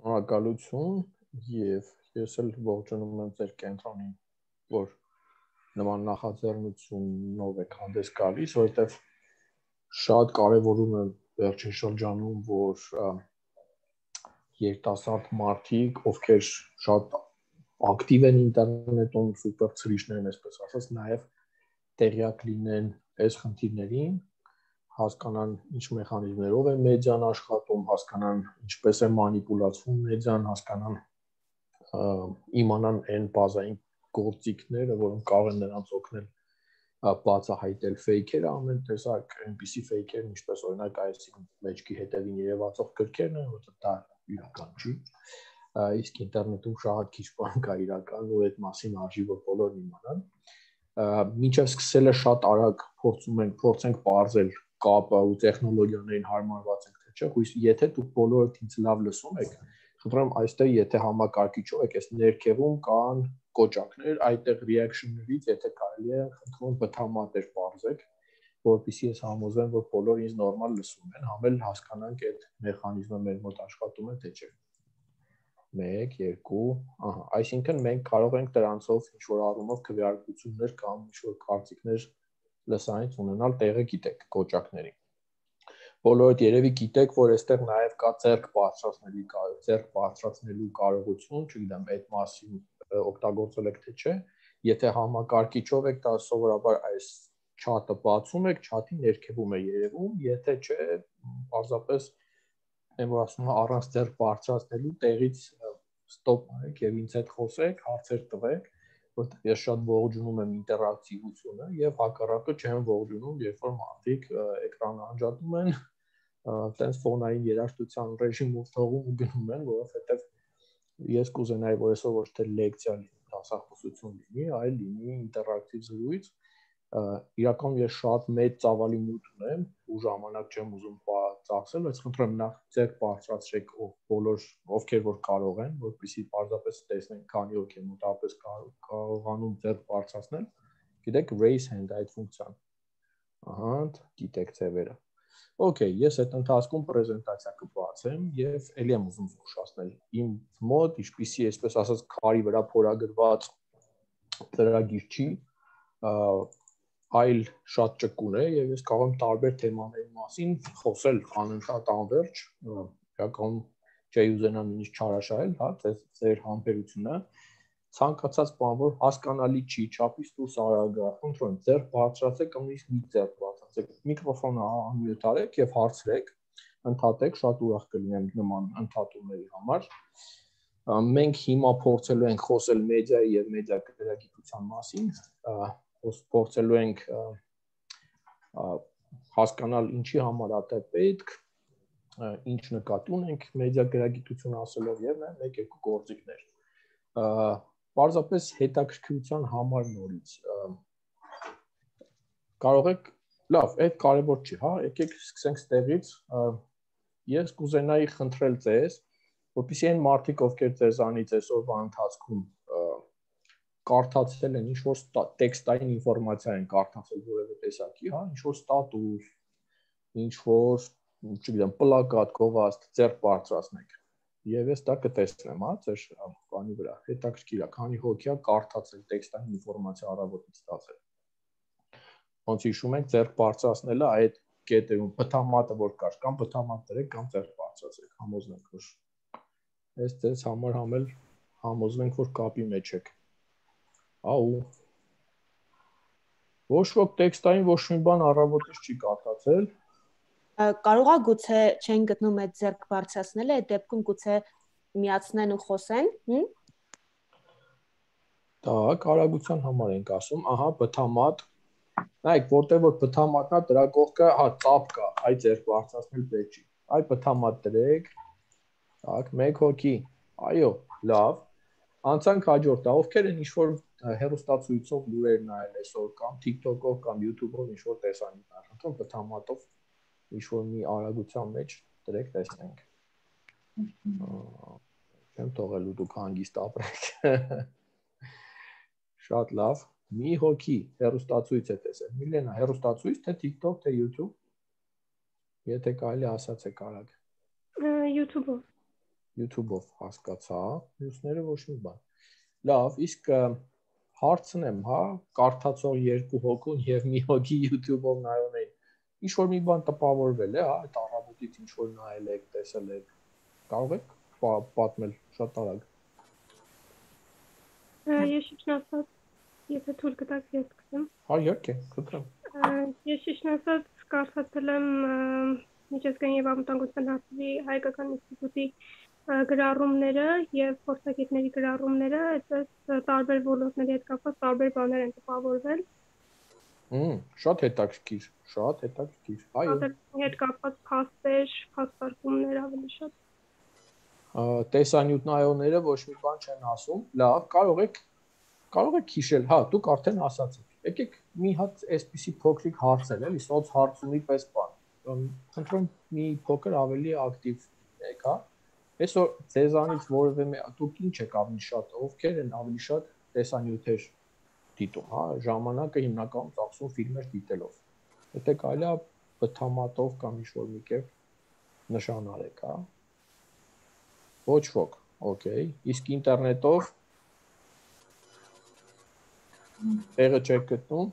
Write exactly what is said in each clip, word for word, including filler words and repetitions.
Շնորհակալություն եւ ես էլ ողջունում եմ ձեր կենտրոնին, որ նման նախաձեռնությունով եք հանդես գալիս, որովհետեւ շատ կարեւորում եմ վերջին շրջանում, որ երիտասարդ մարդիկ, ովքեր շատ ակտիվ են ինտերնետում, սուպեր ցրիչներ են, այսպես ասած, նաեւ տեղյակ լինեն այս խնդիրներին, հասկանան ինչ մեխանիզմներով է մեդիան աշխատում, հասկանան ինչպես է մանիպուլացվում մեդիան, հասկանան իմանան այն բազային գործիքները, որոնք կարող են նրանց օգնել բացահայտել ֆեյքերը, ամեն տեսակ այնպիսի ֆեյքեր, ինչպես օրինակ այս մեջքի հետևին երևացող գրքերն են, որտեղ դա իրական չի, իսկ ինտերնետում շատ քիչ բան կա իրական, ու այդ մասին արժի որ բոլորն իմանան։ Մինչև սկսելը շատ արագ փորձում ենք, փորձենք բարձել կապը ու տեխնոլոգիաներին հարմարված ենք, թե չէ, հույս եթե դուք բոլորդ ինձ լավ լսում եք, խնդրում այստեղ եթե համակարգիչով եք, այս ներքևում կան կոճակներ, այդտեղ reaction-ներից, եթե կարելի է, խնդրում բթամատեր բարձեք, որպեսզի ես համոզվեմ, որ բոլորը ինձ նորմալ լսում են, համ էլ հասկանանք այդ մեխանիզմը մեր մոտ աշխատում է, թե չէ։ մեկ, երկու, ահա, այսինքն մենք կարող ենք դրանցով ինչ-որ առումով քվեարկություններ կամ ինչ-որ կարծիքներ լսանից ունենալ, տեղը գիտեք կոճակների։ Բոլորդ երևի գիտեք, որ այստեղ նաև կա ձեռք բարձրացնելու ձեռք բարձրացնելու կարողություն, չգիտեմ, այդ մասին օգտագործել եք թե չէ, եթե համակարգիչով եք, դա սովորաբար այս չաթը բացում եք, չաթի ներքևում է երևում, եթե չէ, պարզապես այն որ ասում եմ առանց ձեռք բարձրացնելու տեղից ստոպ արեք եւ ինձ հետ խոսեք, հարցեր տվեք, որտեղ ես շատ ողջունում եմ ինտերակտիվությունը եւ հակառակը չեմ ողջունում, երբ որ մարդիկ էկրանը անջատում են, այտենց ֆոնային երաժշտության ռեժիմով թողում ու գնում են, որովհետեւ ես կուզենայի, որ այսօր ոչ թե լեկցիա լինի, դասախոսություն լինի, այլ լինի ինտերակտիվ զրույց։ Իրականում ես շատ մեծ ծավալի մուտ ունեմ ու ժամանակ չեմ ուզում ծախսել, բայց խնդրեմ նախ ձեր բարձրացրեք բոլոր ովքեր որ կարող են, որպեսզի պարզապես տեսնենք քանի ովքեր մոտավորապես կարողանում ձեր բարձրացնել։ Գիտեք raise hand այդ ֆունկցիան։ Ահա, գիտեք ձևերը։ Okay, ես այդ ընթացքում պրեզենտացիա կբացեմ եւ ելի եմ ուզում զգուշացնել իմ մոտ, ինչպիսի այսպես ասած քարի վրա փորագրված ծրագիր չի, այլ շատ ճկուն է եւ ես կարող եմ տարբեր թեմաների մասին խոսել անընդհատ անverջ, իրականում չի ուզենա նույնիսկ չարաշահել, հա, ձեր համբերությունը, ցանկացած բան որ հասկանալի չի, չափից դուրս արագ է, խնդրում եմ ձեռք բարձրացեք, կամ նույնիսկ մի ձեռք բարձրացեք, միկրոֆոնը անմյուտ արեք եւ հարցրեք, ընդհատեք, շատ ուրախ կլինեմ նման ընդհատումների համար։ Մենք հիմա փորձելու ենք խոսել մեդիայի եւ մեդիա գրագիտության մասին, փորձելու ենք հասկանալ ինչի համար է դա պետք, ինչ նկատի ունենք մեդիա գրագիտություն ասելով եւ նաեւ մեկ-երկու գործիքներ։ Պարզապես հետաքրքրության համար նորից կարող եք, լավ, այդ կարևոր չի, հա, եկեք սկսենք ստեղից, ես կուզենայի խնդրել ձեզ, որպեսզի այն մարդիկ, ովքեր ձեզանից այսօրվա ընթացքում կարդացել են ինչ-որ տեքստային ինֆորմացիա են կարդացել որևէ տեսակի, հա, ինչ-որ ստատուս, ինչ-որ, չգիտեմ, պլակատ, գովազդ, ձեռք բարձրացնեք։ Եվ ես դա կտեսնեմ, հա, ձեր բանի վրա, հետաքրքիր է, քանի հոգի է կարդացել տեքստային ինֆորմացիա առավոտից ստացել։ Ոնց հիշում եք, ձեռք բարձրացնելը այդ կետերում բթամատը որ կար, կամ բթամատ դրեք, կամ ձեռք բարձրացրեք, համոզվենք, որ այս ձեզ համար համել համոզվենք, որ կապի մեջ եք։ Աու։ Ոչ ոք տեքստային ոչ մի բան առավոտից չի կարդացել։ Կարող է գուցե չեն գտնում այդ ձեռք բարձրացնելը, այդ դեպքում գուցե միացնեն ու խոսեն, հմ։ Так, արագության համար ենք ասում, ահա բթամատ։ Նայեք, որտեղ որ բթամատն է, դրա կողքը, հա, ծափ կա, այ ձեռք բարձրացնել պետք չի։ Այ բթամատ դրեք։ Так, մեկ հոգի։ Այո, լավ։ Անցանք հաջորդը, ովքեր են ինչ-որ հեռուստացույցով լուրեր նայել այսօր կամ TikTok-ով կամ YouTube-ով ինչ-որ տեսանյութ, խնդրում բթամատով ինչ-որ մի արագության մեջ դրեք տեսնենք։ Չեմ թողելու դուք հանգիստ ապրեք։ Շատ լավ, մի հոգի հեռուստացույց է տեսել։ Միլենա, հեռուստացույց, թե TikTok, թե YouTube։ Եթե կարելի ասացեք արագ։ YouTube-ով։ YouTube-ով հասկացա, մյուսները ոչ մի բան։ Լավ, իսկ հարցն եմ, հա, կարդացող երկու հոգուն եւ մի հոգի YouTube-ով նայում էին։ Ինչ որ մի բան տպավորվել է, հա, այդ առավոտից ինչ որ նայել եք, տեսել եք։ Կարող եք պատմել շատ արագ։ Ես շնորհակալ եթե թույլ կտաք ես սկսեմ։ Հա, իհարկե, կտրեմ։ Ես շնորհակալ կարդացել եմ միջազգային եւ անվտանգության հարցերի հայկական ինստիտուտի գրառումները եւ փորձագետների գրառումները, այդպես տարբեր ոլորտների հետ կապված տարբեր բաներ են տպավորվել։ Հմ, շատ հետաքրքիր, շատ հետաքրքիր։ Այո։ Հետ կապված փաստեր, փաստարկումներ ավելի շատ։ Տեսանյութնայողները ոչ մի բան չեն ասում։ Լավ, կարող եք կարող եք հիշել, հա, դուք արդեն ասացիք։ Եկեք մի հատ այսպիսի փոքրիկ հարցեր, էլի, սոց հարցումի պես բան։ Խնդրում մի փոքր ավելի ակտիվ եք, հա։ Այսօր ձեզանից որևէ դուք ինչ եք ավելի շատ, ովքեր են ավելի շատ տեսանյութեր դիտում, հա, ժամանակը հիմնականում ծախսում ֆիլմեր դիտելով։ Եթե կարելի է բթամատով կամ ինչ-որ մի կերպ նշան արեք, հա։ Ոչ ոք, օքեյ, իսկ ինտերնետով տեղը չեք գտնում։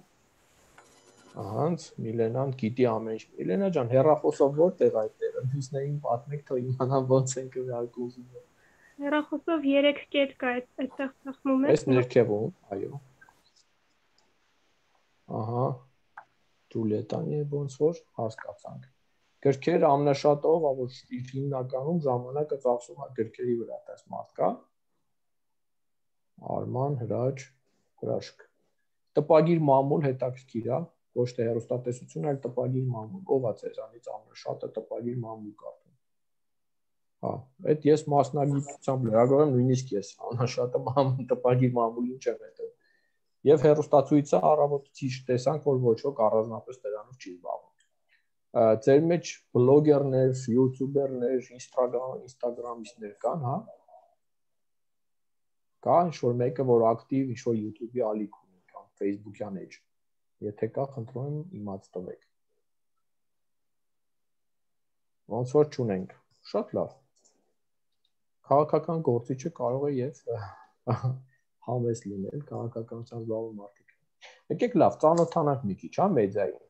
Ահանց, Միլենան գիտի ամեն ինչ։ Միլենա ջան, հեռախոսով որտեղ այդ տեղը։ Մյուսներին պատմեք, թող իմանան ոնց են քվեարկում։ Հեռախոսով երեք կետ կա այդտեղ ծախմում է։ Այս ներքևում, այո։ Ահա, Ջուլիետան եւ ոնց որ հասկացանք։ Գրքեր ամենաշատով, որ հիմնականում ժամանակը ծախսում է գրքերի վրա, դες մարդկա։ Արման, Հրաչ, Հրաշք։ Տպագիր մամուլ հետաքրքիր է, ոչ թե հեռուստատեսություն, այլ տպագիր մամուլ։ Ով է ձեզանից ամենաշատը տպագիր մամուլ կարդում։ Հա, այդ ես մասնագիտությամբ լրագրող եմ, նույնիսկ ես ամենաշատը մամուլ տպագիր մամուլին չեմ հետո։ Եվ հեռուստացույցը առավոտից տեսանք, որ ոչ ոք առանձնապես դրանով չի զբաղվում։ Ձեր մեջ բլոգերներ, յութուբերներ, Instagram, Instagram-իստներ կան, հա։ Կա ինչ-որ մեկը, որ ակտիվ ինչ-որ YouTube-ի ալիք ունի կամ Facebook-յան էջ։ Եթե կա, խնդրում եմ իմաց տվեք։ Ոնց որ չունենք։ Շատ լավ։ Քաղաքական գործիչը կարող է եւ համեստ լինել, քաղաքականությամբ զբաղվող մարդիկ։ Եկեք լավ, ծանոթանանք մի քիչ, հա, մեդիային։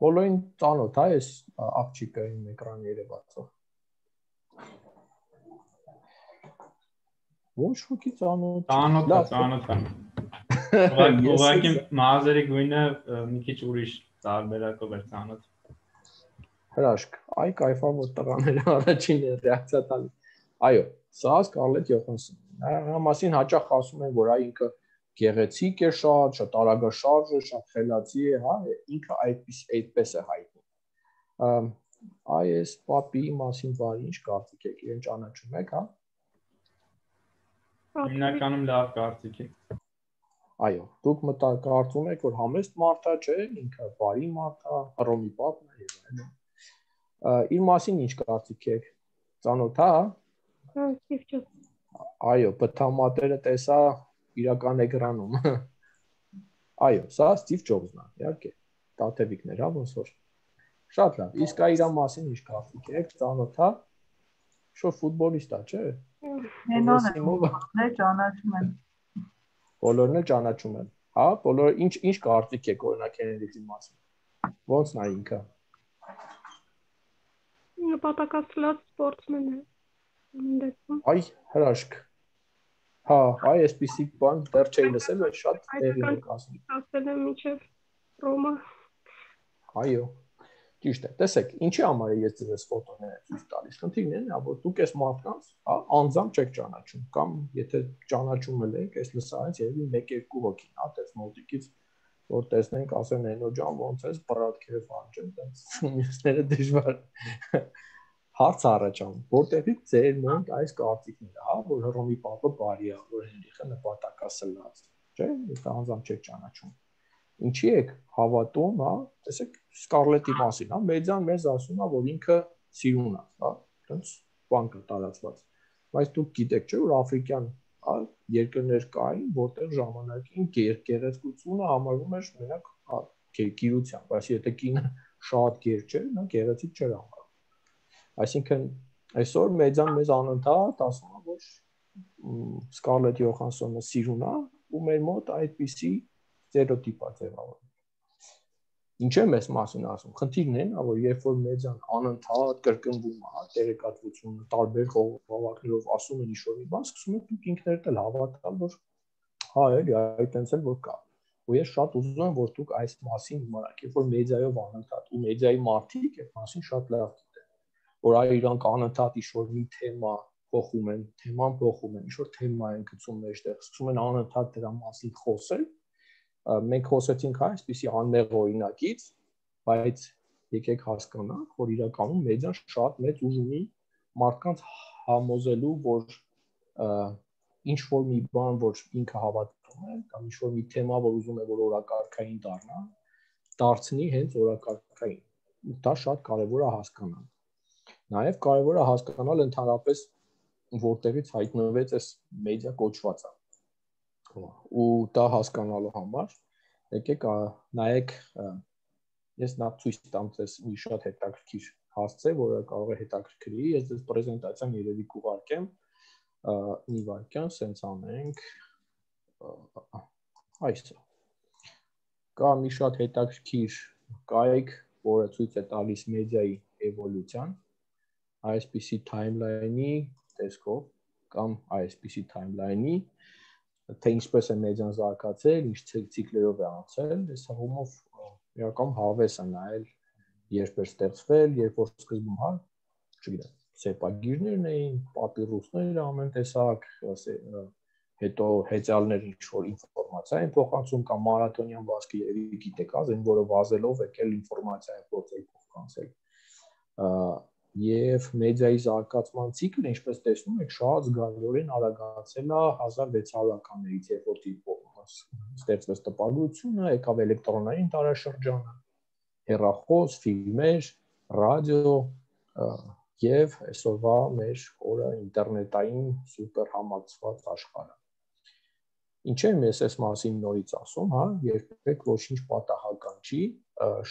Բոլորին ծանոթ է այս աղջիկը իմ էկրան երևացող։ Ոչ ոքի ծանոթ։ Ծանոթ է, ծանոթ է։ Ուղղակի մազերի գույնը մի քիչ ուրիշ տարբերակով էր ծանոթ։ Հրաշք, այ կայֆա որ տղաները առաջին ռեակցիա տալի։ Այո, սա Սկարլետ Յոհանսոնն է։ Նրա մասին հաճախ ասում են, որ այ ինքը գեղեցիկ է շատ, շատ արագաշարժ է, շատ խելացի է, հա, ինքը այդպես այդպես է հայտնի։ Այ այս պապի մասին բարի ինչ կարծիք եք, իրեն ճանաչում եք, հա։ Հիմնականում լավ կարծիք է։ Այո, դուք մտա կարծում եք, որ համեստ մարդ է, չէ, ինքը բարի մարդ է, Հռոմի պապն է եւ այլն։ Իր մասին ինչ կարծիք եք։ Ծանոթ է, հա։ Այո, բթամատերը տեսա իրական էկրանում։ Այո, սա Սթիվ Ջոբսն է, իհարկե։ Տաթևիկներ, հա, ոնց որ։ Շատ լավ։ Իսկ այ իր մասին ինչ կարծիք եք, ծանոթ է։ Շո ֆուտբոլիստ է, չէ։ Բոլորն էլ ճանաչում են։ Բոլորն էլ ճանաչում են։ Հա, բոլորը ինչ ինչ կարծիք եք օրինակ Քենեդիի մասին։ Ոնց նա ինքը։ Նպատակասլաց սպորտսմեն է։ Այ, հրաշք։ Հա, այ այսպիսի բան դեռ չէի լսել, բայց շատ տեղի եք ասում։ Ասել եմ միջև Ռոմա։ Այո։ Ճիշտ է։ Տեսեք, ինչի համար է ես ձեզ ֆոտոներ ցույց տալիս։ Խնդիրն է, որ դուք այս մարդկանց, հա, անձամբ չեք ճանաչում, կամ եթե ճանաչում եք, այս լսարից երևի մեկ-երկու հոգին, հա, դες մոտիկից որ տեսնենք, ասեն Էնո ջան, ոնց ես բրատքեր վանջեն, տենց մյուսները դժվար։ Հարց առաջանում, որտեղից ձեր մոտ այս կարծիքները, հա, որ Հռոմի պապը բարի է, որ Հենրիխը նպատակասլաց, չէ՞, ես անձամբ չեք ճանաչում։ Ինչի եք հավատում, հա, տեսեք Սկարլետի մասին, հա, մեդիան մեզ ասում է, որ ինքը սիրուն է, հա, տենց բան կա տարածված։ Բայց դուք գիտեք, չէ՞, որ աֆրիկյան, հա, երկրներ կային, որտեղ ժամանակին գերգերեզգությունը համարվում էր մենակ, հա, գերգիրությամբ, բայց եթե կինը շատ գեր չէր, նա գեղեցիկ չէր համարվում։ Այսինքն Այսօր մեդիան մեզ անընդհատ ասում է, որ Scarlett Johansson-ը սիրուն է ու մեր մոտ այդպիսի ստերեոտիպ է ձևավորվում։ Ինչ է մեզ մասին ասում։ Խնդիրն է, որ երբ որ մեդիան անընդհատ կրկնվում է, տեղեկատվությունը տարբեր խաղաղներով ասում են ինչ-որ մի բան, սկսում եք դուք ինքներդ էլ հավատալ, որ հա, էլի, այդտենց էլ որ կա։ Ու ես շատ ուզում եմ, որ դուք այս մասին իմանաք, երբ որ մեդիայով անընդհատ ու մեդիայի մարդիկ այդ մասին շատ լավ գիտեն, որ այ իրանք անընդհատ ինչ-որ մի թեմա փոխում են, թեման փոխում են, ինչ-որ թեմա են գցում մեջտեղ, սկսում են անընդհատ դրա մասին խոսել։ Մենք խոսեցինք այսպիսի անմեղ օրինակից, բայց եկեք հասկանանք, որ իրականում մեդիան շատ մեծ ուժ ունի մարդկանց համոզելու, որ ինչ որ մի բան, որ ինքը հավատում է, կամ ինչ որ մի թեմա, որ ուզում է, որ օրակարգային դառնա, դարձնի հենց օրակարգային։ Դա շատ կարևոր է հասկանալ։ Նաև կարևոր է հասկանալ ընդհանրապես որտեղից հայտնվեց այս մեդիա կոչվածը։ Ու դա հասկանալու համար եկեք նայեք, ես նա ցույց տամ ձեզ մի շատ հետաքրքիր հասցե, որը կարող է հետաքրքրի, ես ձեզ պրեզենտացիան երևի կուղարկեմ, մի վայրկյան, սենց անենք, այսը, կա մի շատ հետաքրքիր կայք, որը ցույց է տալիս մեդիայի էվոլյուցիան, այսպիսի timeline-ի տեսքով, կամ այսպիսի timeline-ի, թե ինչպես է մեդիան զարգացել, ինչ ցիկլերով է անցել, այս հողումով իրական հավես է նայել, երբ էր ստեղծվել, երբ որ սկզբում, հա, չգիտեմ, սեպագիրներն էին, պապիրուսներ ամեն տեսակ, հետո հեծյալներ ինչ-որ ինֆորմացիա են փոխանցում, կամ մարաթոնյան վազքը երևի գիտեք, այն որը վազելով եկել ինֆորմացիա է փոխել փոխանցել։ Եվ մեդիայի զարգացման ցիկլը, ինչպես տեսնում եք, շատ զգալիորեն արագացել է հազար վեց հարյուրականներից, երբ որ ստեղծվեց տպագրությունը, եկավ էլեկտրոնային դարաշրջանը, հեռախոս, ֆիլմեր, ռադիո եւ այսօրվա մեր օրը ինտերնետային սուպեր համակցված աշխարհը։ Ինչ եմ ես այս մասին նորից ասում, հա, երբեք ոչինչ պատահական չի,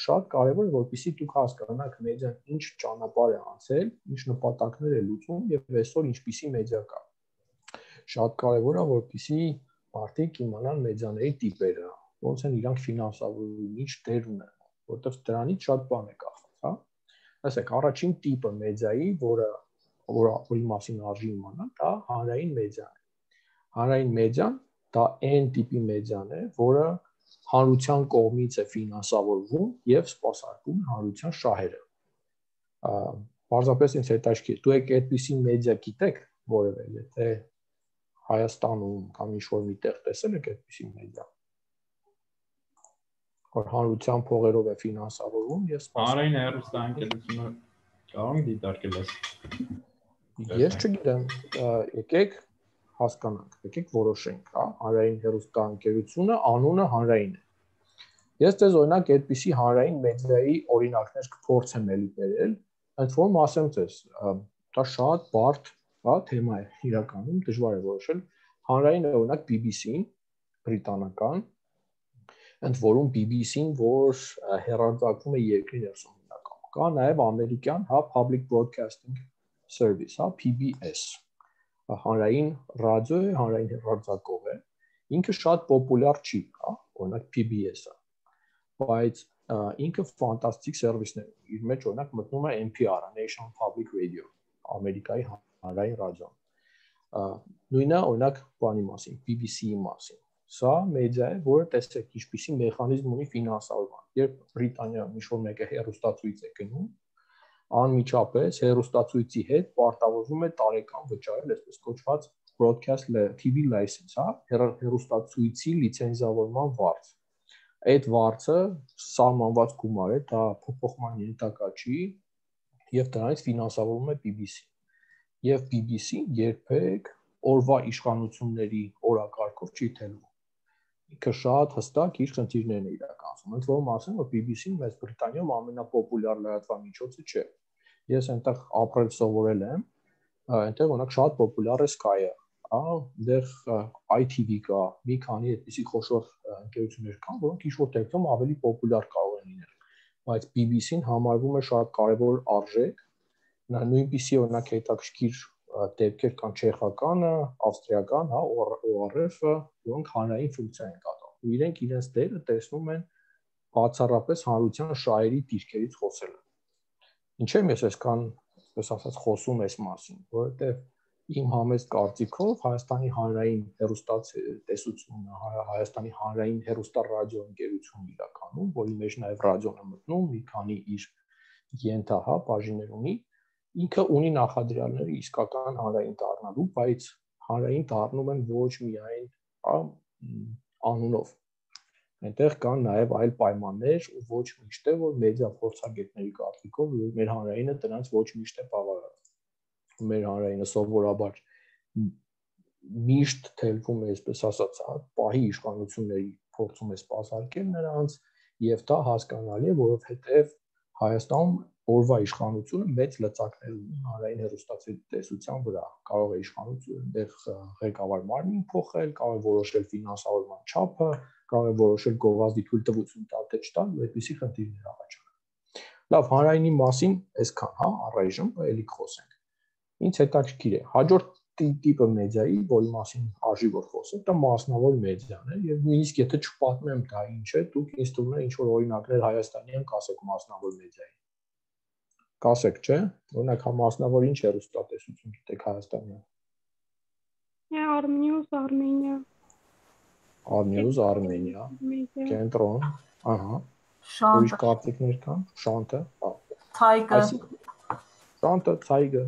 շատ կարևոր է, որպեսզի դուք հասկանաք մեդիան ինչ ճանապարհ է անցել, ինչ նպատակներ է լուծում եւ այսօր ինչպիսի մեդիա կա։ Շատ կարևոր է, որպեսզի մարդիկ իմանան մեդիաների տիպերը, ոնց են իրանք ֆինանսավորվում, ինչ դեր ունեն, որտեղ դրանից շատ բան է կախված, հա։ Ասեք, առաջին տիպը մեդիայի, որը որի մասին արժի իմանալ, դա հանրային մեդիան է։ Հանրային մեդիան դա այն տիպի մեդիան է, որը հանրության կողմից է ֆինանսավորվում եւ սպասարկում հանրության շահերը։ Պարզապես ինձ հետաքրքիր, դու եք այդպիսի մեդիա գիտեք, որևէ, եթե Հայաստանում կամ ինչ-որ միտեղ տեսել եք այդպիսի մեդիա, որ հանրության փողերով է ֆինանսավորվում եւ հանրային հեռուստաընկերությունը կարող է դիտարկել այս։ Ես չգիտեմ, եկեք հասկանանք, եկեք որոշենք, հա, հանրային հեռուստաընկերությունը անունը հանրային է։ Ես ձեզ օրինակ այդպիսի հանրային մեդիայի օրինակներ կփորձեմ էլի բերել, այդ որում ասեմ ձեզ, դա շատ բարդ, հա, թեմա է իրականում, դժվար է որոշել։ Հանրայինը օրինակ B B C-ն, բրիտանական, ընդ որում B B C-ն, որ հեռարձակվում է երկրի ներսում իրականում։ Կա նաև ամերիկյան, հա, Public Broadcasting Service, հա, P B S, հանրային ռադիո է, հանրային հեռարձակող է, ինքը շատ պոպուլյար չի, հա, օրինակ P B S-ը, բայց ինքը ֆանտաստիկ սերվիսներ ունի, իր մեջ օրինակ մտնում է N P R-ը, National Public Radio, Ամերիկայի հանրային ռադիոն, նույնը օրինակ բանի մասին, B B C-ի մասին, սա մեդիա է, որը տեսեք ինչպիսի մեխանիզմ ունի ֆինանսավորման, երբ Բրիտանիայում ինչ-որ մեկը հեռուստացույց է գնում, անմիջապես հեռուստացույցի հետ պարտավորվում է տարեկան վճարել այսպես կոչված broadcast T V license, հա, հեռուստացույցի լիցենզավորման վարձ։ Այդ վարձը սահմանված գումար է, դա փոփոխման ենթակա չի, եւ դրանից ֆինանսավորվում է P B C։ Եվ P B C-ն երբեք օրվա իշխանությունների օրակարգով չի թելվում։ Ինքը շատ հստակ իր խնդիրներն է իրականացնում։ Ընդ որում ասեմ, որ P B C-ն Մեծ Բրիտանիայում ամենապոպուլյար լրատվամիջոցը չէ։ Ես այնտեղ ապրել սովորել եմ, այնտեղ օրինակ շատ պոպուլյար է Sky-ը, հա, այնտեղ I T V կա, մի քանի այդպիսի խոշոր ընկերություններ կան, որոնք ինչ-որ դեպքում ավելի պոպուլյար կարող են լինել, բայց P B C-ն համարվում է շատ կարևոր արժեք նույնպիսի օրինակ հետաքրքիր դեպքեր կան չեխականը, ավստրիական, հա, O R F-ը, որոնք հանրային ֆունկցիա են կատարում։ Ու իրենք իրենց դերը տեսնում են բացառապես հանրության շահերի դիրքերից խոսելը։ Ինչե՞ ես այսքան, այսպես ասած, խոսում այս մասին, որովհետև իմ համեստ կարծիքով Հայաստանի հանրային հեռուստատեսությունը, Հայաստանի հանրային հեռուստառադիո ընկերությունն իրականում, որի մեջ նաև ռադիոն է մտնում, մի քանի իր ենթահա բաժիններ ունի, ինքը ունի նախադրյալները իսկական հանրային դառնալու, բայց հանրային դառնում են ոչ միայն անունով։ Այնտեղ կան նաև այլ պայմաններ, ու ոչ միշտ է, որ մեդիա փորձագետների կարծիքով մեր հանրայինը դրանց ոչ միշտ է բավարարում։ Մեր հանրայինը սովորաբար միշտ թելվում է, այսպես ասած, պահի իշխանությունների փորձում է սպասարկել նրանց, եւ դա հասկանալի է, որովհետեւ Հայաստանում օրվա իշխանությունը մեծ լծակներ ունի հանրային հեռուստատեսության վրա։ Կարող է իշխանությունը դեռ ղեկավար մարմին փոխել, կարող է որոշել ֆինանսավորման չափը, կարող է որոշել գովազդի թույլտվություն տալ թե չտալ, ու այդպիսի խնդիրներ առաջանում։ Լավ, հանրայինի մասին այսքան, հա, առայժմ էլի խոսենք։ Ինչ հետաքրքիր է, հաջորդ տիպը մեդիայի, որի մասին արժի որ խոսենք, դա մասնավոր մեդիան է, եւ նույնիսկ եթե չպատմեմ դա ինչ է, դուք ինձ թվում է ինչ որ օրինակներ հայաստանյան կասեք մասնավոր մեդիայի։ Կասեք, չէ՞։ Օրինակ հա մասնավոր ինչ հեռուստատեսություն գիտեք հայաստանյան։ Armnews Armenia։ Armnews Armenia։ Կենտրոն, ահա։ Ուրիշ կարծիքներ կան, Շանթը, հա։ Ցայգը։ Շանթը, Ցայգը։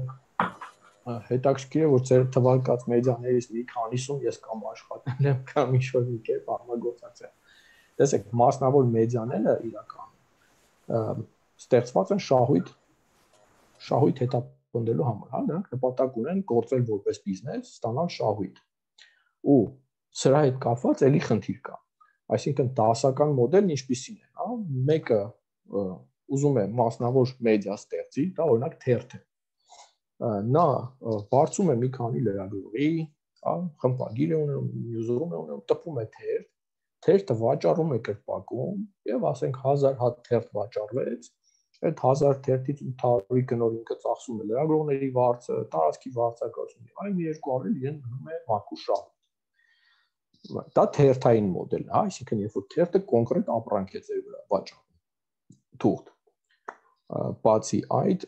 Հետաքրքիր է, որ ձեր թվարկած մեդիաներից մի քանիսում ես կամ աշխատել եմ, կամ ինչ-որ մի կերպ համագործակցել։ Տեսեք, մասնավոր մեդիաները իրականում ստեղծված են շահույթ շահույթ հետապնդելու համար, հա, նրանք նպատակ ունեն գործել որպես բիզնես, ստանալ շահույթ։ Ու սրա հետ կապված էլի խնդիր կա։ Այսինքն դասական մոդելն ինչպիսին է, հա, մեկը ուզում է մասնավոր մեդիա ստեղծի, դա օրինակ թերթ է։ Նա բարձում է մի քանի լրագրողի, հա, խմբագիր է ունենում, նյուզրում է ունենում, տպում է թերթ, թերթը վաճառում է կրպակում, եւ ասենք հազար հատ թերթ վաճառվեց, այդ հազար թերթից ութ հարյուրի կնոր ինքը ծախսում է լրագրողների վարձը, տարածքի վարձակալությունը, եւ այն երկու առել իրեն մնում է մաքուր շահույթ։ Դա թերթային մոդելն է, հա, այսինքն երբ որ թերթը կոնկրետ ապրանք է ձեր վրա վաճառում, թուղթ։ Բացի այդ,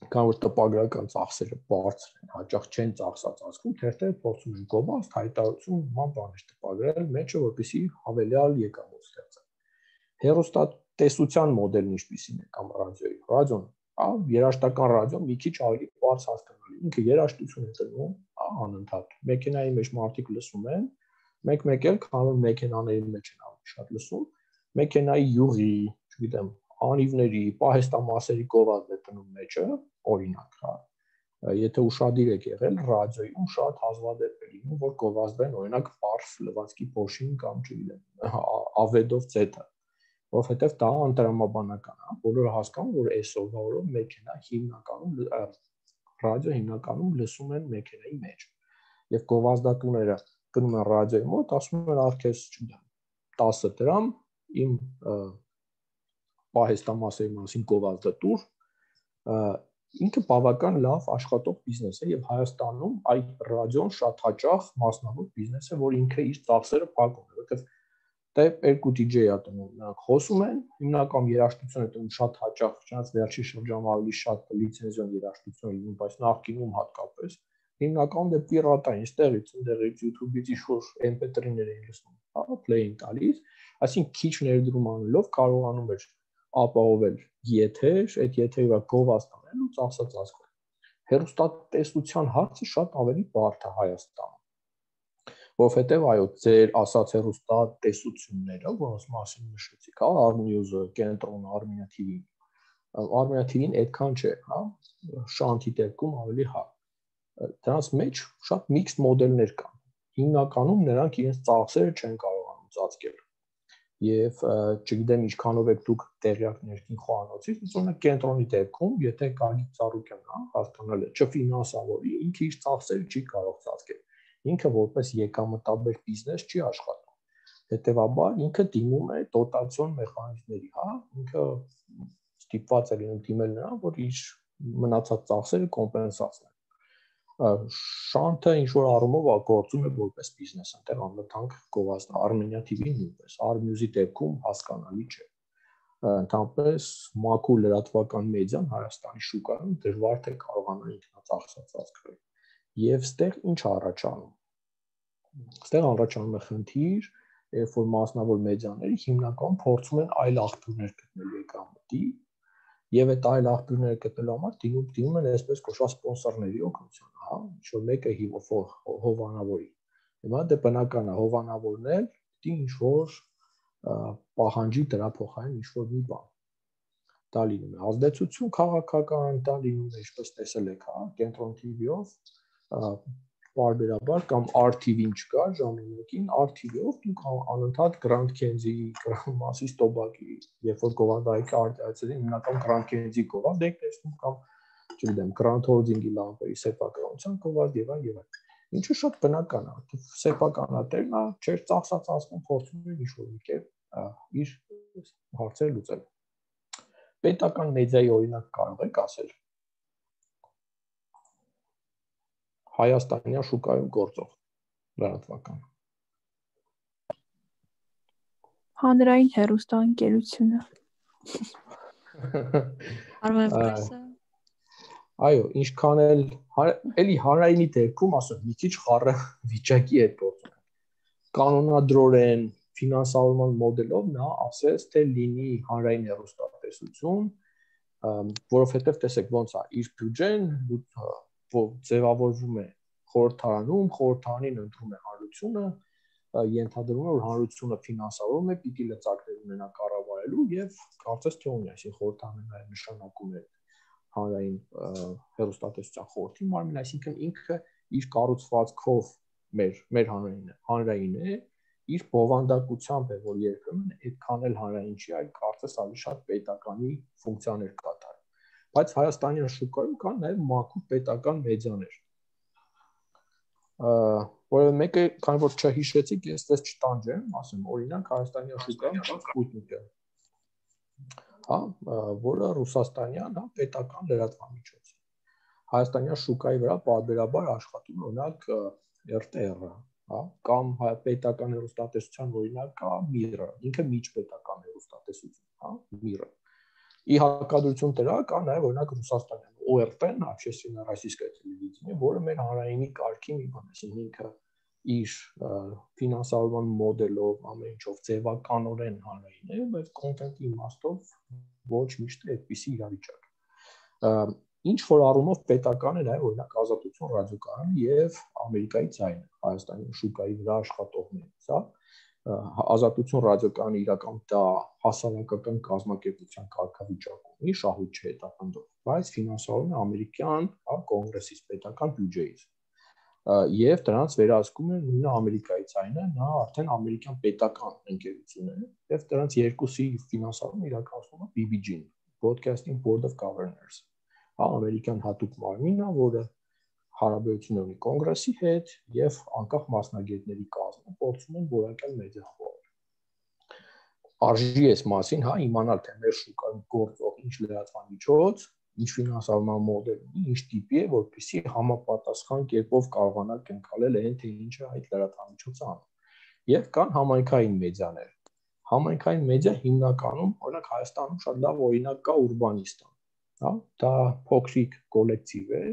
կան որ տպագրական ծախսերը բարձր են, հաճախ չեն ծախսած ասում, թերթերը փորձում են գովազդ, հայտարարություն, նման բաներ տպագրել, մեջը որպեսզի հավելյալ եկամուտ ստեղծեն։ Հեռուստատեսության մոդելն ինչպիսին է կամ ռադիոյի։ Ռադիոն, հա, երաժշտական ռադիոն մի քիչ ավելի բարձ հասկանալի։ Ինքը երաժշտություն է տնում, հա, անընդհատ։ Մեքենայի մեջ մարդիկ լսում են, մեկ-մեկ էլ քանում մեքենաների մեջ են ավելի շատ լսում, մեքենայի յուղի, չգիտեմ, անիվների, պահեստամասերի գովազդ է տնում մեջը, օրինակ, հա։ Եթե ուշադիր եք եղել, ռադիոյում շատ հազվադեպ է լինում, որ գովազդեն օրինակ պարզ լվացքի փոշին կամ չգիտեմ, ավեդով Z-ը, որովհետև դա անտրամաբանական է, բոլորը հասկանում, որ այսօրվա օրով մեքենա հիմնականում ռադիո հիմնականում լսում են մեքենայի մեջ։ Եվ գովազդատուները գնում են ռադիոյի մոտ, ասում են արքես, չգիտեմ, տասը դրամ իմ պահեստամասերի մասին գովազդը տուր, ինքը բավական լավ աշխատող բիզնես է եւ Հայաստանում այդ ռադիոն շատ հաճախ մասնավոր բիզնես է, որ ինքը իր ծախսերը փակում է, որովհետեւ դե երկու դիջեյ ա տնում, նրանք խոսում են, հիմնական երաժշտություն է տնում շատ հաճախ, չնայած վերջի շրջանում ավելի շատ լիցենզիոն երաժշտություն է լինում, բայց նախկինում հատկապես հիմնականում դե պիրատային, ստեղից, ընդեղից YouTube-ից ինչ-որ M P three-ներ էին լսում, հա, play-ին տալիս, այսինքն քիչ ներդրում անելով կարողանում էր ապահովել եթեր, այդ եթերի վրա գովազդ անել ու ծախսած ազգով։ Հեռուստատեսության հարցը շատ ավելի բարդ է Հայաստանում, որովհետև այո, ձեր ասած հեռուստատեսությունները, որոնց մասին նշեցիք, հա, Armnews-ը, Կենտրոնը, Armenia T V-ն, Armenia T V-ն այդքան չէ, հա, Շանթի դեպքում ավելի հա։ Դրանց մեջ շատ միքսդ մոդելներ կան։ Հիմնականում նրանք իրենց ծախսերը չեն կարողանում ծածկել։ Եվ չգիտեմ ինչքանով եք դուք տեղյակ ներքին խոհանոցից, օրինակ Կենտրոնի դեպքում, եթե Գագիկ Ծառուկյանն, հա, հասկանալ է, չֆինանսավորի, ինքը իր ծախսերը չի կարող ծածկել։ Ինքը որպես եկամտաբեր բիզնես չի աշխատում։ Հետևաբար ինքը դիմում է դոտացիոն մեխանիզմների, հա, ինքը ստիպված է լինում դիմել նրան, որ իր մնացած ծախսերը կոմպենսացնել։ Շանթը ինչ որ առումով գործում է որպես բիզնես, այնտեղ անվտանգ գովազդ Armenia T V-ին նույնպես, Armnews-ի դեպքում հասկանալի չէ։ Ընդհանրապես մաքուր լրատվական մեդիան Հայաստանի շուկայում դժվար թե կարողանա ինքնածախսած ազգրել։ Եվ ստեղ ինչ առաջանում։ Ստեղ առաջանում է խնդիր, երբ որ մասնավոր մեդիաները հիմնականում փորձում են այլ աղբյուրներ գտնել եկամտի, եւ այդ այլ աղբյուրները գտնելու համար դիմում դիմում են այսպես կոչված սպոնսորների օգնությունը, հա, ինչ որ մեկը հովանավորի։ Հիմա դե բնական է հովանավորն էլ դի ինչ որ պահանջի դրա փոխարեն ինչ որ մի բան։ Դա լինում է ազդեցություն քաղաքական, դա լինում է ինչպես տեսել եք, հա, Կենտրոն T V-ով բարբերաբար կամ R T V-ին չկար ժամանակին, R T V-ով դուք անընդհատ Grand Kenzie, Grand Massis Tobacco, երբ որ գովազդայիքը արտահայտեցին հիմնական Grand Kenzie գովազդ եք տեսնում կամ չգիտեմ Grand Holding-ի լամպերի սեփականության գովազդ եւ այլ եւ այլ։ Ինչը շատ բնական է, սեփականատերն է, չէր ծախսած ասում փորձում է ինչ-որ մի կերպ իր հարցերը լուծել։ Պետական մեդիայի օրինակ կարող եք ասել Հայաստանյան շուկայում գործող լրատվական։ Հանրային հեռուստաընկերությունը։ Armen Press-ը։ Այո, ինչքան էլ էլի հանրայինի դեպքում ասում մի քիչ խառը վիճակի հետ գործում։ Կանոնադրորեն ֆինանսավորման մոդելով նա ասեց, թե լինի հանրային հեռուստատեսություն, որովհետև տեսեք ոնց է իր բյուջեն ձևավորվում է խորհրդարանում, խորհրդարանին ընտրում է հանրությունը, ենթադրվում է, որ հանրությունը ֆինանսավորում է, պիտի լծակներ ունենա կառավարելու եւ կարծես թե ունի, այսինքն խորհրդարանը նաև նշանակում է հանրային հեռուստատեսության խորհրդի մարմին, այսինքն ինքը իր կառուցվածքով մեր մեր հանրայինը, հանրային է, իր բովանդակությամբ է, որ երբեմն այդքան էլ հանրային չի, այլ կարծես ավելի շատ պետականի ֆունկցիաներ կատարում։ Բայց Հայաստանյան շուկայում կան նաև մաքուր պետական մեդիաներ։ Որը մեկը, քանի որ չհիշեցիք, ես դες չտանջեմ, ասեմ, օրինակ Հայաստանյան շուկայում կա Sputnik-ը, հա, որը ռուսաստանյան, հա, պետական լրատվամիջոց է։ Հայաստանյան շուկայի վրա պարբերաբար աշխատում է օրինակ R T R-ը, հա, կամ պետական հեռուստատեսության օրինակ կա Mir-ը, ինքը միջպետական հեռուստատեսություն, հա, Mir-ը։ Ի հակադրություն դրա կա նաև օրինակ Ռուսաստանյան O R T-ն, Общественное российское телевидение, որը մեր հանրայինի կարգի մի բան է, այսինքն ինքը իր ֆինանսավորման մոդելով ամեն ինչով ձևականորեն հանրային է, բայց կոնտենտի իմաստով ոչ միշտ է այդպիսի իրավիճակ։ Ինչ որ առումով պետական է նաև օրինակ Ազատություն ռադիոկայանը եւ Ամերիկայի ձայնը, Հայաստանի շուկայի վրա աշխատողներից, հա։ Ազատություն ռադիոկայանը իրական դա հասարակական կազմակերպության կարգավիճակ ունի, շահույթ չէ հետապնդող, բայց ֆինանսավորում է ամերիկյան, հա, կոնգրեսից պետական բյուջեից։ Եվ դրանց վերահսկում է նույնը Ամերիկայի ձայնը, նա արդեն ամերիկյան պետական ընկերություն է, եւ դրանց երկուսի ֆինանսավորումը իրականացնում է B B G-ն, Broadcasting Board of Governors, հա, ամերիկյան հատուկ մարմինը, որը հարաբերություն ունի կոնգրեսի հետ եւ անկախ մասնագետների կազմը փորձում են որակյալ մեդիա խորհուրդ։ Արժի էս մասին, հա, իմանալ թե մեր շուկայում գործող ինչ լրատվամիջոց, ինչ ֆինանսավորման մոդել ունի, ինչ տիպի է, որպեսզի համապատասխան կերպով կարողանա կնքալել այն թե ինչը այդ լրատվամիջոցը անում։ Եվ կան համայնքային մեդիաներ։ Համայնքային մեդիա հիմնականում, օրինակ Հայաստանում շատ լավ օրինակ կա Ուրբանիստան, հա, դա փոքրիկ կոլեկտիվ է,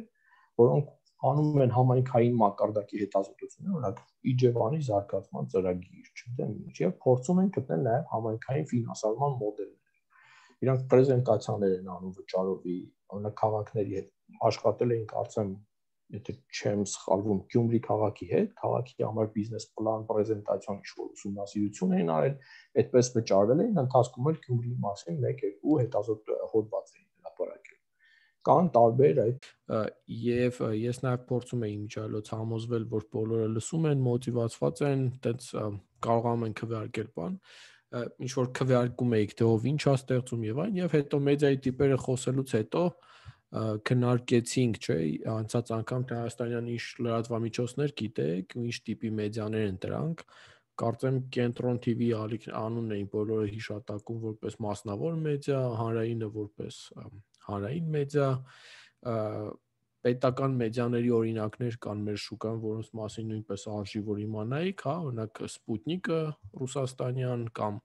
որոնք անում են համայնքային մակարդակի հետազոտություններ, օրինակ Իջևանի զարգացման ծրագիր, չգիտեմ ինչ, եւ փորձում են գտնել նաեւ համայնքային ֆինանսավորման մոդելներ։ Իրանք պրեզենտացիաներ են անում վճարովի, օրինակ քաղաքների հետ աշխատել էին, կարծեմ, եթե չեմ սխալվում, Գյումրի քաղաքի հետ, քաղաքի համար բիզնես պլան, պրեզենտացիոն ինչ-որ ուսումնասիրություն էին արել, այդպես վճարվել էին, ընթացքում էլ Գյումրիի մասին մեկ-երկու հետազոտ հոդված էին հրապարակել։ Կան տարբեր այդ եւ ես նաեւ փորձում եի միջալոց համոզվել, որ բոլորը լսում են, մոտիվացված են, այդպես կարողանում են քվեարկել բան, ինչ որ քվեարկում էիք թե ով ինչ է ստեղծում եւ այն, եւ հետո մեդիայի տիպերը խոսելուց հետո քննարկեցինք, չէ, անցած անգամ թե Հայաստանյան ինչ լրատվամիջոցներ գիտեք, ինչ տիպի մեդիաներ են դրանք, կարծեմ Կենտրոն T V անունն էին բոլորը հիշատակում որպես մասնավոր մեդիա, հանրայինը որպես հանրային մեդիա, պետական մեդիաների օրինակներ կան մեր շուկան, որոնց մասին նույնպես արժի որ իմանայիք, հա, օրինակ Սպուտնիկը ռուսաստանյան կամ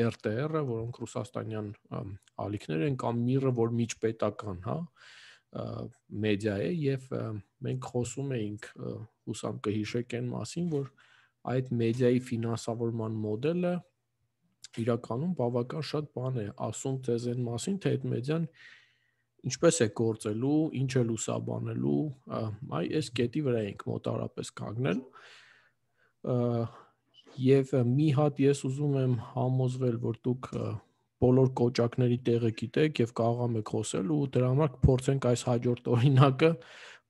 R T R-ը, որոնք ռուսաստանյան ալիքներ են, կամ Միրը, որ միջպետական, հա, մեդիա է, եւ մենք խոսում էինք, հուսամ կհիշեք այն մասին, որ այդ մեդիայի ֆինանսավորման մոդելը իրականում բավական շատ բան է ասում ձեզ այն մասին, թե այդ մեդիան ինչպես է գործելու, ինչ է լուսաբանելու, այ այս կետի վրա ենք մոտավորապես կանգնել, եւ մի հատ ես ուզում եմ համոզվել, որ դուք բոլոր կոճակների տեղը գիտեք եւ կարող եք խոսել ու դրա համար կփորձենք այս հաջորդ օրինակը,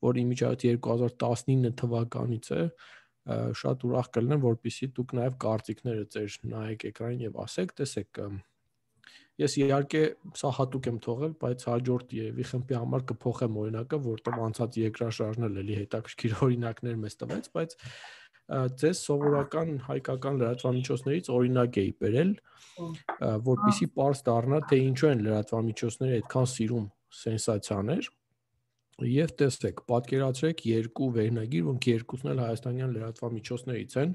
որ իմիջիայլոց երկու հազար տասնինը թվականից է, շատ ուրախ կլինեմ, որպեսզի դուք նաեւ կարծիքները ձեր նայեք էկրանին եւ ասեք, տեսեք, ես իհարկե սա հատուկ եմ թողել, բայց հաջորդ երևի խմբի համար կփոխեմ օրինակը, որտեղ անցած երկրաշարժն էլ էլի հետաքրքիր օրինակներ մեզ տվեց, բայց ձեզ սովորական հայկական լրատվամիջոցներից օրինակ էի բերել, որպեսզի պարզ դառնա, թե ինչու են լրատվամիջոցները այդքան սիրում սենսացիաներ, եւ տեսեք, պատկերացրեք երկու վերնագիր, որոնք երկուսն էլ հայաստանյան լրատվամիջոցներից են,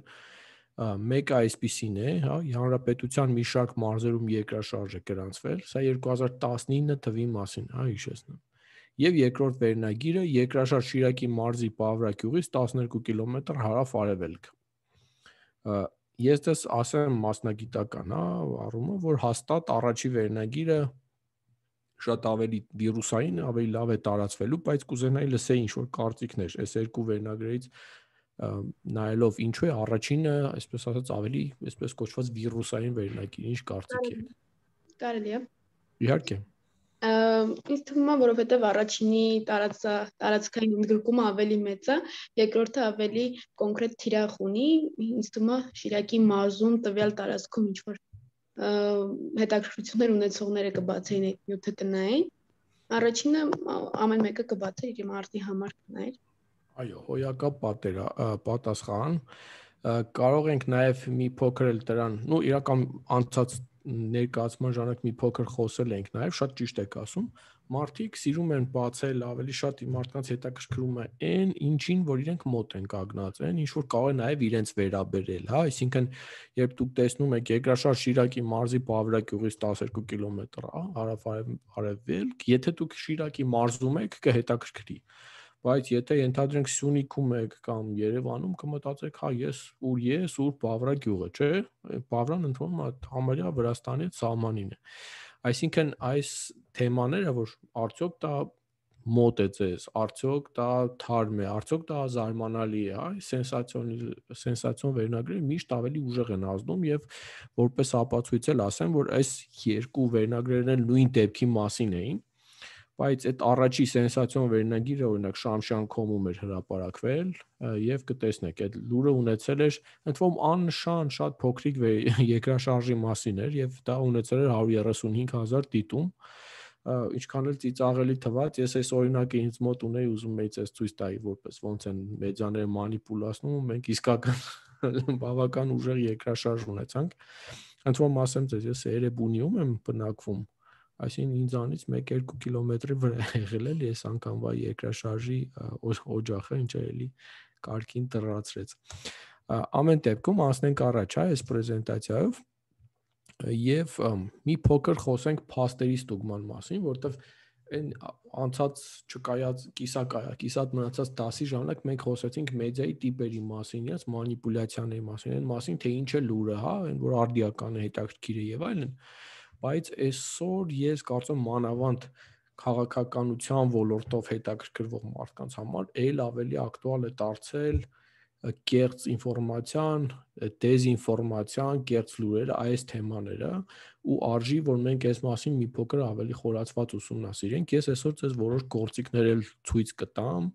մեկը այսպիսին է, հա, Հանրապետության մի շարք մարզերում երկրաշարժ է գրանցվել, սա երկու հազար տասնինը թվի մասին, հա, հիշեցնեմ։ Եվ երկրորդ վերնագիրը երկրաշարժ Շիրակի մարզի Պավրագյուղից տասներկու կիլոմետր հարավ-արևելք։ Ես դες ասեմ մասնագիտական, հա, առումը, որ հաստատ առաջի վերնագիրը շատ ավելի վիրուսային, ավելի լավ է տարածվելու, բայց կուզենայի լսեի ինչ-որ կարծիքներ, այս երկու վերնագրերից նայելով ինչու է առաջինը, այսպես ասած, ավելի, այսպես կոչված վիրուսային վերնագիր, ինչ կարծիք եք։ Կարելի է։ Իհարկե։ Ինձ թվում է, որովհետև առաջինի տարածքային ընդգրկումը ավելի մեծ է, երկրորդը ավելի կոնկրետ թիրախ ունի, ինձ թվում է Շիրակի մարզում տվյալ տարածքում ինչ-որ հետաքրքրություններ ունեցողները կբացեին այդ նյութը կնայեն, առաջինը ամեն մեկը կբացեր իր մարդի համար կնայեր։ Այո, հոյակապ պատերա, պատասխան, կարող ենք նաև մի փոքր էլ դրան, նու իրական անցած ներկայացման ժամանակ մի փոքր խոսել ենք նաև, շատ ճիշտ եք ասում, մարդիկ սիրում են բացել, ավելի շատ մարդկանց հետաքրքրում է այն, ինչին, որ իրենք մոտ են կանգնած են, ինչ որ կարող է նաև իրենց վերաբերել, հա, այսինքն երբ դուք տեսնում եք Երկրաշարժ Շիրակի մարզի Պավրագյուղից տասներկու կիլոմետր, հա, հարավ-արևելք, եթե դուք Շիրակի մարզում եք, կհետաքրքրի, բայց եթե ենթադրենք Սյունիքում եք կամ Երևանում կմտածեք, հա, ես ուր ես, ուր Պավրագյուղը, չէ, Պավրան ընդվում է համարյա Վրաստանի սահմանին է։ Այսինքն այս թեմաները, որ արդյոք դա մոտ է ձեզ, արդյոք դա թարմ է, արդյոք դա զարմանալի է, այ սենսացիոն սենսացիոն վերնագրերը միշտ ավելի ուժեղ են ազդում եւ որպես ապացույց էլ ասեմ, որ այս երկու վերնագրերն էլ նույն դեպքի մասին էին, բայց այդ առաջի սենսացիոն վերնագիրը օրինակ Շամշյան.com-ում էր հրապարակվել եւ կտեսնեք, այդ լուրը ունեցել էր ընդվում աննշան շատ փոքրիկ երկրաշարժի մասին էր եւ դա ունեցել էր հարյուր երեսունհինգ հազար դիտում, ինչքան էլ ծիծաղելի թվաց, ես այս օրինակը ինձ մոտ ունեի, ուզում էի ցես ցույց տայի, որպես ոնց են մեդիաները մանիպուլացնում, մենք իսկական բավական ուժեղ երկրաշարժ ունեցանք։ Ընդվում ասեմ ձեզ, ես Էրեբունիում եմ բնակվում, այսինքն ինձանից մեկ-երկու կիլոմետրի վրա եղել էլ ես անգամվա երկրաշարժի օջախը, ինչը էլի կարգին տրացրեց։ Ամեն դեպքում անցնենք առաջ, այս պրեզենտացիայով եւ մի փոքր խոսենք փաստերի ստուգման մասին, որտեվ այն անցած չկայած կիսակայա, կիսատ մնացած դասի ժամանակ մենք խոսեցինք մեդիայի տիպերի մասին, իրաց մանիպուլյացիաների մասին, այն մասին, թե ինչ է լուրը, հա, այն որ արդիական է, հետաքրքիր է եւ այլն, բայց այսօր ես կարծում եմ մանավանդ քաղաքականության ոլորտով հետաքրքրվող մարդկանց համար ել ավելի ակտուալ է դարձել կեղծ ինֆորմացիան, դեզինֆորմացիան, կեղծ լուրերը, այս թեմաները ու արժի, որ մենք այս մասին մի փոքր ավելի խորացված ուսումնասիրենք։ Ես այսօր ձեզ որոշ գործիքներ էլ ցույց կտամ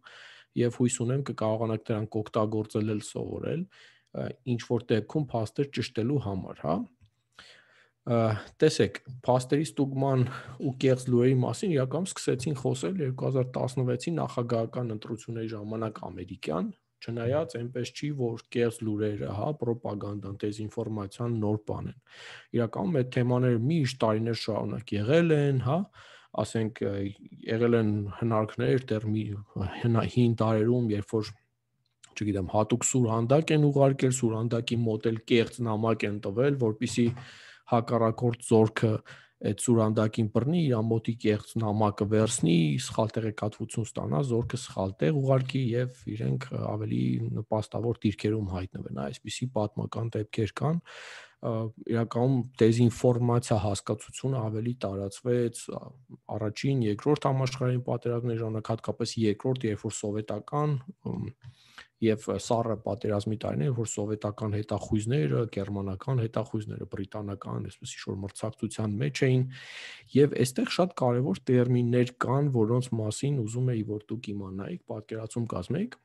եւ հույս ունեմ կկարողանաք դրանք օգտագործել էլ սովորել, ինչ որ դեպքում փաստեր ճշտելու համար, հա։ Տեսեք, փաստերի ստուգման ու կեղծ լուրերի մասին իրականում սկսեցին խոսել երկու հազար տասնվեցի նախագահական ընտրությունների ժամանակ ամերիկյան, չնայած այնպես չի, որ կեղծ լուրերը, հա, պրոպագանդան, դեզինֆորմացիան նոր բան են։ Իրականում այդ թեմաները միշտ տարիներ շարունակ եղել են, հա, ասենք եղել են հնարքներ դեռ հին տարերում, երբ որ չգիտեմ, հատուկ սուրհանդակ են ուղարկել, սուրհանդակի մոտ էլ կեղծ նամակ են տվել, որպեսզի հակառակորդ զորքը այդ սուրհանդակին բռնի, իր մոտի կեղծ նամակը վերցնի, սխալ տեղեկատվություն ստանա, զորքը սխալ տեղ ուղարկի եւ իրենք ավելի նպաստավոր դիրքերում հայտնվեն, այսպիսի պատմական դեպքեր կան, իրականում դեզինֆորմացիա հասկացությունը ավելի տարածվեց առաջին, երկրորդ համաշխարհային պատերազմների ժամանակ, հատկապես երկրորդ, երբ որ սովետական եւ սառը պատերազմի տարիներ, որ սովետական հետախույզները, գերմանական հետախույզները, բրիտանական, այսպես ինչ-որ մրցակցության մեջ էին, եւ այստեղ շատ կարեւոր տերմիններ կան, որոնց մասին ուզում էի, որ դուք իմանայիք, պատկերացում կազմեիք։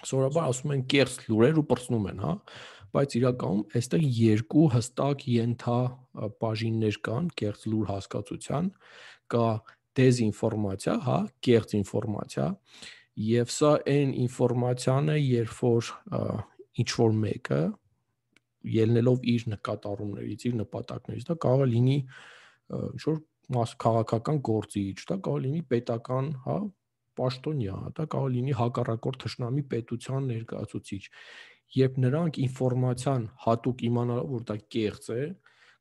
Սովորաբար ասում են կեղծ լուրեր ու պրծնում են, հա, բայց իրականում այստեղ երկու հստակ ենթա բաժիններ կան կեղծ լուր հասկացության, կա դեզինֆորմացիա, հա, կեղծ ինֆորմացիա, եւ սա այն ինֆորմացիան է, երբ որ ինչ որ մեկը ելնելով իր նկատառումներից, իր նպատակներից, դա կարող է լինի ինչ որ մաս քաղաքական գործիչ, դա կարող է լինի պետական, հա, պաշտոնյա, դա կարող է լինի հակառակորդ թշնամի պետության ներկայացուցիչ, երբ նրանք ինֆորմացիան հատուկ իմանալով, որ դա կեղծ է,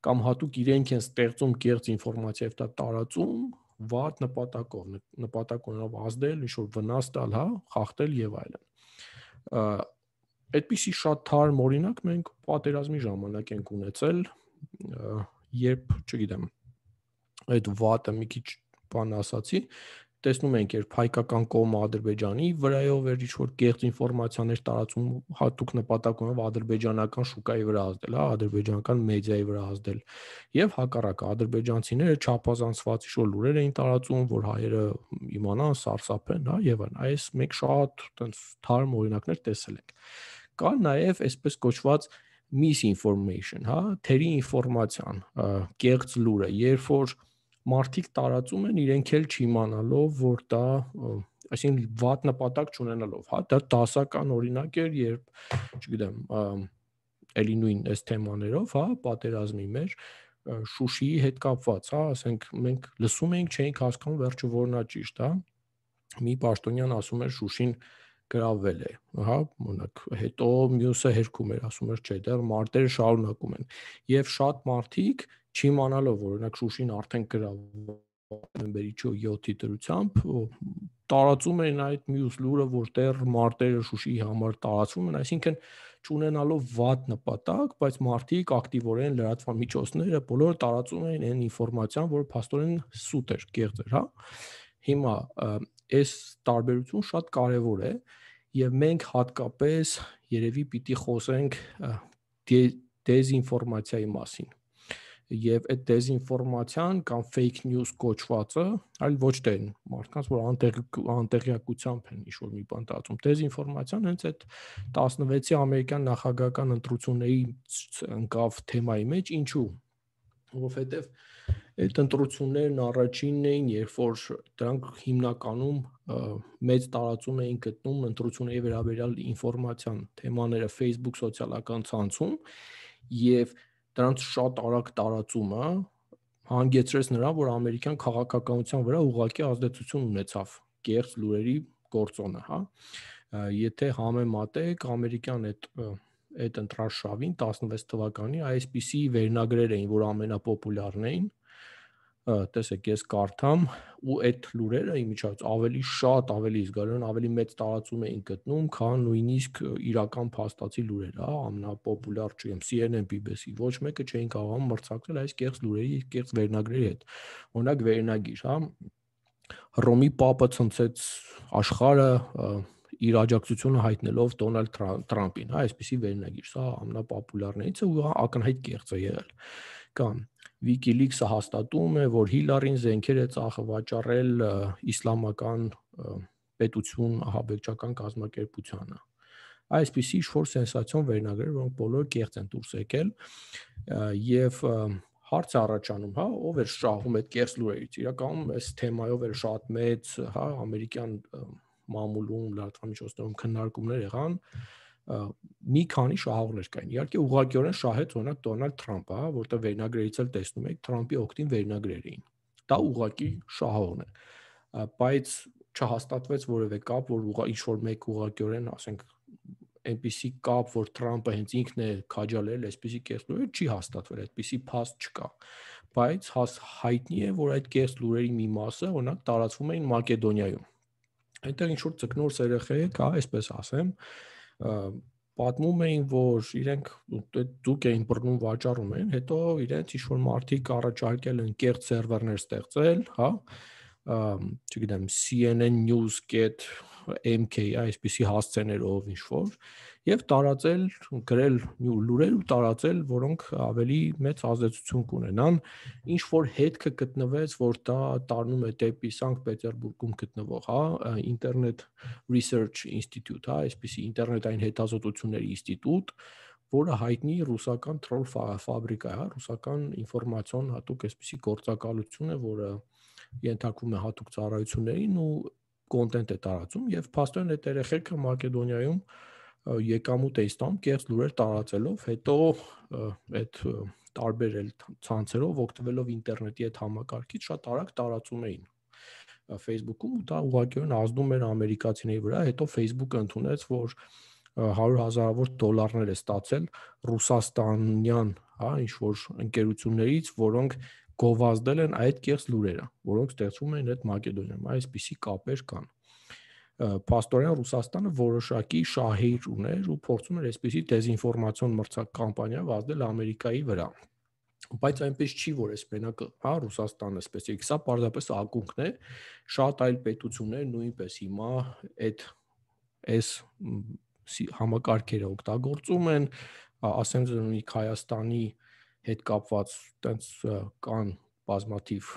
կամ հատուկ իրենք են ստեղծում կեղծ ինֆորմացիա եւ դա տարածում վատ նպատակով, նպատակ ունենալով ազդել, ինչ-որ վնաս տալ, հա, խախտել եւ այլն։ Այդպիսի շատ թարմ օրինակ մենք պատերազմի ժամանակ ենք ունեցել, երբ, չգիտեմ, այդ վատը մի քիչ բան ասացի, տեսնում ենք, երբ հայկական կողմը Ադրբեջանի վրայով էր ինչ-որ կեղծ ինֆորմացիաներ տարածում, հատուկ նպատակ ունենալով ադրբեջանական շուկայի վրա ազդել, հա, ադրբեջանական մեդիայի վրա ազդել, եւ հակառակը ադրբեջանցիները չափազանցված ինչ-որ լուրեր էին տարածում, որ հայերը իմանան, սարսափեն, հա, եւ այլն։ Այս մենք շատ այտենց թարմ օրինակներ տեսել ենք։ Կա նաեւ այսպես կոչված misinformation, հա, թերի ինֆորմացիան, կեղծ լուրը, երբ որ մարդիկ տարածում են իրենք էլ չիմանալով, որ դա, այսինքն վատ նպատակ չունենալով, հա, դա դասական օրինակ էր, երբ, չգիտեմ, էլի նույն այս թեմաներով, հա, պատերազմի մեր Շուշիի հետ կապված, հա, ասենք մենք լսում էինք, չէինք հասկանում վերջը որն է ճիշտ, հա, մի պաշտոնյան ասում էր Շուշին գրավել է, հա, օրինակ, հետո մյուսը հերքում էր, ասում էր չէ, դեռ մարտերը շարունակում են, եւ շատ մարդիկ չիմանալով, որ օրինակ Շուշին արդեն գրավել նոյեմբերի յոթի դրությամբ տարածում են այդ մյուս լուրը, որ դեռ մարտերը Շուշիի համար տարածվում են, այսինքն չունենալով վատ նպատակ, բայց մարդիկ ակտիվորեն լրատվամիջոցները բոլորը տարածում են այն ինֆորմացիան, որը փաստորեն սուտ էր, կեղծ էր, հա։ Հիմա այս տարբերությունը շատ կարևոր է եւ մենք հատկապես երևի պիտի խոսենք դեզինֆորմացիայի մասին։ Եվ այդ դեզինֆորմացիան կամ fake news կոչվածը, այլ ոչ թե մարդկանց, որ անտեղ, անտեղյակությամբ են ինչ-որ մի բան տարածում։ Դեզինֆորմացիան հենց այդ տասնվեցի ամերիկյան նախագահական ընտրությունների ընկավ թեմայի մեջ, ինչու՞։ Որովհետև այդ ընտրություններն առաջինն էին, երբ որ դրանք հիմնականում մեծ տարածում էին գտնում ընտրությունների վերաբերյալ ինֆորմացիան թեմաները Facebook սոցիալական ցանցում եւ դրանց շատ արագ տարածումը հանգեցրեց նրան, որ ամերիկյան քաղաքականության վրա ուղղակի ազդեցություն ունեցավ կեղծ լուրերի գործոնը, հա։ Եթե համեմատեք ամերիկյան այդ այդ ընտրարշավին տասնվեց թվականի այսպիսի վերնագրեր էին, որ ամենապոպուլյարն էին, տեսեք, ես կարդամ, ու այդ լուրերը իմիջիայլոց ավելի շատ, ավելի զգալիորեն ավելի մեծ տարածում էին գտնում, քան նույնիսկ իրական փաստացի լուրերը, հա, ամենապոպուլյար չեմ C N N, B B C, ոչ մեկը չէին կարողանում մրցակցել այս կեղծ լուրերի, կեղծ վերնագրերի հետ։ Օրինակ վերնագիր, հա, Հռոմի Պապը ցնցեց աշխարհը իր աջակցությունը հայտնելով Դոնալդ Թրամփին, հա, այսպեսի վերնագիր, սա ամենապոպուլյարներից է ու ակնհայտ կեղծ է եղել։ Կամ WikiLeaks-ը հաստատում է, որ Հիլարին զենքեր է ծախսվաճառել իսլամական պետություն ահաբեկչական կազմակերպությանը։ Այսպիսի ինչ-որ սենսացիոն վերնագրեր, որոնք բոլորը կեղծ են դուրս եկել եւ հարց առաջանում, հա, ով էր շահում այդ կեղծ լուրերից։ Իրականում այս թեմայով էր շատ մեծ, հա, ամերիկյան մամուլում, լրատվամիջոցներում քննարկումներ եղան, մի քանի շահողներ կային։ Իհարկե ուղղակիորեն շահեց օրինակ Դոնալդ Թրամփը, հա, որտեղ վերնագրերից էլ տեսնում եք Թրամփի օգտին վերնագրեր էին։ դա ուղղակի շահողն է, բայց չհաստատվեց որևէ կապ, որ ինչ որ մեկ ուղղակիորեն, ասենք, այնպիսի կապ, որ Թրամփը հենց ինքն է քաջալերել, այսպիսի կեղծ լուրեր չի հաստատվել, այդպիսի փաստ չկա, բայց հայտնի է, որ այդ կեղծ լուրերի մի մասը, օրինակ, տարածվում էին Մակեդոնիայում։ Այնտեղ ինչ որ ծկնորս երեխեք, հա, այսպես ասեմ, պատմում էին, որ իրենք դուք էին բռնում վաճառում են, հետո իրենց ինչ որ մարդիկ առաջարկել են կեղծ սերվերներ ստեղծել, հա, չգիտեմ, C N N News dot M K, այսպիսի հասցեներով ինչ որ, եւ տարածել, գրել լուրեր ու տարածել, որոնք ավելի մեծ ազդեցություն կունենան, ինչ որ հետքը գտնվեց, որ դա տառնում է դեպի Սանկտ Պետերբուրգում գտնվող, հա, Internet Research Institute, հա, այսպիսի ինտերնետային հետազոտությունների ինստիտուտ, որը հայտնի ռուսական troll ֆաբրիկա է, հա, ռուսական ինֆորմացիոն հատուկ այսպիսի գործակալություն է, որը ենթարկվում է հատուկ ծառայություններին ու կոնտենտ է տարածում եւ փաստորեն այդ երեխեքը Մակեդոնիայում եկամուտ է ստանում կեղծ լուրեր տարածելով, հետո այդ տարբեր ցանցերով օգտվելով ինտերնետի այդ համակարգից շատ արագ տարածում էին Facebook-ում ու դա ուղղակիորեն ազդում էր ամերիկացիների վրա, հետո Facebook-ը ընդունեց, որ հարյուր հազարավոր դոլարներ է ստացել ռուսաստանյան, հա, ինչ որ ընկերություններից, որոնք գովազդել են այդ կեղծ լուրերը, որոնք ստեղծվում են այդ Մակեդոնիայում, այսպիսի կապեր կան։ Փաստորեն Ռուսաստանը որոշակի շահեր ուներ ու փորձում էր այսպիսի դեզինֆորմացիոն մրցակ կամպանիա վազդել Ամերիկայի վրա։ Բայց այնպես չի, որ այս մենակ, հա, Ռուսաստանը սպեսիֆիկ, սա պարզապես ակունքն է, շատ այլ պետություններ նույնպես հիմա այդ այս համակարգերը օգտագործում են, ասեմ ձեռնունի Հայաստանի հետ կապված տենց կան բազմաթիվ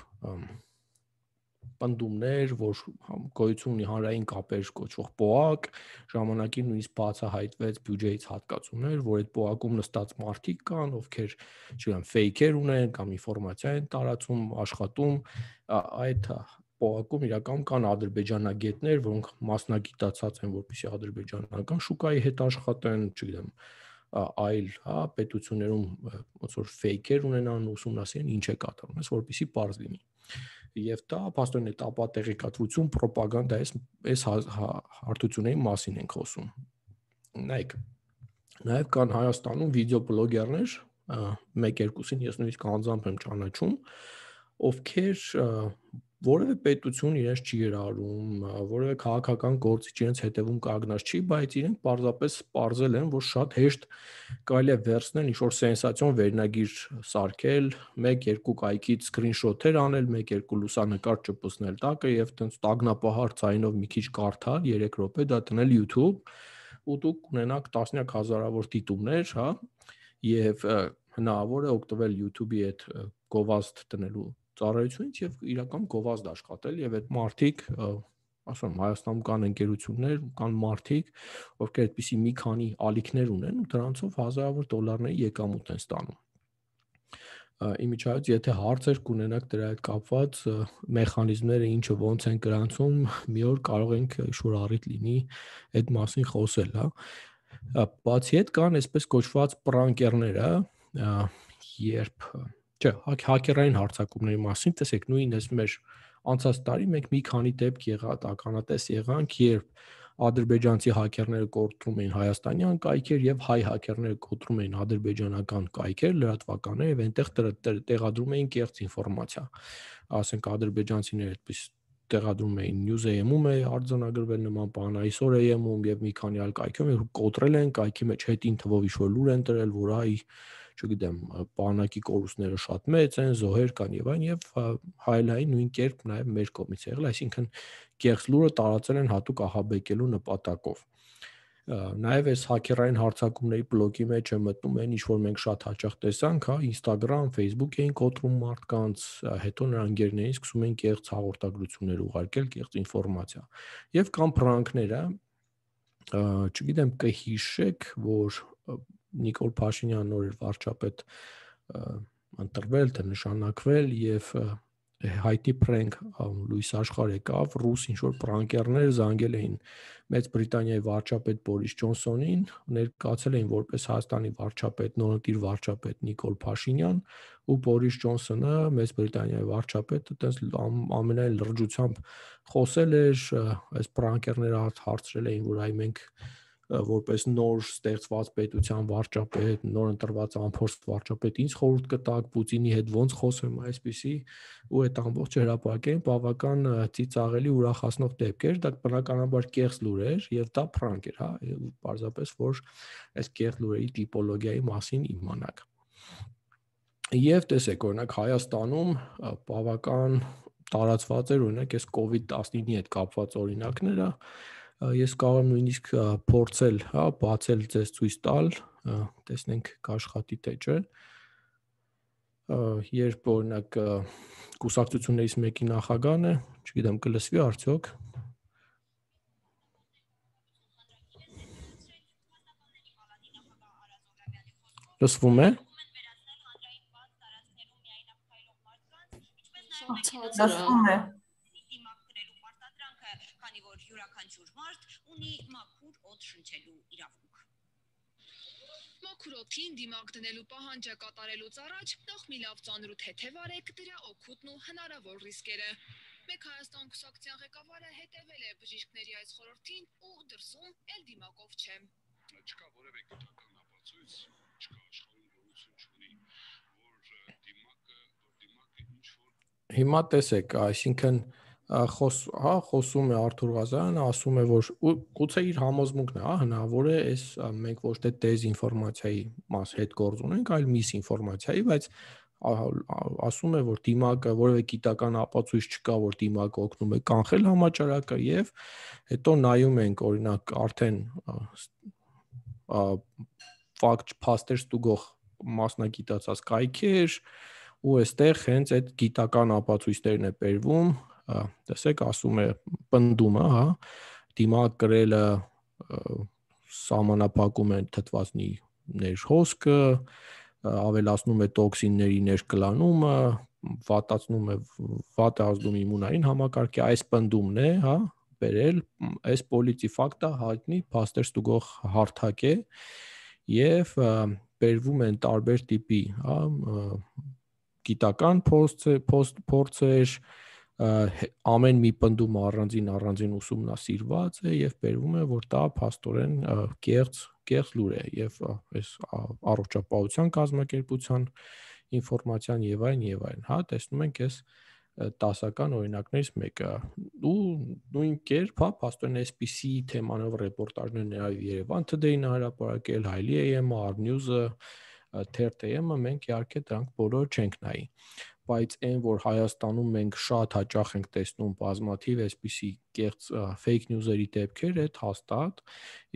պնդումներ, որ գոյություն ունի հանրային կապեր կոչվող պոակ, ժամանակին նույնիսկ բացահայտվեց բյուջեից հատկացումներ, որ այդ պոակում նստած մարդիկ կան, ովքեր, չգիտեմ, ֆեյքեր ունեն կամ ինֆորմացիա են տարածում, աշխատում, այդ պոակում իրականում կան ադրբեջանագետներ, որոնք մասնագիտացած են, որպեսզի ադրբեջանական շուկայի հետ աշխատեն, չգիտեմ, այլ, հա, պետություններում ոնց որ ֆեյքեր ունենան, ուսումնասիրեն ինչ է կատարվում, այս որպեսզի պարզ լինի։ Եվ դա փաստորեն այդ ապատեղեկատվություն, ռոպագանդա այս հարթությունների մասին ենք խոսում։ Նայեք, նաև կան Հայաստանում վիդեոբլոգերներ, մեկ-երկուսին ես նույնիսկ անձամբ եմ ճանաչում, ովքեր որևէ պետություն իրենց չի գրառում, որևէ քաղաքական գործիչ իրենց հետևում կանգնած չի, բայց իրենք պարզապես պարզել են, որ շատ հեշտ կարելի է վերցնել ինչ-որ սենսացիոն վերնագիր սարքել, մեկ-երկու կայքից սկրինշոթեր անել, մեկ-երկու լուսանկար ճպցնել տակը եւ տենց տագնապահար ձայնով մի քիչ կարդալ, երեք րոպե դա դնել YouTube, ու դուք ունենաք տասնյակ հազարավոր դիտումներ, հա, եւ հնարավոր է օգտվել YouTube-ի այդ գովազդ տնելու ծառայությունից եւ իրական գովազդ աշխատել եւ այդ մարդիկ, ասում եմ, Հայաստանում կան ընկերություններ, կան մարդիկ, ովքեր այդպիսի մի քանի ալիքներ ունեն ու դրանցով հազարավոր դոլարների եկամուտ են ստանում։ Իմիջիայից եթե հարցեր կունենաք դրա հետ կապված, մեխանիզմները ինչը ոնց են գրանցում, մի օր կարող ենք ինչ-որ առիթ լինի այդ մասին խոսել, հա։ Բացի այդ կան այսպես կոչված պրանկերները, երբ Չէ, հակերային հարձակումների մասին, տեսեք, նույն էս մեր անցած տարի մենք մի քանի դեպք եղած ականատես եղանք, երբ ադրբեջանցի հակերները կոտրում էին հայաստանյան կայքեր եւ հայ հակերները կոտրում էին ադրբեջանական կայքեր, լրատվականներ եւ այնտեղ տեղադրում էին կեղծ ինֆորմացիա։ Ասենք ադրբեջանցիները այդպես տեղադրում էին News.am-ում է արձանագրվել նման բան, այսօր am-ում եւ մի քանի այլ կայքում կոտրել են, կայքի մեջ հետին թվով ինչ-որ լուր են տրել, որ այ չգիտեմ, բանակի կորուստները շատ մեծ են, զոհեր կան եւ այն եւ հայլային նույն կերպ նաեւ մեր կողմից եղել, այսինքն կեղծ լուրը տարածել են հատուկ ահաբեկելու նպատակով։ Նաեւ այս հակերային հարձակումների բլոկի մեջ է մտնում այն, ինչ որ մենք շատ հաճախ տեսանք, հա, Instagram, Facebook էին կոտրում մարդկանց, հետո նրանք ընկերներին սկսում են կեղծ հաղորդագրություններ ուղարկել, կեղծ ինֆորմացիա։ Եվ կան պրանքները, չգիտեմ, կհիշեք, որ Նիկոլ Փաշինյանն նոր էր վարչապետ ընտրվել, թե նշանակվել եւ հայտի prank լույս աշխարհ եկավ, ռուս ինչ-որ պրանկերներ զանգել էին Մեծ Բրիտանիայի վարչապետ Բորիս Ջոնսոնին, ներկայացել էին որպես Հայաստանի վարչապետ, նորընտիր վարչապետ Նիկոլ Փաշինյան, ու Բորիս Ջոնսոնը, Մեծ Բրիտանիայի վարչապետը, այտենց ամենայն լրջությամբ խոսել էր, այս պրանկերները հարցրել էին, որ այ մենք որպես նոր ստեղծված պետության վարչապետ, նոր ընտրված անփորձ վարչապետ, ինչ խորհուրդ կտաք Պուտինի հետ ոնց խոսեմ այսպեսի, ու այդ ամբողջ հրապարակային բավական ծիծաղելի ուրախացնող դեպք էր, դա բնականաբար կեղծ լուր էր եւ դա պրանկ էր, հա, պարզապես որ այս կեղծ լուրերի տիպոլոգիայի մասին իմանաք։ Եվ տեսեք, օրինակ Հայաստանում բավական տարածված էր օրինակ այս կովիդ տասնինի հետ կապված օրինակները, ես կարող եմ նույնիսկ փորձել, հա, բացել ձեզ ցույց տալ, տեսնենք կաշխատի թե չէ։ Երբ օրինակ կուսակցություններից մեկի նախագահն է, չգիտեմ կլսվի արդյոք։ Լսվում է։ Լսվում է։ Քանի որ յուրաքանչյուր մարդ ունի մաքուր օդ շնչելու իրավունք։ Մաքուր օդին դիմակ դնելու պահանջը կատարելուց առաջ նախ մի լավ ծանրութ թեթև արեք դրա օգուտն ու հնարավոր ռիսկերը։ Մեկ Հայաստան կուսակցության ղեկավարը հետևել է բժիշկների այս խորհրդին ու դրսում էլ դիմակով չէ։ Չկա որևէ գիտական ապացույց, չկա աշխարհում գոյություն չունի, որ դիմակը, որ դիմակը ինչ որ Հիմա տեսեք, այսինքն Խոս, հա, խոսում է Արթուր Ղազարյանը, ասում է, որ գուցե իր համոզմունքն է, հա, հնարավոր է, այս մենք ոչ թե դեզինֆորմացիայի մաս հետ գործ ունենք, այլ միսինֆորմացիայի, բայց ասում է, որ դիմակը որևէ գիտական ապացույց չկա, որ դիմակը օգնում է կանխել համաճարակը, եւ հետո նայում ենք, օրինակ, արդեն ֆակտ փաստեր ստուգող մասնագիտացած կայքեր, ու այստեղ հենց այդ գիտական ապացույցներն է բերվում, տեսեք, ասում է պնդումը, հա, դիմակ կրելը սահմանափակում է թթվածնի ներհոսքը, ավելացնում է տոքսինների ներկլանումը, վատացնում է վատ է ազդում իմունային համակարգի, այս պնդումն է, հա, բերել, այս պոլիցի ֆակտը հայտնի փաստեր ստուգող հարթակ է եւ բերվում են տարբեր տիպի, հա, գիտական փորձեր, ամեն մի պնդում առանձին առանձին ուսումնասիրված է եւ բերվում է, որ դա փաստորեն կեղծ կեղծ լուր է եւ այս առողջապահության կազմակերպության ինֆորմացիան եւ այն եւ այն, հա, տեսնում ենք այս տասական օրինակներից մեկը ու նույն կերպ, հա, փաստորեն այսպիսի թեմանով ռեպորտաժներ ներառ Երևան Today-ն հրապարակել, Հայլի էյ էմ-ը, Արնյուզը, Թերթ էյ էմ-ը, մենք իհարկե դրանք բոլորը չենք նայի, բայց այն որ Հայաստանում մենք շատ հաճախ ենք տեսնում բազմաթիվ այսպիսի կեղծ fake news-երի դեպքեր, այդ հաստատ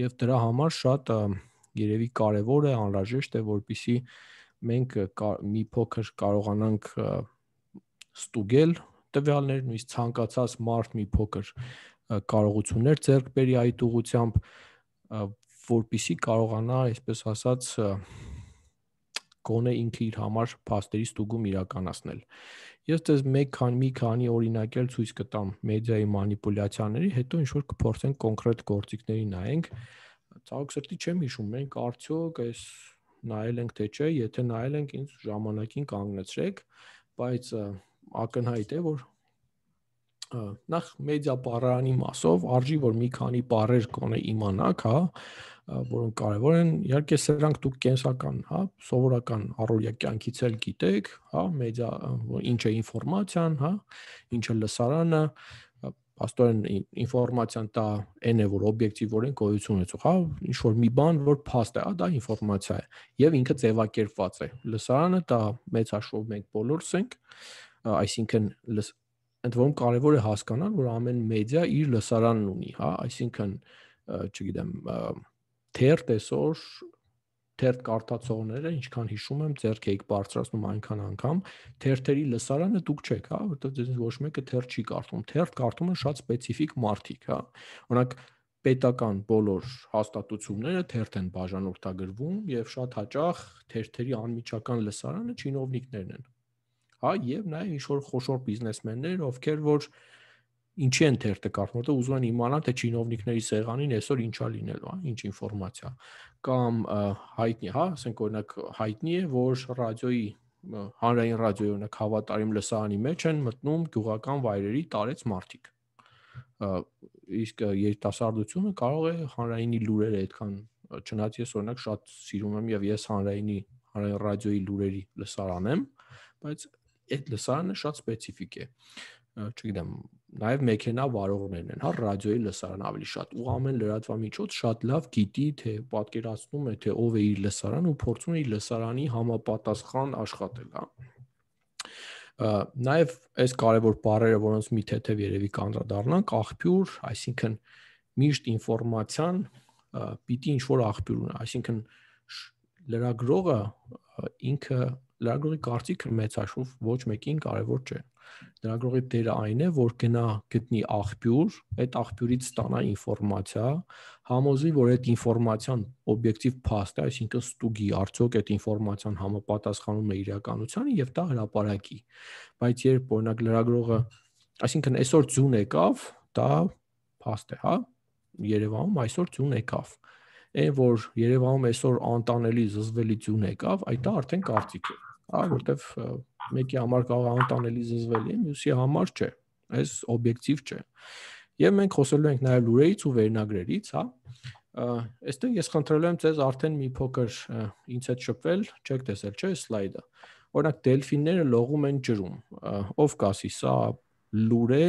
եւ դրա համար շատ երևի կարեւոր է, անհրաժեշտ է, որպեսզի մենք մի փոքր կարողանանք ստուգել տվյալներ, նույնիսկ ցանկացած մարդ մի փոքր կարողություններ ձեռք բերի այդ ուղղությամբ, որպեսզի կարողանա, այսպես ասած, գոնե ինքը իր համար փաստերի ստուգում իրականացնել։ Ես ձեզ մեկ քանի մի քանի օրինակ էլ ցույց կտամ մեդիայի մանիպուլյացիաների, հետո ինչ որ կփորձենք կոնկրետ գործիքների նայենք։ Ցավոք սրտի չեմ հիշում, մենք արդյոք այս նայել ենք թե չէ, եթե նայել ենք, ինձ ժամանակին կանգնեցրեք, բայց ակնհայտ է, որ նախ մեդիա բառարանի մասով արժի որ մի քանի բառեր կոնե իմանաք, հա, որոնք կարևոր են, իհարկե սրանք դուք կենսական, հա, սովորական առօրյա կյանքից էլ գիտեք, հա, մեդիա ինչ է ինֆորմացիան, հա, ինչ է լսարանը, աստորեն ինֆորմացիան դա այն է, որ օբյեկտիվորեն գոյություն ունեցող, հա, ինչ որ մի բան, որ փաստ է, հա, դա ինֆորմացիա է, եւ ինքը ձևակերպված է։ Լսարանը դա մեծ հաշվով մենք բոլորս ենք, այսինքն ընդ որում կարևոր է հասկանալ, որ ամեն մեդիա իր լսարանն ունի, հա, այսինքն, չգիտեմ, թերթ այսօր թերթ կարդացողները, ինչքան հիշում եմ, ձեռք եք բարձրացնում այնքան անգամ, թերթերի լսարանը դուք չեք, հա, որտեղ ձեզ ոչ մեկը թերթ չի կարդում, թերթ կարդում են շատ սպეციფიկ մարդիկ, հա, օրինակ պետական բոլոր հաստատությունները թերթ են բաժանորդագրվում եւ շատ հաճախ թերթերի անմիջական լսարանը չինովնիկներն են, հա, եւ նաեւ ինչ որ խոշոր բիզնեսմեններ, ովքեր որ ինչի են թերթը կարդում, որտեղ ուզում են իմանալ թե չինովնիկների սեղանին այսօր ինչա լինելու, հա, ինչ ինֆորմացիա կամ հայտնի, հա, ասենք օրինակ հայտնի է, որ ռադիոյի հանրային ռադիոյի օրինակ հավատարիմ լսարանի մեջ են մտնում գյուղական վայրերի տարեց մարդիկ։ Իսկ երիտասարդությունը կարող է հանրայինի լուրերը այդքան, չնայած ես օրինակ շատ սիրում եմ եւ ես հանրայինի հանրային ռադիոյի լուրերի լսարան եմ, բայց այդ լսարանը շատ սպეციფიկ է։ Չգիտեմ, նաև մեքենա վարողներն են, հա, ռադիոյի լսարան ավելի շատ, ու ամեն լրատվամիջոց շատ լավ գիտի, թե պատկերացնում է, թե ով է իր լսարան ու փորձում է իր լսարանի համապատասխան աշխատել, հա։ Նաև այս կարևոր բառերը, որոնց մի թեթև երևի կանդրադառնանք, աղբյուր, այսինքն միշտ ինֆորմացիան պիտի ինչ-որ աղբյուր ունենա, այսինքն լրագրողը ինքը լրագրողի կարծիքը մեծ հաշվով ոչ մեկին կարևոր չէ։ Լրագրողի դերը այն է, որ գնա գտնի աղբյուր, այդ աղբյուրից ստանա ինֆորմացիա, համոզի, որ այդ ինֆորմացիան օբյեկտիվ փաստ է, այսինքն ստուգի, արդյոք այդ ինֆորմացիան համապատասխանում է իրականությանը եւ դա հրապարակի։ Բայց երբ օրինակ լրագրողը, այսինքն այսօր ձյուն եկավ, դա փաստ է, հա, Երևանում այսօր ձյուն եկավ։ Այն որ Երևանում այսօր անտանելի զզվելի ձյուն եկավ, այդ դա արդեն կարծիք է, հա, որտեվ մեկի համար կարող է անտանելի զզվելի, մյուսի համար չէ, այս օբյեկտիվ չէ։ Եվ մենք խոսելու ենք նաև լուրերից ու վերնագրերից, հա։ Այստեղ ես խնդրել եմ ձեզ արդեն մի փոքր ինձ հետ շփվել, չեք տեսել, չէ՞, սլայդը։ Օրինակ դելֆինները լողում են ջրում։ Ով կասի, սա լուր է,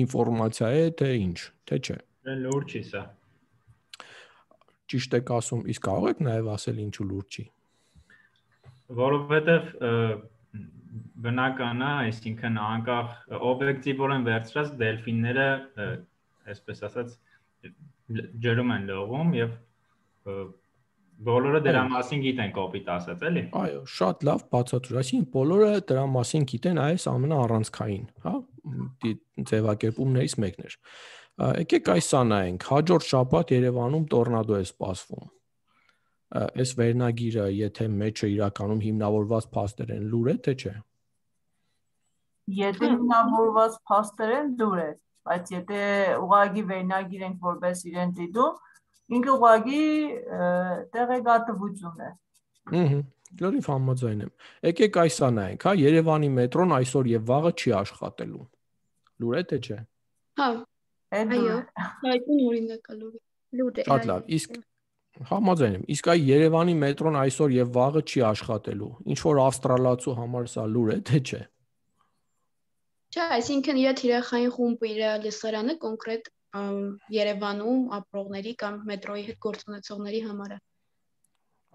ինֆորմացիա է, թե ինչ, թե չէ։ Լուր չի սա։ Ճիշտ եք ասում, իսկ կարող եք նաև ասել ինչու լուր չի։ Որովհետև բնական է, այսինքն անկախ օբյեկտիվորեն վերցրած դելֆինները, այսպես ասած, ջրում են լողում եւ բոլորը դրա մասին գիտեն, կոպիտ ասած, էլի։ Այո, շատ լավ բացատրում, այսինքն բոլորը դրա մասին գիտեն, այս ամենաառանցքային, հա, ձևակերպումներից մեկն էր։ Եկեք այս սա նայենք, հաջորդ շաբաթ Երևանում տորնադո է սպասվում։ Այս վերնագիրը, եթե մեջը իրականում հիմնավորված փաստեր են, լուր է, թե չէ։ Եթե հիմնավորված փաստեր են, լուր է, բայց եթե ուղղակի վերնագիր ենք որպես իրեն դիտում, ինքը ուղղակի տեղեկատվություն է։ Ահա, լրիվ համաձայն եմ։ Եկեք այս սա նայենք, հա, Երևանի մետրոն այսօր եւ վաղը չի աշխատելու։ Լուր է, թե չէ։ Հա, այո, այդ օրինակ է լուրը։ Լուր է։ Շատ լավ, իսկ համաձայն եմ, իսկ այ Երևանի մետրոն այսօր եւ վաղը չի աշխատելու։ Ինչ որ ավստրալացու համար սա լուր է, թե չէ։ Չէ, այսինքն իր թիրախային խումբը, իր լսարանը կոնկրետ Երևանում ապրողների կամ մետրոյի հետ գործ ունեցողների համար է։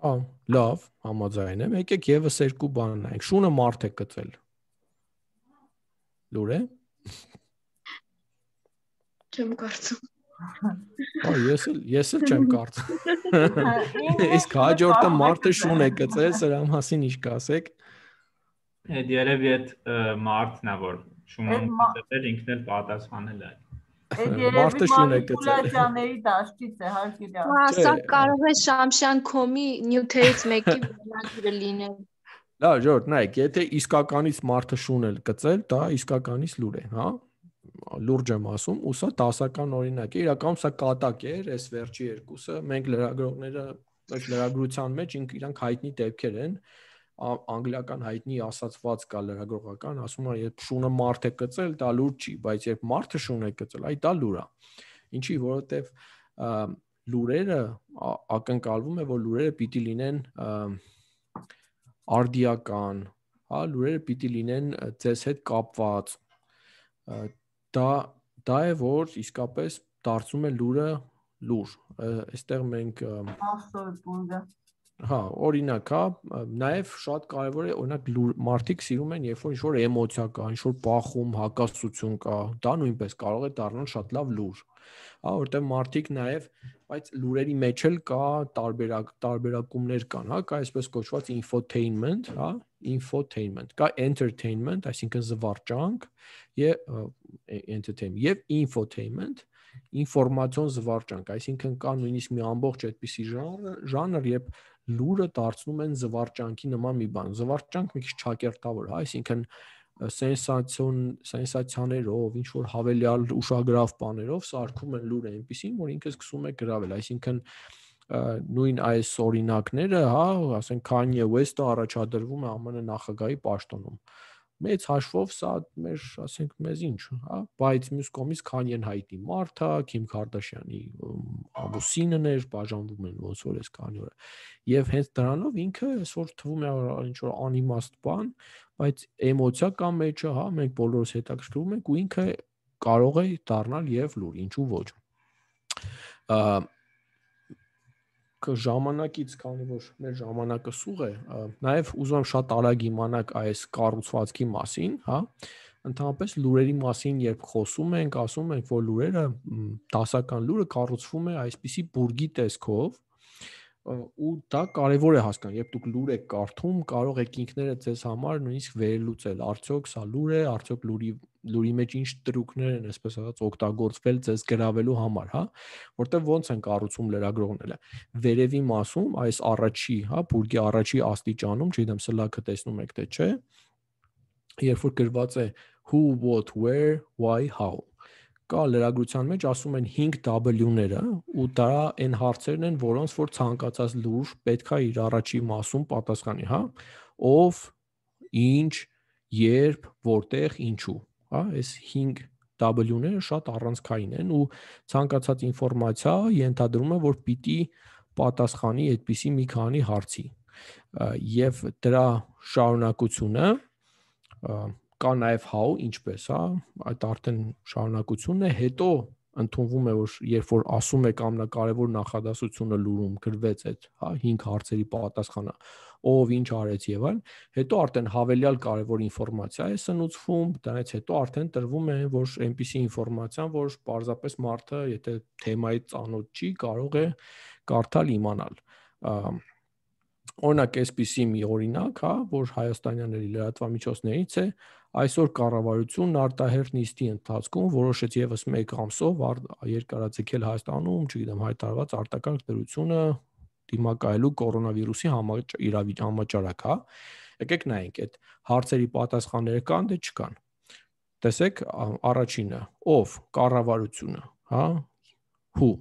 Ահա, լավ, համաձայն եմ։ Եկեք եւս երկու բան նայենք։ Շունը մարդ է գծել։ Լուր է։ Չեմ կարծում։ Ահա, ես էլ ես էլ չեմ կարծում։ Իսկ հաջորդը մարդը շուն է գծել, սրա մասին ինչ կասեք։ Այդ երևի այդ մարդն է, որ շունը գծել, ինքն էլ պատասխանել է։ Մարդը շուն է գծել։ Մանիպուլյացիաների դաշտից է, հարկի դա։ Հա, սա կարող է Շամշան կոմի նյութերից մեկի վերնագիրը լինել։ Լավ, Ժորժ, նայեք, եթե իսկականից մարդը շուն է գծել, դա իսկականից լուր է, հա։ Լուրջ եմ ասում, ու սա դասական օրինակ է, իրականում սա կատակ էր, այս վերջի երկուսը, մենք լրագրողները, այս լրագրության մեջ իրանք հայտնի դեպքեր են, անգլիական հայտնի ասացված կա լրագրողական, ասում է, երբ շունը մարդ է գծել, դա լուր չի, բայց երբ մարդը շուն է գծել, այ դա լուր է։ Ինչի, որովհետև լուրերը ակնկալվում է, որ լուրերը պիտի լինեն արդիական, հա, լուրերը պիտի լինեն ձեզ հետ կապված։ Դա դա է, որ իսկապես դարձում է լուրը լուր։ Այստեղ մենք Հա, օրինակ, հա, նաև շատ կարևոր է, օրինակ մարդիկ սիրում են, երբ որ ինչ-որ էմոցիա կա, ինչ-որ բախում, հակասություն կա, դա նույնպես կարող է դառնալ շատ լավ լուր։ Հա, որտեղ մարդիկ նաև, բայց լուրերի մեջ էլ կա տարբերակ, տարբերակումներ կան, հա, կա այսպես կոչված infotainment, հա, infotainment, կա entertainment, այսինքն զվարճանք, եւ entertainment, եւ infotainment, ինֆորմացիոն զվարճանք, այսինքն կա նույնիսկ մի ամբողջ այդպիսի ժանր, երբ լուրը դարձնում են զվարճանքի նման մի բան։ Զվարճանք մի քիչ ճակերտավոր, հա, այսինքն սենսացիոն սենսացիաներով, ինչ որ հավելյալ ուշագրավ բաներով սարքում են լուրը այնպեսին, որ ինքը սկսում է գրավել, այսինքն նույն այս օրինակները, հա, ասենք Kanye West-ը առաջադրվում է ԱՄՆ նախագահի պաշտոնում։ Մեծ հաշվով սա մեր, ասենք, մեզ ինչ, հա, բայց մյուս կողմից Kanye-ն հայտնի մարդ է, Kim Kardashian-ի ամուսինն էր, բաժանվում են ոնց որ էս քանի օր։ Եվ հենց դրանով ինքը այսօր թվում է ինչ որ անիմաստ բան, բայց էմոցիա կա մեջը, հա, մենք բոլորս հետաքրքրվում ենք ու ինքը կարող է դառնալ եւ լուր, ինչու ոչ։ Ժամանակից, քանի որ մեր ժամանակը սուղ է, նաև ուզում եմ շատ արագ իմանալ այս կառուցվածքի մասին, հա, ընդհանրապես լուրերի մասին, երբ խոսում ենք, ասում ենք, որ լուրերը, դասական լուրը կառուցվում է այսպիսի բուրգի տեսքով, ու դա կարևոր է հասկանալ, երբ դուք լուր եք կարդում, կարող եք ինքներդ ձեզ համար նույնիսկ վերլուծել, արդյոք սա լուր է, արդյոք լուրի լուրի մեջ ինչ տրուկներ են, այսպես ասած, օգտագործվել ձեզ գրավելու համար, հա, որտեղ ոնց են կառուցում լրագրողները։ Վերևի մասում, այս առաջի, հա, բուրգի առաջի աստիճանում, չգիտեմ, սլաքը տեսնում եք թե չէ, երբ որ գրված է who, what, where, why, how, կա լրագրության մեջ ասում են հինգ W-ները, ու դա այն հարցերն են, որոնց որ ցանկացած լուր պետք է իր առաջի մասում պատասխանի, հա, ով, ինչ, երբ, որտեղ, ինչու, հա, այս հինգ W-ները շատ առանցքային են ու ցանկացած ինֆորմացիա ենթադրում է, որ պիտի պատասխանի այդպիսի մի քանի հարցի։ Եվ դրա շարունակությունը կա նաև how, ինչպես, հա, այդ արդեն շարունակությունն է, հետո ընդունվում է, որ երբ որ ասում եք ամենակարևոր նախադասությունը լուրում գրվեց այդ, հա, հինգ հարցերի պատասխանը, ով ինչ արեց եւ այլն, հետո արդեն հավելյալ կարևոր ինֆորմացիա է սնուցվում, դրանից հետո արդեն տրվում է, որ այնպիսի ինֆորմացիան, որ պարզապես մարդը, եթե թեմայի ծանոթ չի, կարող է կարդալ, իմանալ։ Օրինակ, այսպիսի մի օրինակ, հա, որ հայաստանյանների լրատվամիջոցներից է, այսօր կառավարությունն արտահերթ նիստի ընթացքում որոշեց եւս մեկ ամսով երկարաձգել Հայաստանում, չգիտեմ, հայտարարված արտակարգ դրությունը դիմակայելու կորոնավիրուսի համաճարակ, հա։ Եկեք նայենք, այդ հարցերի պատասխանները կան, դե չկան։ Տեսեք, առաջինը, ով, կառավարությունը, հա, who,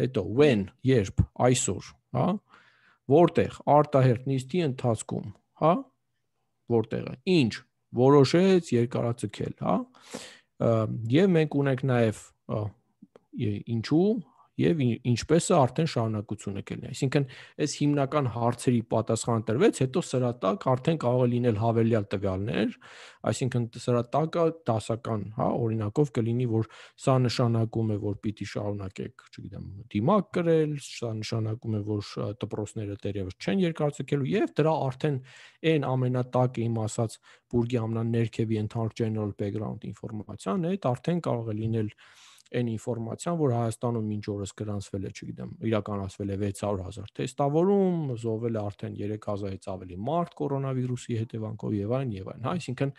հետո when, երբ, այսօր, հա, որտեղ, արտահերթ նիստի ընթացքում, հա, որտեղը, ինչ, որոշեց երկարաձգել, հա, եւ մենք ունենք նաեւ ինչու եւ ինչպես է արդեն շարունակությունը կլինի։ Այսինքն, այս հիմնական հարցերի պատասխան տրվեց, հետո սրա տակ արդեն կարող է լինել հավելյալ տվյալներ, այսինքն սրա տակը դասական, հա, օրինակով կլինի, որ սա նշանակում է, որ պիտի շարունակեք, չգիտեմ, դիմակ կրել, սա նշանակում է, որ դպրոցները դեռևս չեն երկարաձգելու եւ դրա արդեն այն ամենատակը իմ ասած բուրգի ամենաներքևի ընդհանուր general background ինֆորմացիան է, դա արդեն կարող է լինել այն ինֆորմացիան, որ Հայաստանում մինչ օրս գրանցվել է, չգիտեմ, իրականացվել է վեց հարյուր հազար թեստավորում, զոհվել է արդեն երեք հազարից ավելի մարդ կորոնավիրուսի հետևանքով եւ այլն եւ այլն, հա, այսինքն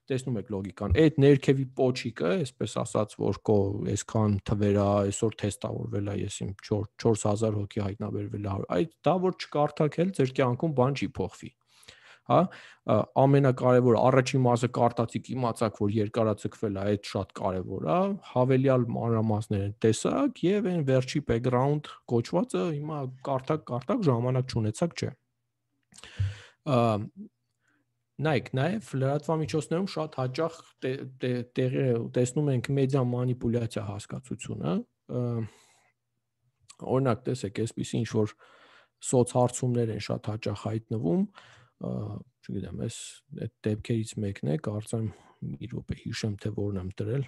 տեսնում եք լոգիկան։ Այդ ներքևի պոչիկը, այսպես ասած, որ կո այսքան թվեր է, այսօր թեստավորվել է, ես իմ չորս հազար հոգի հայտնաբերվել է, այդ դա որ չկարդաք էլ ձեր կյանքում բան չի փոխվի։ Հա, ամենակարևորը առաջին մասը կարտացիք իմացաք, որ երկարաձգվել է, այդ շատ կարևոր է, հավելյալ մանրամասները տեսակ եւ այն վերջի background կոչվածը հիմա կարդակ, կարդակ ժամանակ չունեցաք, չէ։ Նայեք, նաեւ լրատվամիջոցներում շատ հաճախ տեղի տեսնում ենք մեդիա մանիպուլյացիա հասկացությունը, օրինակ տեսեք, այսպեսի ինչ որ սոցհարցումներ են շատ հաճախ հայտնվում, չգիտեմ, այս այդ դեպքերից մեկն է, կարծեմ մի րոպե հիշեմ, թե որն եմ դրել։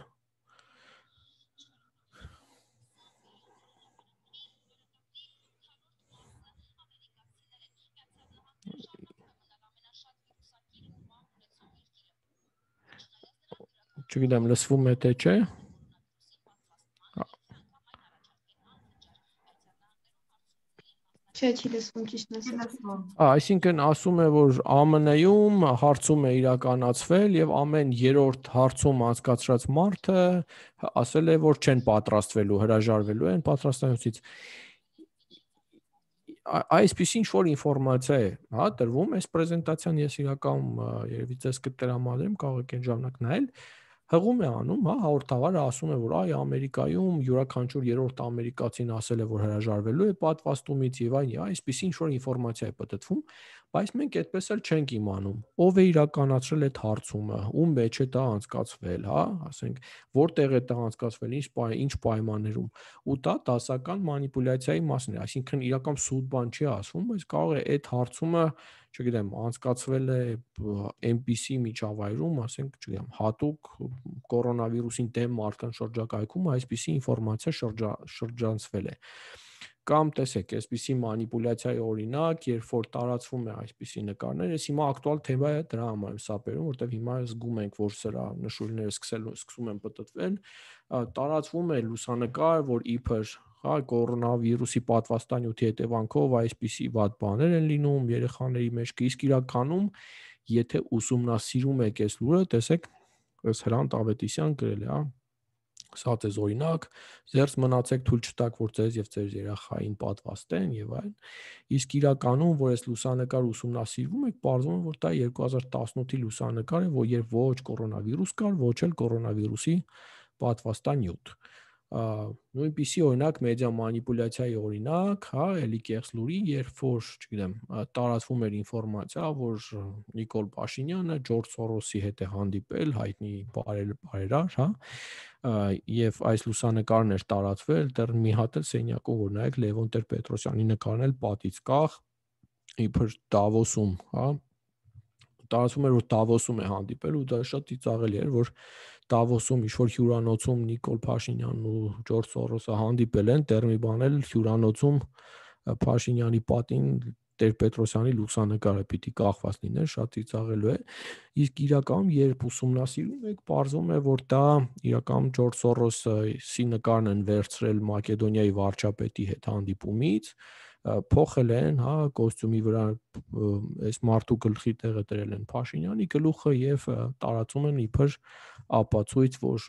Չգիտեմ, լսվում է թե չէ։ Չէ, չի լսվում, ճիշտն ասած։ Այսինքն ասում է, որ Á Մը Նեում հարցում է իրականացվել եւ ամեն երրորդ հարցում անցկացրած մարդը ասել է, որ չեն պատրաստվելու, հրաժարվելու են պատրաստանյութից։ Այսպիսի ինչ-որ ինֆորմացիա է, հա, տրվում, այս պրեզենտացիան ես իրականում երևի ձեզ կտրամադրեմ, կարող եք այն ժամանակ նայել, հղում է անում, հա, հաղորդավարը ասում է, որ այ Ամերիկայում յուրաքանչյուր երրորդ ամերիկացին ասել է, որ հրաժարվելու է պատվաստումից եւ այն, այսպիսի ինչ-որ ինֆորմացիա է պատտվում, բայց մենք այդպես էլ չենք իմանում, ով է իրականացրել այդ հարցումը, ում մեջ է դա անցկացվել, հա, ասենք, որտեղ է դա անցկացվել, ինչ ինչ պայմաններում, ու դա դասական մանիպուլյացիայի մասն է, այսինքն իրական սուտ բան չի ասվում, բայց կարող է այդ հարցումը, չգիտեմ, անցկացվել է այնպիսի միջավայրում, ասենք, չգիտեմ, հատուկ կորոնավիրուսին դեմ մարդկանց շրջակայքում այսպիսի ինֆորմացիա շրջանցվել է։ Կամ տեսեք, այսպիսի մանիպուլյացիայի օրինակ, երբ որ տարածվում է այսպիսի նկարներ, ես հիմա ակտուալ թեմա է դրա համար եմ սա բերում, որտեղ հիմա զգում ենք, որ սրա նշույլները սկսելու սկսում են պտտվել, տարածվում է լուսանկար, որ իբր հա կորոնավիրուսի պատվաստանյութի հետևանքով այսպիսի վատ բաներ են լինում երեխաների մեջ, իսկ իրականում, եթե ուսումնասիրում եք այս լուրը, տեսեք, ըստ Հրանտ Ավետիսյան գրել է, հա, սա ձեզ օրինակ, ձերս մնացեք թույլ չտաք, որ ձեզ եւ ձեր երեխային պատվաստեն եւ այլն, իսկ իրականում, որ այս լուսանկար ուսումնասիրվում եք, պարզվում է, որ դա երկու հազար տասնութի լուսանկար է, որ երբ ոչ կորոնավիրուս կար, ոչ էլ կորոնավիրուսի պատվաստանյութ։ Նույնպիսի օրինակ մեդիա մանիպուլյացիայի օրինակ, հա, էլի կեղծ լուրի, երբ որ, չգիտեմ, տարածվում էր ինֆորմացիա, որ Նիկոլ Փաշինյանը Ջորջ Սորոսի հետ է հանդիպել, հայտնի բարերար, հա, եւ այս լուսանկարն էր տարածվել, դեռ մի հատ էլ սենյակում, որ նայեք Լևոն Տեր-Պետրոսյանի նկարն էլ պատից կախ, իբր Դավոսում, հա, տարածվում էր, որ Դավոսում է հանդիպել ու դա շատ ծիծաղելի էր, որ Դավոսում ինչ-որ հյուրանոցում Նիկոլ Փաշինյանն ու Ջորջ Սորոսը հանդիպել են, դեռ մի բան էլ հյուրանոցում Փաշինյանի պատին Տեր-Պետրոսյանի լուսանկարը պիտի կախված լիներ, շատ ծիծաղելու է, իսկ իրականում երբ ուսումնասիրում եք, պարզվում է, որ դա իրականում Ջորջ Սորոսի նկարն են վերցրել Մակեդոնիայի վարչապետի հետ հանդիպումից, փոխել են, հա, կոստյումի վրա այս մարդու գլխի տեղը դրել են Փաշինյանի գլուխը եւ տարածում են իբր ապացույց, որ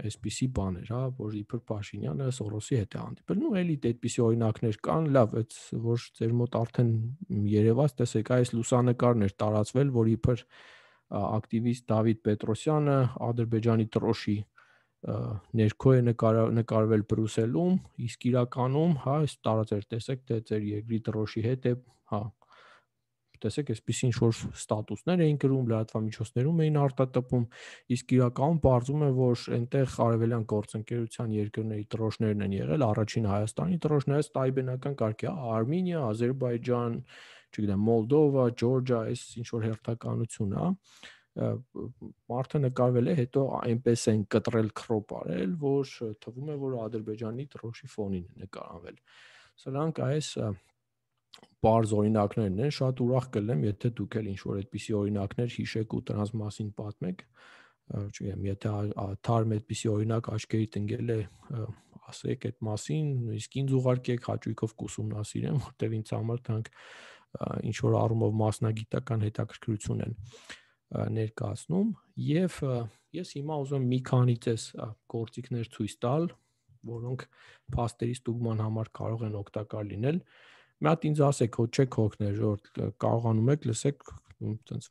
այսպիսի բաներ, հա, որ իբր Փաշինյանը Սորոսի հետ է հանդիպել։ Նու էլի այդպիսի օրինակներ կան, լավ, այդ որ ձեր մոտ արդեն երևաց, տեսեք, այս լուսանկարն էր տարածվել, որ իբր ակտիվիստ Դավիթ Պետրոսյանը Ադրբեջանի տրոշի ներքո է նկարվել Բրուսելում, իսկ իրականում, հա, այս տարածեր, տեսեք, թե ձեր երկրի տրոշի հետ է, հա, տեսեք, այսպիսի ինչ-որ ստատուսներ էին գրում, լրատվամիջոցներում էին արտատպում, իսկ իրականում պարզվում է, որ այնտեղ արևելյան գործընկերության երկրների տրոշներն են եղել, առաջին Հայաստանի տրոշները տայբենական կարգի, Արմենիա, Ադրբեջան, չգիտեմ, Մոլդովա, Ջորջիա, այս ինչ-որ հերթականություն, հա, մարդը նկարվել է, հետո այնպես են կտրել քրոպ արել, որ թվում է, որ Ադրբեջանի տրոշի ֆոնին է նկարանվել։ Սրանք այս բարձ օրինակներն են, շատ ուրախ կլինեմ, եթե դուք էլ ինչ-որ այդպիսի օրինակներ հիշեք ու դրանց մասին պատմեք, չգիտեմ, եթե թարմ այդպիսի օրինակ աչքերիդ ընկել է, ասեք այդ մասին, իսկ ինձ ուղարկեք, հաճույքով կուսումնասիրեմ, որտեղ ինձ համար դրանք ինչ-որ առումով մասնագիտական հետաքրքրություն են ներկայացնում եւ ես հիմա ուզում եմ մի քանի ձեզ գործիքներ ցույց տալ, որոնք փաստերի ստուգման համար կարող են օգտակար լինել։ Մի հատ ինձ ասեք, հո չեք հոգներ, որ կարողանում եք, լսեք, այնպես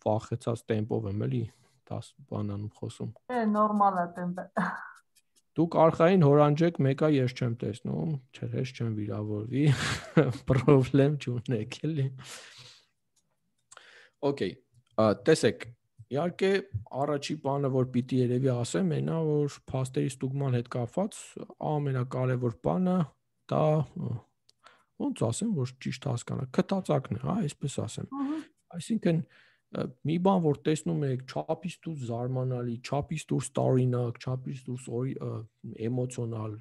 վախեցած տեմպով եմ էլի դաս բանանում խոսում։ Է նորմալ է տեմպը։ Դուք արխային հորանջեք, մեկա ես չեմ տեսնում, չէ, ես չեմ վիրավորվի, պրոբլեմ չունեք էլի։ Okay, տեսեք, իհարկե առաջի բանը, որ պիտի երևի ասեմ, այնա, որ փաստերի ստուգման հետ կապված ամենակարևոր բանը դա ոնց ասեմ, որ ճիշտ հասկանա, քթածակն է, հա, այսպես ասեմ։ Այսինքն մի բան, որ տեսնում եք, չափից դուրս զարմանալի, չափից դուրս տարօրինակ, չափից դուրս էմոցիոնալ,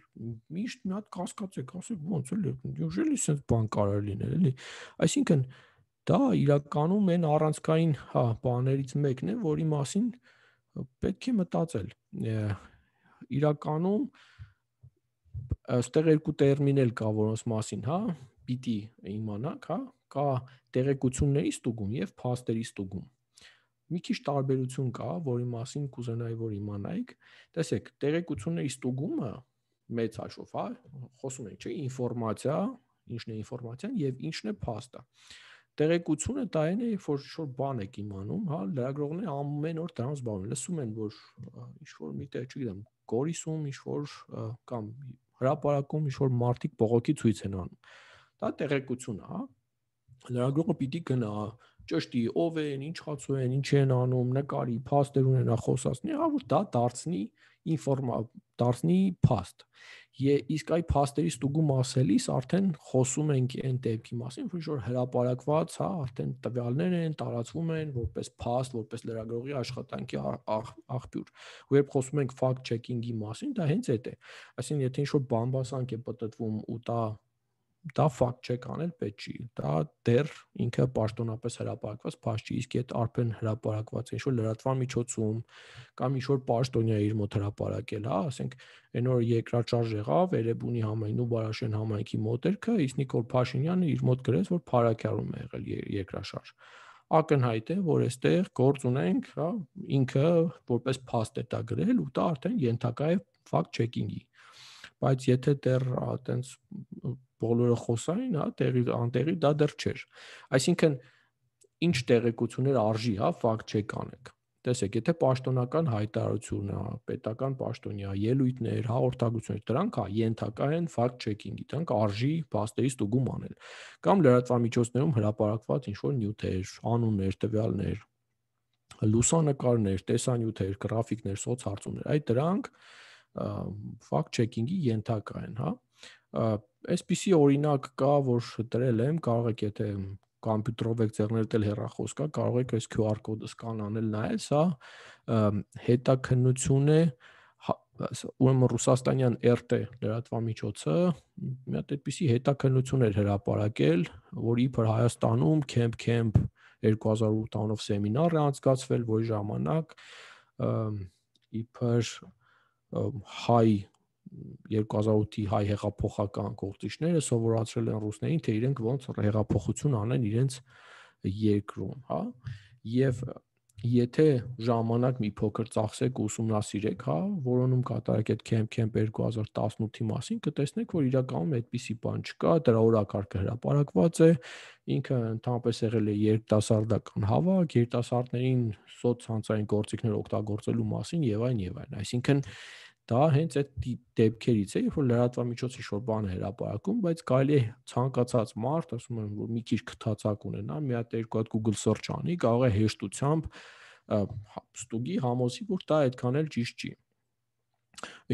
միշտ մի հատ կասկածեք, ասեք, ոնց էլի, ուժելի sense բան կարող լինել, էլի։ Այսինքն դա իրականում այն առանցքային, հա, բաներից մեկն է, որի մասին պետք է մտածել։ Իրականում Այստեղ երկու տերմին էլ կա, որոնց մասին, հա, պիտի իմանանք, հա, կա տեղեկությունների ստուգում եւ փաստերի ստուգում։ Մի քիչ տարբերություն կա, որի մասին կուզենայի, որ իմանայիք։ Տեսեք, տեղեկությունների ստուգումը մեծ հաշվով, հա, խոսում ենք, չէ՞, ինֆորմացիա, ինչն է ինֆորմացիան եւ ինչն է փաստը։ Տեղեկությունը դա այն է, որ ինչ-որ բան եք իմանում, հա, լրագրողները ամեն օր դրանց զբաղվում են, լսում են, որ ինչ-որ միտեղ, չգիտեմ, Գորիսում ինչ-որ կամ հրապարակում ինչ-որ մարդիկ բողոքի ցույց են անում։ Դա տեղեկություն է, հա։ Լրագրողը պիտի գնա, ճշտի ով են, ինչ խացու են, ինչ են անում, նկարի, փաստեր ունենա, խոսացնի, հա, որ դա դարձնի ինֆորմա, դարձնի փաստ։ Իսկ այ փաստերի ստուգում ասելիս արդեն խոսում ենք այն դեպքի մասին, որ ինչ-որ հրապարակված, հա, արդեն տվյալներ են, տարածվում են որպես փաստ, որպես լրագրողի աշխատանքի աղբյուր։ Ու երբ խոսում ենք fact checking-ի մասին, դա հենց այդ է։ Այսինքն, եթե ինչ-որ բամբասանք է պատտվում ու դա դա fact check անել պետք չի, դա դեռ ինքը պաշտոնապես հրապարակված փաստ չի, իսկ այդ արդեն հրապարակված ինչ-որ լրատվական միջոցում կամ ինչ-որ պաշտոնյա իր մոտ հրապարակել, հա, ասենք այն օրը երկրաշարժ եղավ, Էրեբունի համայնքն ու Բարաշեն համայնքի մոտերքը, իսկ Նիկոլ Փաշինյանը իր մոտ գրեց, որ փարաքյարում է եղել երկրաշարժ։ Ակնհայտ է, որ այստեղ գործ ունենք, հա, ինքը որպես փաստ է դա գրել ու դա արդեն ենթակա է fact checking-ի։ Բայց եթե դեռ այտենց բոլորը խոսային, հա, տեղի անտեղի դա դեռ չէր։ Այսինքն ինչ տեղեկություններ արժի, հա, fact check անեք։ Տեսեք, եթե պաշտոնական հայտարարություն է, պետական պաշտոնյա, ելույթներ, հաղորդագրություններ, դրանք հա ենթակա են fact checking-ի, դրանք արժի փաստերի ստուգում անել։ Կամ լրատվամիջոցներում հրապարակված ինչ-որ նյութեր, անուններ, տվյալներ, լուսանկարներ, տեսանյութեր, գրաֆիկներ, սոցհարցումներ, այդ դրանք fact checking-ի ենթակա են, հա։ Այսպիսի օրինակ կա, որ դրել եմ, կարող եք եթե կոմպյուտերով եք ձեռներդ էլ հեռախոս կա, կարող եք այս Q R կոդը սկանանել նայել, սա հետաքննություն է, ուրեմն ռուսաստանյան R T լրատվամիջոցը մի հատ այդպիսի հետաքննություն էր հրապարակել, որ իբր Հայաստանում Camp Camp երկու հազար ութ անով սեմինար է անցկացվել, որի ժամանակ իբր հայ երկու հազար ութի հայ հեղափոխական գործիչները սովորացրել են ռուսներին, թե իրենք ոնց հեղափոխություն անեն իրենց երկրում, հա, եւ եթե ժամանակ մի փոքր ծախսեք ու ուսումնասիրեք, հա, որոնում կատարեք այդ Camp Camp երկու հազար տասնութի մասին, կտեսնեք, որ իրականում այդպիսի բան չկա, դրա օրակարգը հրապարակված է, ինքը ընդհանրապես եղել է երիտասարդական հավաք, երիտասարդներին սոցցանցային գործիքներ օգտագործելու մասին եւ այն եւ այն, այսինքն դա հենց այդ դեպքերից է, որ լրատվամիջոցը ինչ-որ բան է հրապարակում, բայց կարելի է ցանկացած մարդ, ասում եմ, որ մի քիչ քթացակ ունենա, մի հատ երկու հատ Google search անի, կարող է հեշտությամբ ստուգի համոզի, որ դա այդքան էլ ճիշտ չի։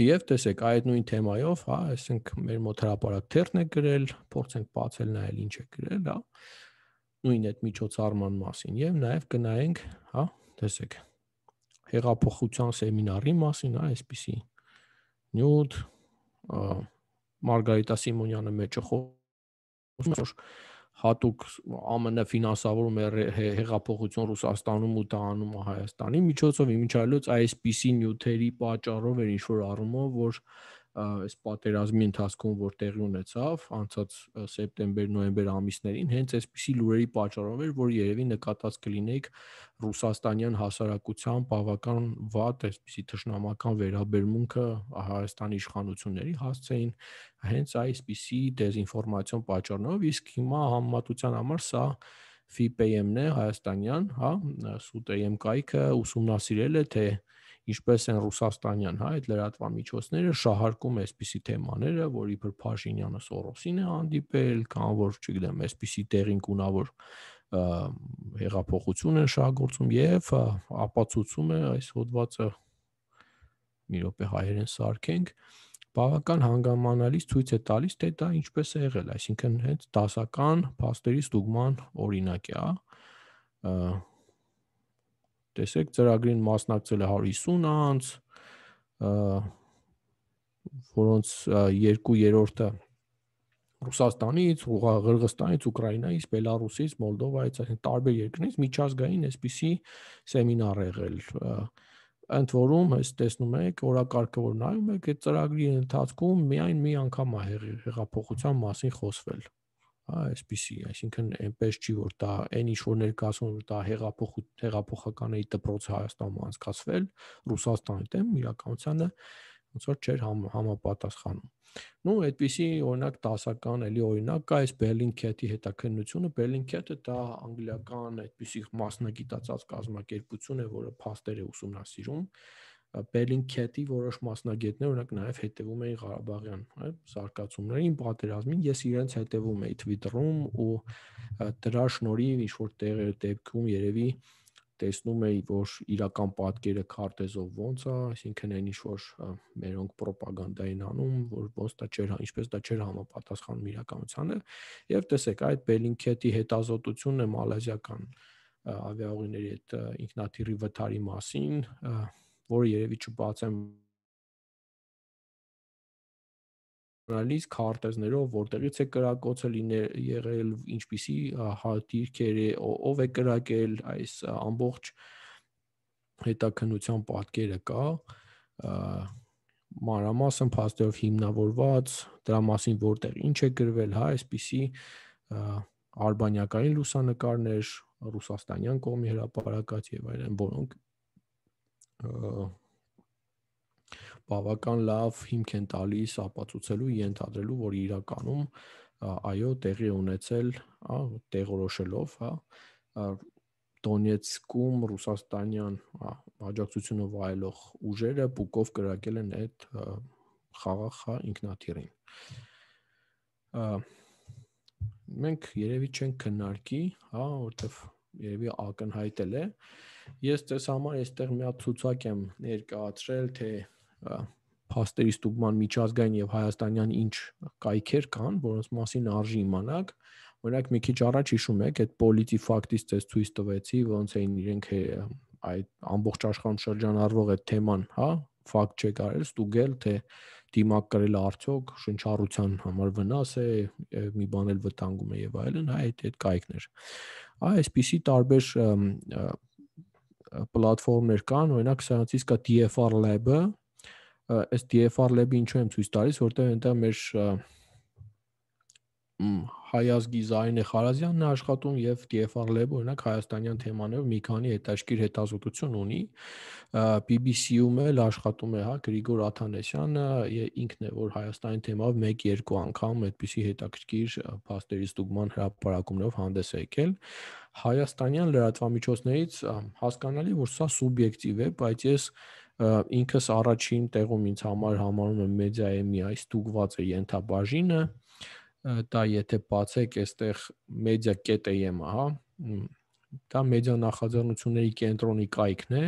Եվ տեսեք, այդ նույն թեմայով, հա, այսինք մեր մոտ հրապարակ թերթն է գրել, փորձենք բացել նայել ինչ է գրել, հա, նույն այդ միջոցառման մասին եւ նաեւ կնայենք, հա, տեսեք, հեղափոխության սեմինարի մասին, հա, այսպիսի նյութ Մարգարիտա Սիմոնյանը մեջը խոսում է, որ հատուկ A M N ֆինանսավորում է հեղափոխություն Ռուսաստանում ու դա անում է Հայաստանի միջոցով, իմիջիայլոց այսպիսի նյութերի պատճառով էր ինչ-որ առումով, որ այս պատերազմի ընթացքում որ տեղի ունեցավ անցած սեպտեմբեր-նոյեմբեր ամիսներին, հենց այսպիսի լուրերի պատճառով էր, որ երևի նկատած կլինեիք ռուսաստանյան հասարակության բավական վատ այսպիսի թշնամական վերաբերմունքը Հայաստանի իշխանությունների հասցեին հենց այսպիսի դեզինֆորմացիոն պատճառներով, իսկ հիմա համեմատության համար սա F I P M-ն է հայաստանյան, հա, Սուտեյեմ կայքը ուսումնասիրել է, թե ինչպես են ռուսաստանյան, հա, այդ լրատվամիջոցները շահարկում այսպիսի թեմաները, որ իբր Փաշինյանը Սորոսին է հանդիպել, կամ որ, չգիտեմ, այսպիսի տեղին կունավոր հեղափոխություն են շահագործում եւ ապացուցում է այս հոդվածը մի րոպե հայերեն սարքենք, բավական հանգամանալից ցույց է տալիս, թե դա ինչպես է եղել, այսինքն հենց դասական փաստերի ստուգման օրինակ է, հա։ Տեսեք, ծրագրին մասնակցել է հարյուր հիսուն անձ, որոնց երկու երրորդը Ռուսաստանից, Ղրղստանից, Ուկրաինայից, Բելարուսից, Մոլդովայից, այսինքն տարբեր երկրներից միջազգային այսպիսի սեմինար եղել։ ընդ որում այս տեսնում եք օրակարգը որ նայում եք այդ ծրագրի ընթացքում միայն մի անգամ է հեղափոխության մասին խոսվել, հա, այսպեսի, այսինքն այնպես չի որ դա այն ինչ որ ներկայացնում որ դա հեղափոխ հեղափոխական էի դպրոցը Հայաստանում անցկացվել Ռուսաստանի դեմ իրականությանը ոնց որ չէր համ, համապատասխանում։ Ну, այդպիսի օրինակ դասական էլի օրինակ կա այս Bellingcat-ի հետաքննությունը, Bellingcat-ը դա անգլիական այդպիսի մասնագիտացած կազմակերպություն է, որը փաստեր է ուսումնասիրում։ Bellingcat-ի որոշ մասնագետներ օրինակ նաև հետևում էին Ղարաբաղյան, այ զարգացումներին, պատերազմին, ես իրենց հետևում էի Twitter-ում ու դրա շնորհիվ ինչ որ տեղեր դեպքում երևի տեսնում էի, որ իրական պատկերը քարտեզով ոնց է, այսինքն այն ինչ որ մերոնք ռոպագանդային անում, որ ոնց դա չէր, ինչպես դա չէր համապատասխանում իրականությանը, եւ տեսեք, այդ Bellingcat-ի հետազոտությունը մալազիական ավիաուղիների այդ ինքնաթիռի վթարի մասին, որը երևի չբացեմ Անալիզ քարտեզներով որտեղից է կրակոցը եղել, ինչպիսի դիրքեր է, ով է կրակել, այս ամբողջ հետաքննության պատկերը կա, մանրամասն փաստերով հիմնավորված, դրա մասին որտեղ ինչ է գրվել, հա, այսպիսի արբանյակային լուսանկարներ, ռուսաստանյան կողմի հրապարակած եւ այլն, որոնք բավական լավ հիմք են տալիս ապացուցելու, ենթադրելու, որ իրականում այո, տեղի ունեցել, հա, տեղորոշելով, հա, Դոնեցկում ռուսաստանյան աջակցությունը վայելող ուժերը բուկով կրակել են այդ խաղաղ ինքնաթիռին։ Մենք երևի չենք քննարկի, հա, որտեվ երևի ակնհայտել է։ Ես ձեզ համար այստեղ մի հատ ցուցակ եմ ներկայացրել, թե փաստերի ստուգման միջազգային եւ հայաստանյան ինչ կայքեր կան, որոնց մասին արժի իմանալ։ Օրինակ մի քիչ առաջ հիշում եք, այդ PolitiFact-ից ցույց ցույց տվեցի, ոնց էին իրենք այդ ամբողջ աշխարհում շրջանառվող այդ թեման, հա, ֆակտ չեք արել, ստուգել, թե դիմակ կրել արդյոք շնչառության համար վնաս է, մի բան էլ վտանգում է եւ այլն, հա, այդ այդ կայքներ։ Այ այսպիսի տարբեր պլատֆորմներ կան, օրինակ սրանցից կա D F R Lab-ը, այս D F R Lab-ը ինչու եմ ցույց տալիս, որտեղ այնտեղ մեր Հայազգի Զարինե Խարազյանն է աշխատում եւ D F R Lab-ը օրինակ հայաստանյան թեմաներով մի քանի հետաքրքիր հետազոտություն ունի, B B C-ում էլ աշխատում է, հա, Գրիգոր Աթանեսյանը, ինքն է որ Հայաստանի թեմայով մեկ-երկու անգամ այդպիսի հետաքրքիր փաստերի ստուգման հրապարակումներով հանդես է եկել։ Հայաստանյան լրատվամիջոցներից հասկանալի որ սա սուբյեկտիվ է, բայց ես ինքս առաջին տեղում ինձ համար համարում եմ Media.am-ի ստուգված է ենթաբաժինը, դա եթե բացեք այստեղ media.am-ը, հա, դա մեդիա նախաձեռնությունների կենտրոնի կայքն է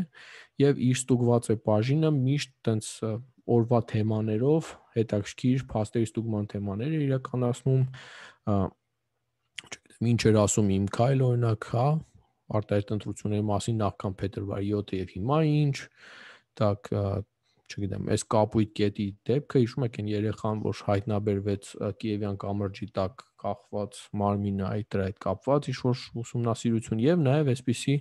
եւ իր ստուգված է բաժինը միշտ տենց օրվա թեմաներով հետաքրքիր փաստերի ստուգման թեմաներ է իրականացնում, չգիտեմ ինչ էր ասում իմ քայլ օրինակ, հա, արտահայտ ընտրությունների մասին նախքան փետրվարի յոթը եւ հիմա ինչ, так չգիտեմ, այս կապույտ կետի դեպքը հիշում եք այն երեխան, որ հայտնաբերվեց Կիևյան կամրջի տակ կախված մարմինը, այդ դրա հետ կապված ինչ-որ ուսումնասիրություն եւ նաեւ այսպիսի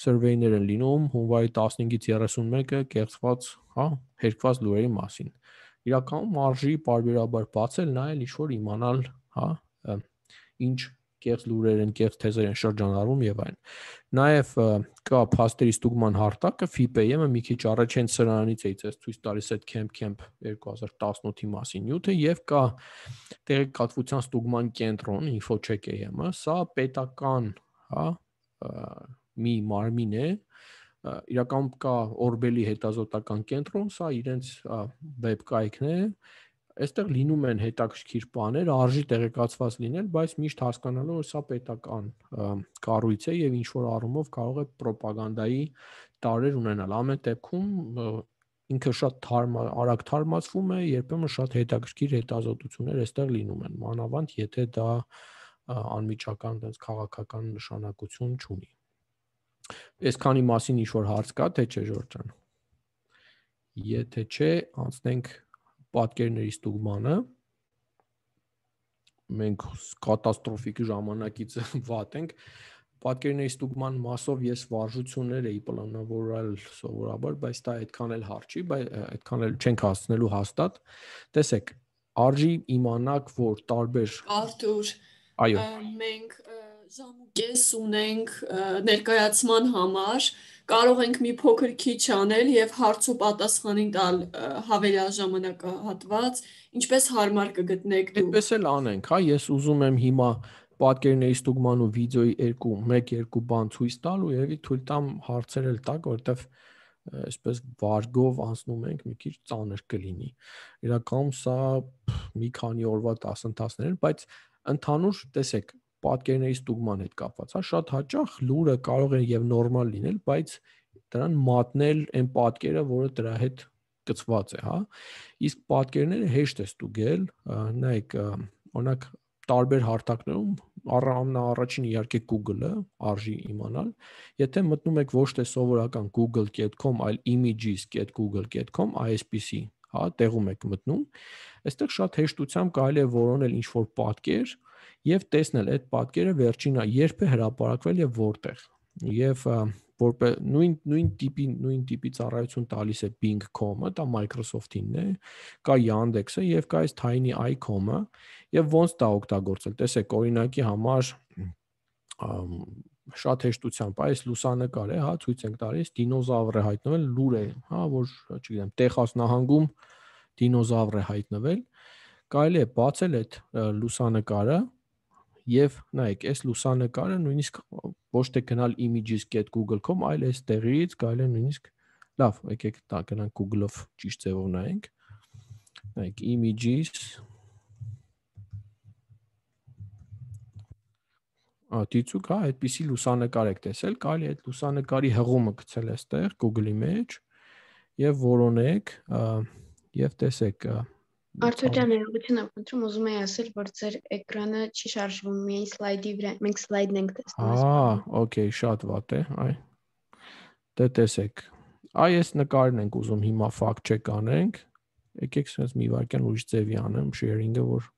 survey-ներ են լինում հունվարի տասնհինգից երեսունմեկը կեղծված, հա, հերկված լուրերի մասին։ Իրականում արժի պարբերաբար բացել, նայել ինչ-որ իմանալ, հա, ինչ կեղծ լուրեր են, կեղծ թեզեր են շրջանառվում եւ այլն։ Նաեւ կա փաստերի ստուգման հարտակը F I P A-ը մի քիչ առաջ են սրանից էի ցույց ցույց տալիս այդ Camp Camp երկու հազար տասնութի մասին նյութը եւ կա տեղեկատվության ստուգման կենտրոն InfoCheck-ը, սա պետական, հա, մի մարմին է, իրականում կա Օրբելի հետազոտական կենտրոն, սա իրենց վեբ կայքն է։ Այստեղ լինում են հետաքրքիր բաներ, արժի տեղեկացված լինել, բայց միշտ հասկանալու որ սա պետական կառույց է եւ ինչ որ առումով կարող է ռոպագանդայի տարրեր ունենալ։ Ամեն դեպքում ինքը շատ թարմ, արագ թարմացվում է, երբեմն շատ հետաքրքիր հետազոտություններ այստեղ լինում են, մանավանդ եթե դա անմիջական այնպես քաղաքական նշանակություն չունի։ Այսքանի մասին ինչ որ հարց կա, թե չէ Ժորժ ջան։ Եթե չէ, անցնենք պատկերների ստուգմանը, մենք կատաստրոֆիկ ժամանակից վատ ենք, պատկերների ստուգման մասով ես վարժություններ էի պլանավորել սովորաբար, բայց դա այդքան էլ հարց չի, բայց այդքան էլ չենք հասնելու հաստատ։ Տեսեք, արժի իմանաք, որ տարբեր Արթուր, այո, մենք ժամուկես ունենք ներկայացման համար, կարող ենք մի փոքր քիչ անել եւ հարց ու պատասխանին տալ հավելյալ ժամանակահատված, ինչպես հարմար կգտնեք դուք։ այդպես էլ անենք, հա, ես ուզում եմ հիմա պատկերների ստուգման ու վիդեոյի երկու, մեկ-երկու բան ցույց տալ ու երևի թույլ տամ հարցեր էլ տակ, որովհետև այսպես վարգով անցնում ենք, մի քիչ ծանր կլինի։ Իրականում սա մի քանի օրվա դասընթացներ են, բայց ընդհանուր տեսեք, պատկերների ստուգման հետ կապված, հա, շատ հաճախ լուրը կարող է եւ նորմալ լինել, բայց դրան մատնել այն պատկերը, որը դրա հետ կցված է, հա։ Իսկ պատկերները հեշտ է ստուգել, նայեք, օրինակ տարբեր հարթակներում ամենաառաջին իհարկե Google-ը արժի իմանալ, եթե մտնում եք ոչ թե սովորական google dot com, այլ images dot google dot com, այսպիսի, հա, տեղում եք մտնում, այստեղ շատ հեշտությամբ կարելի է որոնել ինչ-որ պատկեր եւ տեսնել այդ պատկերը վերջինը երբ է հրապարակվել եւ որտեղ։ Եվ որպես նույն նույն տիպի նույն տիպի ծառայություն տալիս է Bing dot com-ը, դա Microsoft-ինն է, կա Yandex-ը եւ կա այս Tiny Eye dot com-ը, եւ ոնց դա օգտագործել։ Տեսեք, օրինակի համար շատ հեշտությամբ այս լուսանկար է, հա, ցույց ենք տալիս, դինոզավր է հայտնվել, լուր է, հա, որ, չգիտեմ, Տեխաս նահանգում դինոզավր է հայտնվել։ Կարելի է բացել այդ լուսանկարը եւ նայեք, այս լուսանկարը նույնիսկ ոչ թե գնալ images dot google dot com, այլ այս տեղից կարելի է նույնիսկ լավ, եկեք դա գնանք Google-ով ճիշտ ձևով նայենք։ Նայեք, images Դիցուկ, հա, այդպիսի լուսանկար եք տեսել, կարելի է այդ լուսանկարի հղումը գցել այստեղ Google-ի մեջ եւ որոնեք եւ տեսեք Արթուր ջան, ներողություն եմ խնդրում, ուզում եի ասել, որ ձեր էկրանը չի շարժվում, միայն սլայդի վրա, մենք սլայդն ենք տեսնում։ Ահա, օքեյ, շատ վատ է, այ։ Դե տեսեք։ Այ այս նկարն ենք ուզում հիմա fact check անենք։ Եկեք sense մի վարքյան ուրիշ ձևի անեմ sharing-ը, որ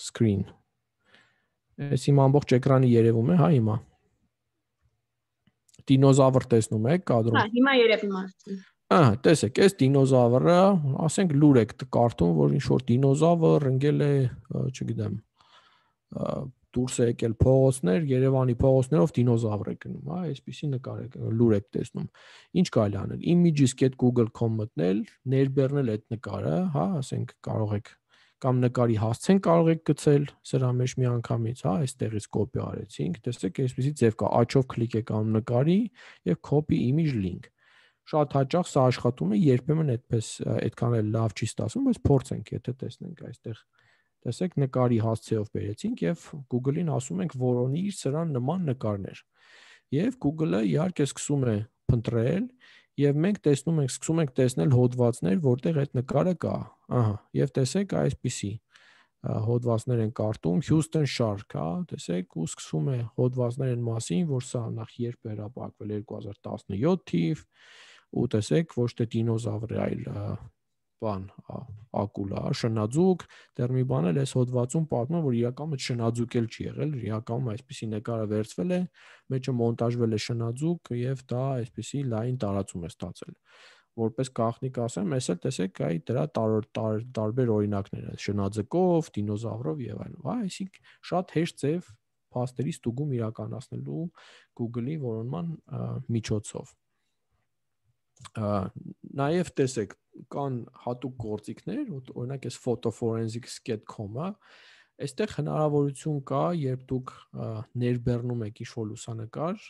screen Այս իմ ամբողջ էկրանը երևում է, հա, հիմա։ Դինոզավր տեսնում եք կադրում։ Հա, հիմա երևում է։ Ահա, տեսեք, այս դինոզավրը, ասենք լուր եք կարդում, որ ինչ որ դինոզավր ընկել է, չգիտեմ, դուրս է եկել փողոցներ, Երևանի փողոցներով դինոզավր է գնում, հա, այսպեսի նկար եք, լուր եք տեսնում։ Ինչ կարելի անել։ images dot google dot com մտնել, ներբեռնել այդ նկարը, հա, ասենք կարող եք կամ նկարի հասցեն կարող եք գցել սրա մեջ մի անգամից, հա, այստեղից կոպի արեցինք, տեսեք, այսպեսի ձև կա, աչով կլիկ եք անում նկարի եւ copy image link։ Շատ հաճախ սա աշխատում է, երբեմն այդպես այդքան էլ լավ չի ստացվում, բայց փորձենք, եթե տեսնենք այստեղ, տեսեք, նկարի հասցեով բերեցինք եւ Google-ին ասում ենք որոնի սրան նման նկարներ։ Եվ Google-ը իհարկե սկսում է փնտրել եւ մենք տեսնում ենք, սկսում ենք տեսնել հոդվածներ, որտեղ այդ նկարը կա։ Ահա, եւ տեսեք այսպիսի հոդվածներ են կարդում Houston Shark, հա, տեսեք, ու սկսում է հոդվածներ են մասին, որ սա նախ երբ է հրապարակվել երկու հազար տասնյոթ թիվ, ու տեսեք, ոչ թե դինոզավր է, այլ բան, ակուլա, շնաձուկ, դեռ մի բան էլ այս հոդվածում պատմում, որ իրականում շնաձուկ էլ չի եղել, իրականում այսպիսի նկարը վերցվել է, մեջը մոնտաժվել է շնաձուկ եւ դա այսպիսի լայն տարածում է ստացել։ Որպես գաղտնիք ասեմ, ես էլ տեսեք, այ դրա տարբեր օրինակներ են, շնաձկով, դինոզավրով եւ այլն։ Հա, այսինքն շատ հեշտ ձև փաստերի ստուգում իրականացնելու Google-ի որոնման միջոցով։ Նաև տեսեք, կան հատուկ գործիքներ, օրինակ այս photoforensics dot com-ը, այստեղ հնարավորություն կա, երբ դուք ներբեռնում եք ինչ-որ լուսանկար,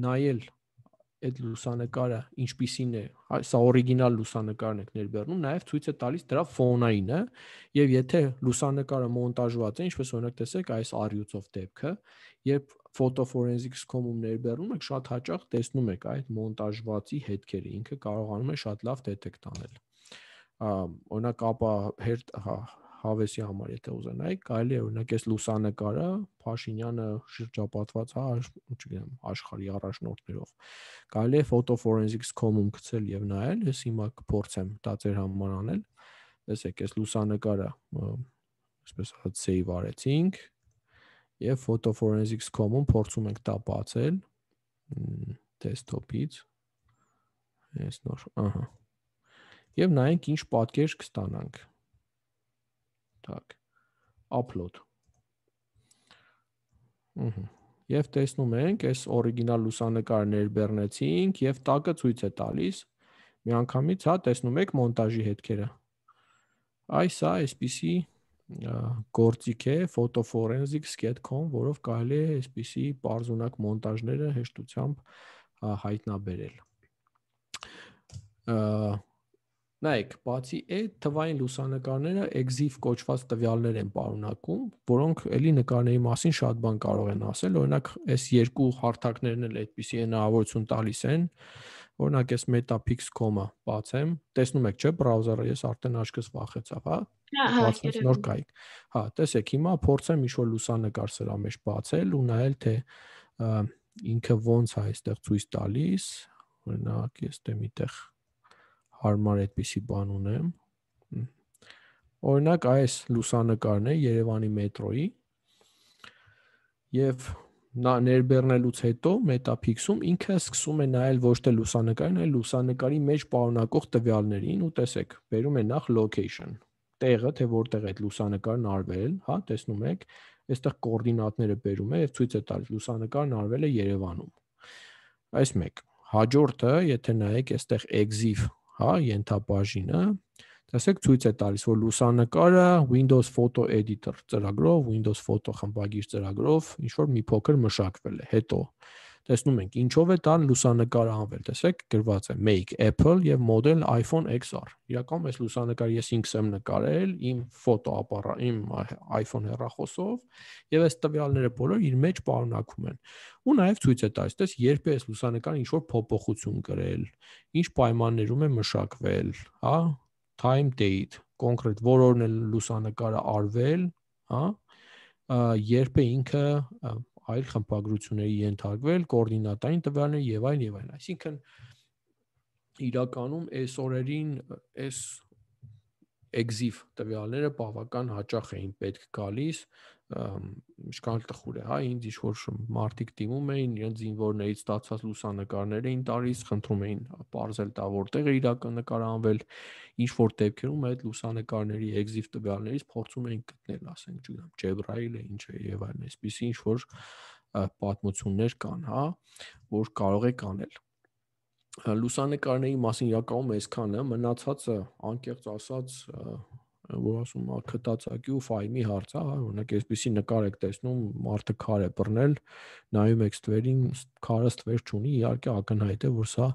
նայել այդ լուսանկարը ինչպիսին է, սա օրիգինալ լուսանկարն եք ներբեռնում, նաև ցույց է տալիս դրա ֆոնայինը, եւ եթե լուսանկարը մոնտաժված է, ինչպես օրինակ տեսեք այս առյուծով դեպքը, երբ photoforensics dot com-ում ներբեռնում եք, շատ հաճախ տեսնում եք այդ մոնտաժվածի հետքերը, ինքը կարողանում է շատ լավ դետեկտ անել։ Օրինակ ապա հերթ հավեսի համար եթե ուզենայիք, կարելի է օրինակ այս լուսանկարը Փաշինյանը շրջապատված, հա, չգիտեմ, աշխարհի առաջնորդներով։ Կարելի է photoforensics dot com-ում գցել եւ նայել, ես հիմա կփորձեմ դա ձեր համար անել։ Տեսեք, այս լուսանկարը, այսպես ասած, save արեցինք Եվ photoforensics dot com-ում փորձում ենք դա բացել desktop-ից։ Այս նոր, ահա։ Եվ նայենք ինչ պատկեր կստանանք։ Так, upload։ Ահա։ Եվ տեսնում ենք, այս օրիգինալ լուսանկարը ներբեռնեցինք եւ տակը ցույց է տալիս։ Միանգամից, հա, տեսնում եք մոնտաժի հետքերը։ Այս է այսպիսի գործիք է photoforensics dot com, որով կարելի է այսպիսի բարձունակ մոնտաժները հեշտությամբ հայտնաբերել։ Նայեք, բացի այդ թվային լուսանկարները EXIF կոչված տվյալներ են պարունակում, որոնք էլի նկարների մասին շատ բան կարող են ասել, օրինակ այս երկու հարթակներն էլ այդպիսի հնարավորություն տալիս են, օրինակ այս metapix dot com-ը բացեմ, տեսնում եք, չէ, բրաուզերը ես արդեն աչքս վախեցավ, հա։ Բացած նոր կայք։ Հա, տեսեք, հիմա փորձեմ ինչ-որ լուսանկար սրա մեջ բացել ու նայել թե ինքը ոնց է այստեղ ցույց տալիս, օրինակ ես դե միտեղ հարմար այդպիսի բան ունեմ։ Օրինակ այս լուսանկարն է Երևանի մետրոյի եւ նա ներբեռնելուց հետո metapix-ում ինքը սկսում է նայել ոչ թե լուսանկարին, այլ լուսանկարի մեջ պարունակող տվյալներին ու տեսեք, բերում է նախ location, տեղը, թե որտեղ է այդ լուսանկարն արվել, հա, տեսնում եք, այստեղ կոորդինատները բերում է եւ ցույց է տալիս լուսանկարն արվել է Երևանում։ Այս մեկ։ Հաջորդը, եթե նայեք այստեղ EXIF, հա, ենթաբաժինը, տեսեք ցույց է տալիս, որ լուսանկարը Windows Photo Editor ծրագրով, Windows Photo խմբագիր ծրագրով ինչ որ մի փոքր մշակվել է։ Հետո տեսնում ենք ինչով է տան լուսանկարը անվել, տեսեք գրված է Make Apple եւ Model iPhone X R։ Իրականում այս լուսանկարը ես ինքս եմ նկարել իմ ֆոտո ապարատ, իմ iPhone հեռախոսով եւ այս տվյալները բոլոր իր մեջ պարունակվում են։ Ու նաեւ ցույց է տալիս, տես երբ է այս լուսանկարը ինչ որ փոփոխություն կրել, ինչ պայմաններում է մշակվել, հա, time date, կոնկրետ որորն է լուսանկարը արվել, հա, երբ է ինքը այլ խմբագրությունների ենթարկվել, կոորդինատային տվյալներ եւ այլն եւ այլն։ Այսինքն իրականում այս օրերին այս EXIF տվյալները բավական հաճախ էին պետք գալիս, ինչքան տխուր է, հա, ինձ ինչ որ մարդիկ դիմում էին, իրենց զինվորներից ստացած լուսանկարներ էին տալիս, խնդրում էին բարձել դա որտեղ է իրական նկարանվել, ինչ որ դեպքերում այդ լուսանկարների EXIF տվյալներից փորձում էին գտնել, ասենք, չգիտեմ, Jabrail-ը ինչ է եւ այլն, այսպիսի ինչ որ պատմություններ կան, հա, որ կարող եք անել։ Լուսանկարների մասին իրականում այսքանը, մնացածը անկեղծ ասած, որ ասում է քտածակի ու ֆայլի հարց է, օրինակ այսպեսի նկար եք տեսնում, մարդը քար է բռնել, նայում եք ստվերին, քարը ստվեր չունի, իհարկե ակնհայտ է, որ սա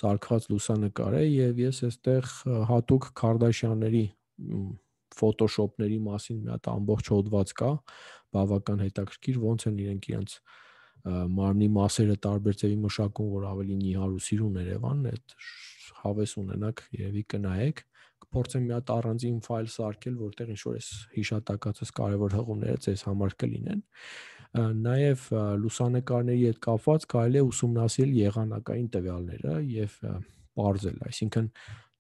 սարքված լուսանկար է եւ ես այստեղ հատուկ Քարդաշյանների Photoshop-ների մասին մի հատ ամբողջ հոդված կա, բավական հետաքրքիր, ոնց են իրենք իրենց մարմնի մասերը տարբեր ձևի մշակում, որ ավելի նիհար ու սիրուն Երևանն է, հավես ունենաք, երևի կնայեք, կփորձեմ մի հատ առանձին ֆայլ սարքել, որտեղ ինչ որ էս հիշատակածս կարևոր հղումները ձեզ համար կլինեն։ Նաև լուսանկարների հետ կապված կարելի է ուսումնասիրել եղանակային տվյալները եւ բարձել, այսինքն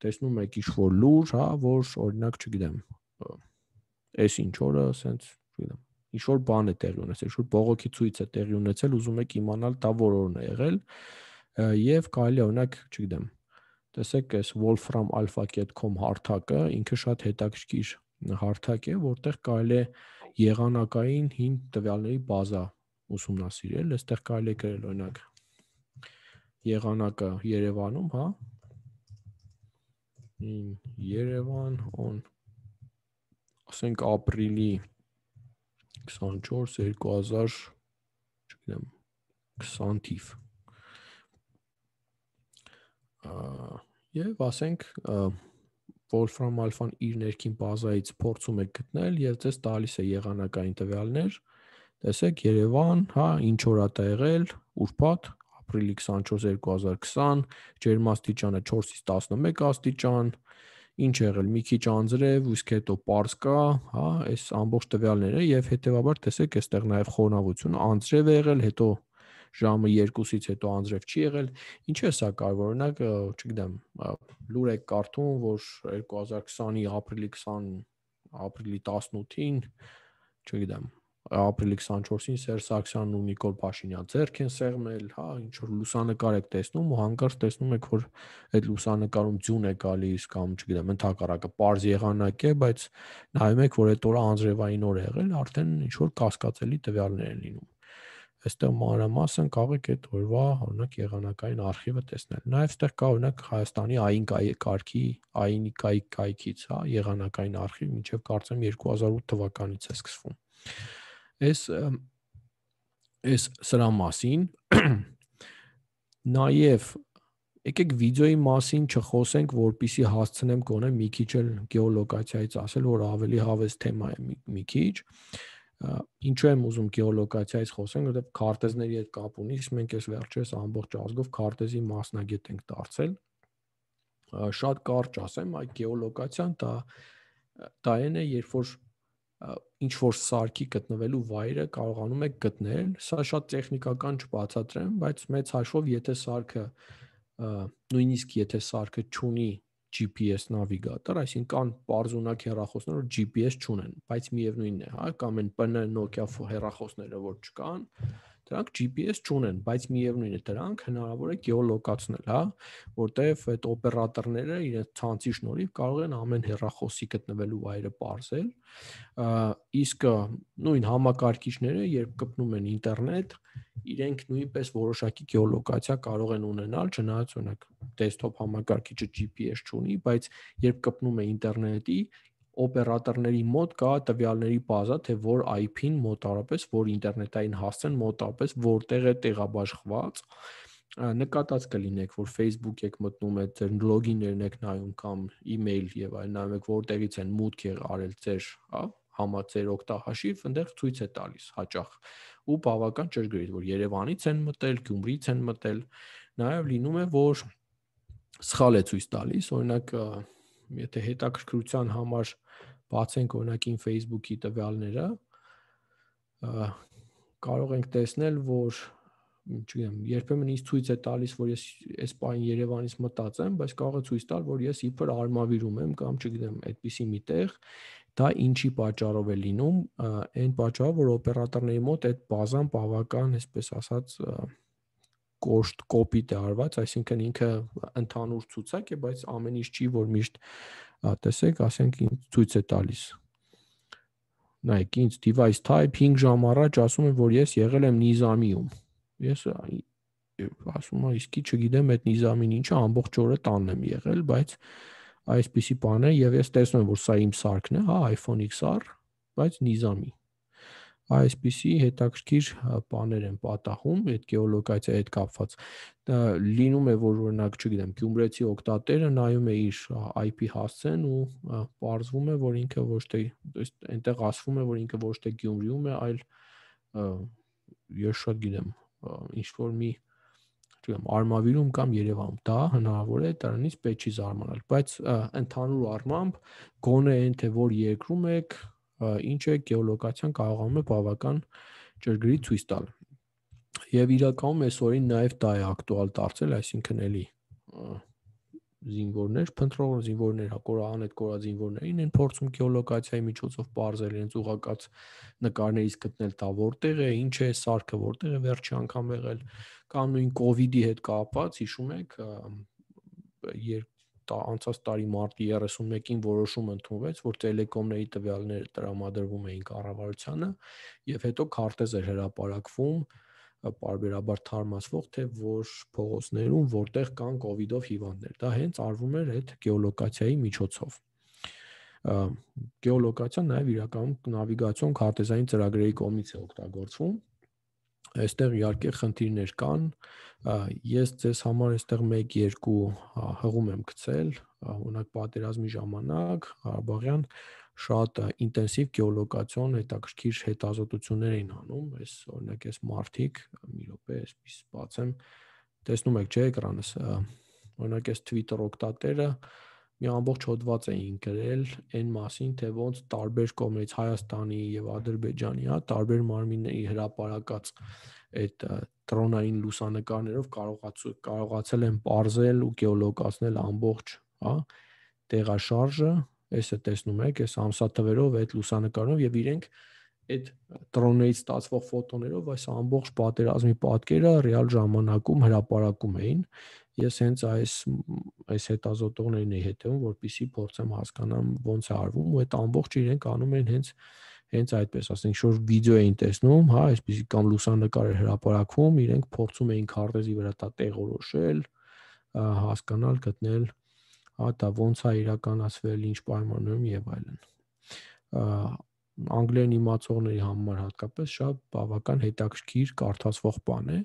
տեսնում եք ինչ որ լուր, հա, որ օրինակ, չգիտեմ, այս ինչ օրը, ասենց, չգիտեմ, ինչ որ բան է տեղի ունեցել, ինչ որ բողոքի ցույց է տեղի ունեցել, ուզում եք իմանալ դա որ օրն է եղել, եւ կարելի է օրինակ, չգիտեմ, տեսեք, այս wolfram alpha dot com հարթակը ինքը շատ հետաքրքիր հարթակ է, որտեղ կարելի է եղանակային հին տվյալների բազա ուսումնասիրել, այստեղ կարելի է գրել օրինակ եղանակը Երևանում, հա, in Yerevan on ասենք ապրիլի քսանչորս երկու հազար, չգիտեմ, քսան թիվ։ Եվ ասենք Wolfram Alpha-ն իր ներքին բազայից փորձում է գտնել եւ ձեզ տալիս է եղանակային տվյալներ։ Տեսեք Երևան, հա, ինչ օր է եղել, ուրբաթ, ապրիլի քսանչորս երկու հազար քսան, ջերմաստիճանը չորսից տասնմեկ աստիճան, ինչ եղել, մի քիչ անձրև, իսկ հետո պարզ կա, հա, այս ամբողջ տվյալները եւ հետեւաբար տեսեք, այստեղ նաեւ խոնավությունը անձրև է եղել, հետո ժամը երկուսից հետո անձրև չի եղել։ Ինչու է սա կարևոր, օրինակ, չգիտեմ, լուր եք կարդում, որ երկու հազար քսանի ապրիլի քսան ապրիլի տասնութին, չգիտեմ, ապրիլի քսանչորսին Սերժ Սարգսյանն ու Նիկոլ Փաշինյան ձեռք են սեղմել, հա, ինչ որ լուսանկար եք տեսնում ու հանկարծ տեսնում եք, որ այդ լուսանկարում ձյուն է գալիս կամ չգիտեմ, ընդհակառակը պարզ եղանակ է, բայց նայում եք, որ այդ օրը անձրևային օր է եղել, արդեն ինչ որ կասկածելի տվյալներ են լինում։ Այստեղ մանրամասն կարող եք այդ օրվա օրինակ եղանակային արխիվը տեսնել։ Նաև այստեղ կա օրինակ Հայաստանի ԱԻՆ կարգի, ԱԻՆ-ի կայքից, հա, եղանակային արխիվ, մինչև կարծեմ երկու հազար ութ թվականից է սկսվում։ Այս այս սրա մասին նաև եկեք վիդեոյի մասին չխոսենք, որպեսզի հասցնեմ գոնե մի քիչ էլ գեոլոկացիայից ասել, որ ավելի հավես թեմա է մի քիչ։ Ինչու եմ ուզում գեոլոկացիայից խոսենք, որովհետև քարտեզների հետ կապ ունի, մենք այս վերջերս ամբողջ ազգով քարտեզի մասնագետ ենք դարձել։ Շատ կարճ ասեմ, այդ գեոլոկացիան դա դա այն է, երբ որ ինչ որ սարքի գտնվելու վայրը կարողանում եք գտնել, սա շատ տեխնիկական չբացատրեմ, բայց մեծ հաշվով եթե սարքը նույնիսկ եթե սարքը չունի G P S նավիգատոր, այսինքն պարզունակ հեռախոսներ, որ G P S չունեն, բայց միևնույնն է, հա, կամ այն P N Nokia հեռախոսները, որ չկան, դրանք G P S չունեն, բայց միևնույնն է, դրանք հնարավոր է գեոլոկացնել, հա, որտեղ այդ օպերատորները իրենց ցանցի շնորհիվ կարող են ամեն հեռախոսի գտնվելու վայրը պարզել, իսկ նույն համակարգիչները, երբ կպնում են ինտերնետ, իրենք նույնպես որոշակի գեոլոկացիա կարող են ունենալ, չնայած օրինակ դեսքթոփ համակարգիչը G P S չունի, բայց երբ կպնում է ինտերնետի, օպերատորների մոտ կա տվյալների բազա, թե որ I P-ն մոտավորապես, որ ինտերնետային հասցեն մոտավորապես որտեղ է տեղաբաշխված, նկատած կլինեք, որ Facebook եք մտնում, այդ ձեր լոգիններն եք նայում կամ email եւ այլն, նայում եք որտեղից են մուտք արել ձեր, հա, համաձեր օգտահաշիվ, այնտեղ ցույց է տալիս հաճախ ու բավական ճշգրիտ, որ Երևանից են մտել, Գյումրիից են մտել, նաեւ լինում է, որ սխալ է ցույց տալիս, օրինակ եթե հետաքրքրության համար բացենք օրինակ իմ Facebook-ի տվյալները, կարող ենք տեսնել, որ չգիտեմ, երբեմն ինձ ցույց է տալիս, որ ես այս պահին Երևանից մտած եմ, բայց կարող է ցույց տալ, որ ես իբր Արմավիրում եմ կամ չգիտեմ, այդպիսի մի տեղ, դա ինչի պատճառով է լինում, այն պատճառով, որ օպերատորների մոտ այդ բազան բավական, այսպես ասած, կոշտ կոպիտ է արված, այսինքն ինքը ընդհանուր ցուցակ է, բայց ամեն ինչ չի, որ միշտ տեսեք, ասենք ինձ ցույց է տալիս։ Նայեք, ինձ device type հինգ ժամ առաջ ասում է, որ ես եղել եմ Նիզամիում։ Ես ասում եմ, իսկի չգիտեմ այդ Նիզամին ինչը, ամբողջ օրը տանն եմ եղել, բայց այսպիսի բան է եւ ես տեսնում եմ, որ սա իմ սարքն է, հա, iPhone X R, բայց Նիզամի։ Այսպիսի հետաքրքիր բաներ են պատահում այդ գեոլոկացիայի հետ կապված։ Լինում է, որ օրինակ, չգիտեմ, Գյումրեցի օգտատերը նայում է իր I P հասցեն ու պարզվում է, որ ինքը ոչ թե, այնտեղ ասվում է, որ ինքը ոչ թե Գյումրիում է, այլ ես շատ գիտեմ, ինչ որ մի, չգիտեմ, Արմավիրում կամ Երևանում։ Դա հնարավոր է, դրանից պետք չի զարմանալ, բայց ընդհանուր առմամբ գոնե այն թե որ երկրում եք, ինչ է գեոլոկացիան կարողանում է բավական ճշգրիտ ցույց տալ։ Եվ իրականում այս օրին նաև դա է ակտուալ դարձել, այսինքն էլի զինվորներ, փնտրող զինվորներ, կորան այդ կորած զինվորներին են փորձում գեոլոկացիայի միջոցով բարձել իրենց ուղղակած նկարներից գտնել դա որտեղ է, ինչ է սարքը, որտեղ է վերջի անգամ եղել, կամ նույն կովիդի հետ կապված, հիշում եք, անցած տարի մարտի երեսունմեկին որոշում ընդունվեց, որ տելեկոմների տվյալները տրամադրվում էին կառավարությանը եւ հետո քարտեզ էր հրապարակվում պարբերաբար թարմացվող, թե որ փողոցներում որտեղ կան կովիդով հիվանդներ։ Դա հենց արվում էր այդ գեոլոկացիայի միջոցով։ Գեոլոկացիան նաև իրականում նավիգացիոն քարտեզային ծրագրերի կողմից է օգտագործվում։ Այստեղ իհարկե խնդիրներ կան, ես ձեզ համար այստեղ մեկ երկու հղում եմ գցել, օրինակ պատերազմի ժամանակ Ղարաբաղյան շատ ինտենսիվ գեոլոկացիոն հետաքրքիր հետազոտություններ էին անում, այս օրինակ այս մարտիկ, մի րոպե, այսպես բացեմ, տեսնում եք չէ էկրանս, օրինակ այս Twitter օգտատերը մի ամբողջ հոդված էին գրել այն մասին, թե ոնց տարբեր կողմերից Հայաստանի եւ Ադրբեջանի, հա, տարբեր մարմինների հրապարակած այդ դրոնային լուսանկարներով կարողացել են պարզել ու գեոլոկացնել ամբողջ, հա, տեղաշարժը, այսը տեսնում եք, այս ամսաթվերով այդ լուսանկարով եւ իրենք այդ դրոններից ստացվող ֆոտոներով այս ամբողջ պատերազմի պատկերը ռեալ ժամանակում հրապարակում էին։ Ես հենց այս այս հետազոտողներին էի հետևում, որպեսզի փորձեմ հասկանամ ոնց է արվում, ու այդ ամբողջը իրենք անում են հենց հենց այդպես, ասենք, ինչ-որ վիդեո էին տեսնում, հա, այսպեսի կամ լուսանկար էր հրապարակվում, իրենք փորձում էին քարտեզի վրա դա տեղորոշել, հասկանալ, գտնել, հա, դա ոնց է իրականացվել, ինչ պայմաններում եւ այլն։ Անգլերեն իմացողների համար հատկապես շատ բավական հետաքրքիր կարդացվող բան է։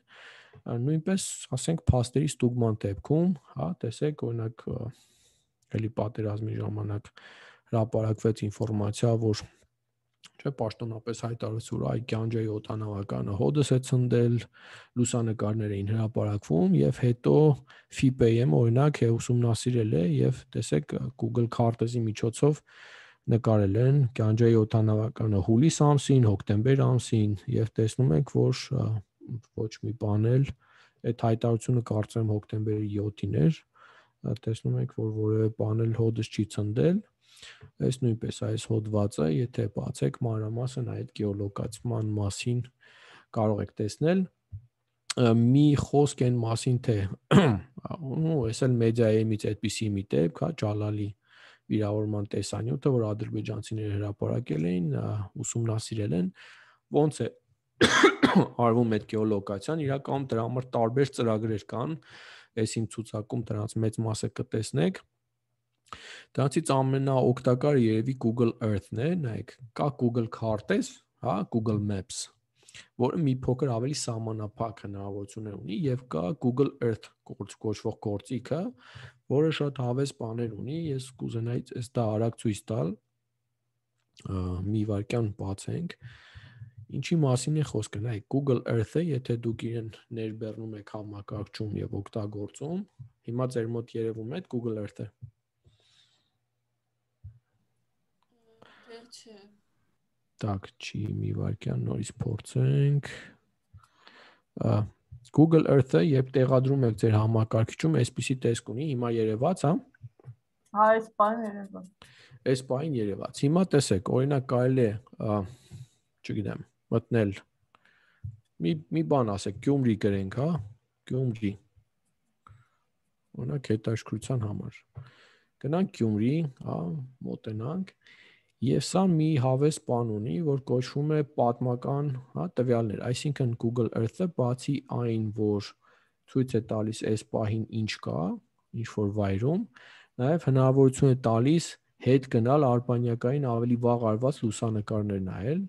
Նույնպես, ասենք, փաստերի ստուգման դեպքում, հա, տեսեք, օրինակ, էլի պատերազմի ժամանակ հրապարակվեց ինֆորմացիա, որ չէ, պաշտոնապես հայտարարեց, որ այ Գանջեի օդանավականը հոդս է ցնդել, լուսանկարներ էին հրապարակվում եւ հետո F I P M օրինակ է ուսումնասիրել է եւ տեսեք Google քարտեզի միջոցով նկարել են Գանջեի օդանավականը հուլիս ամսին, հոկտեմբեր ամսին եւ տեսնում ենք, որ ոչ մի բան էլ այդ հայտարարությունը կարծեմ հոկտեմբերի յոթին էր, տեսնում ենք, որ որևէ բան էլ հոդս չի ցնդել։ Այս նույնպես այս հոդվածը, եթե բացեք մանրամասն այդ գեոլոկացիան մասին կարող եք տեսնել, մի խոսք այն մասին, թե ու այս էլ մեդիայից այդպիսի մի դեպք, հա, Ջալալի վիրավորման տեսանյութը, որ ադրբեջանցիները հրապարակել էին, ուսումնասիրել են, ոնց է արվում այդ գեոլոկացիան, իրականում դրա համար տարբեր ծրագրեր կան, այս իմ ցուցակում դրանց մեծ մասը կտեսնեք։ Դրանցից ամենաօգտակարը երևի Google Earth-ն է, նայեք, կա Google քարտեզ, հա, Google Maps, որը մի փոքր ավելի սահմանափակ հնարավորություններ ունի, եւ կա Google Earth կոչվող գործիքը, որը շատ հավես բաներ ունի, ես կուզենայի այս դա արագ ցույց տալ, մի վայրկյան բացենք, ինչի մասին է խոսքը, նայեք, Google Earth-ը, եթե դուք իրեն ներբեռնում եք համակարգչում եւ օգտագործում, հիմա ձեր մոտ երևում է Google Earth-ը։ Չէ։ Так, չի մի վայրկյան նորից փորձենք։ Google Earth-ը, երբ տեղադրում եք ձեր համակարգիչում, այսպիսի տեսք ունի, հիմա երևաց, հա։ Հա, այս բանը երևաց։ Այս բանը երևաց։ Հիմա տեսեք, օրինակ կարելի է, չգիտեմ, մտնել մի մի բան ասեք, Գյումրի գրենք, հա, Գյումրի։ Օրինակ հետաքրքրության համար։ Գնանք Գյումրի, հա, մոտենանք, եւ սա մի հավես բան ունի, որ կոչվում է պատմական, հա, տվյալներ, այսինքն Google Earth-ը բացի այն, որ ցույց է տալիս այս պահին ինչ կա, ինչ որ վայրում, նաեւ հնարավորություն է տալիս հետ գնալ արբանյակային ավելի վաղ արված լուսանկարներ նայել,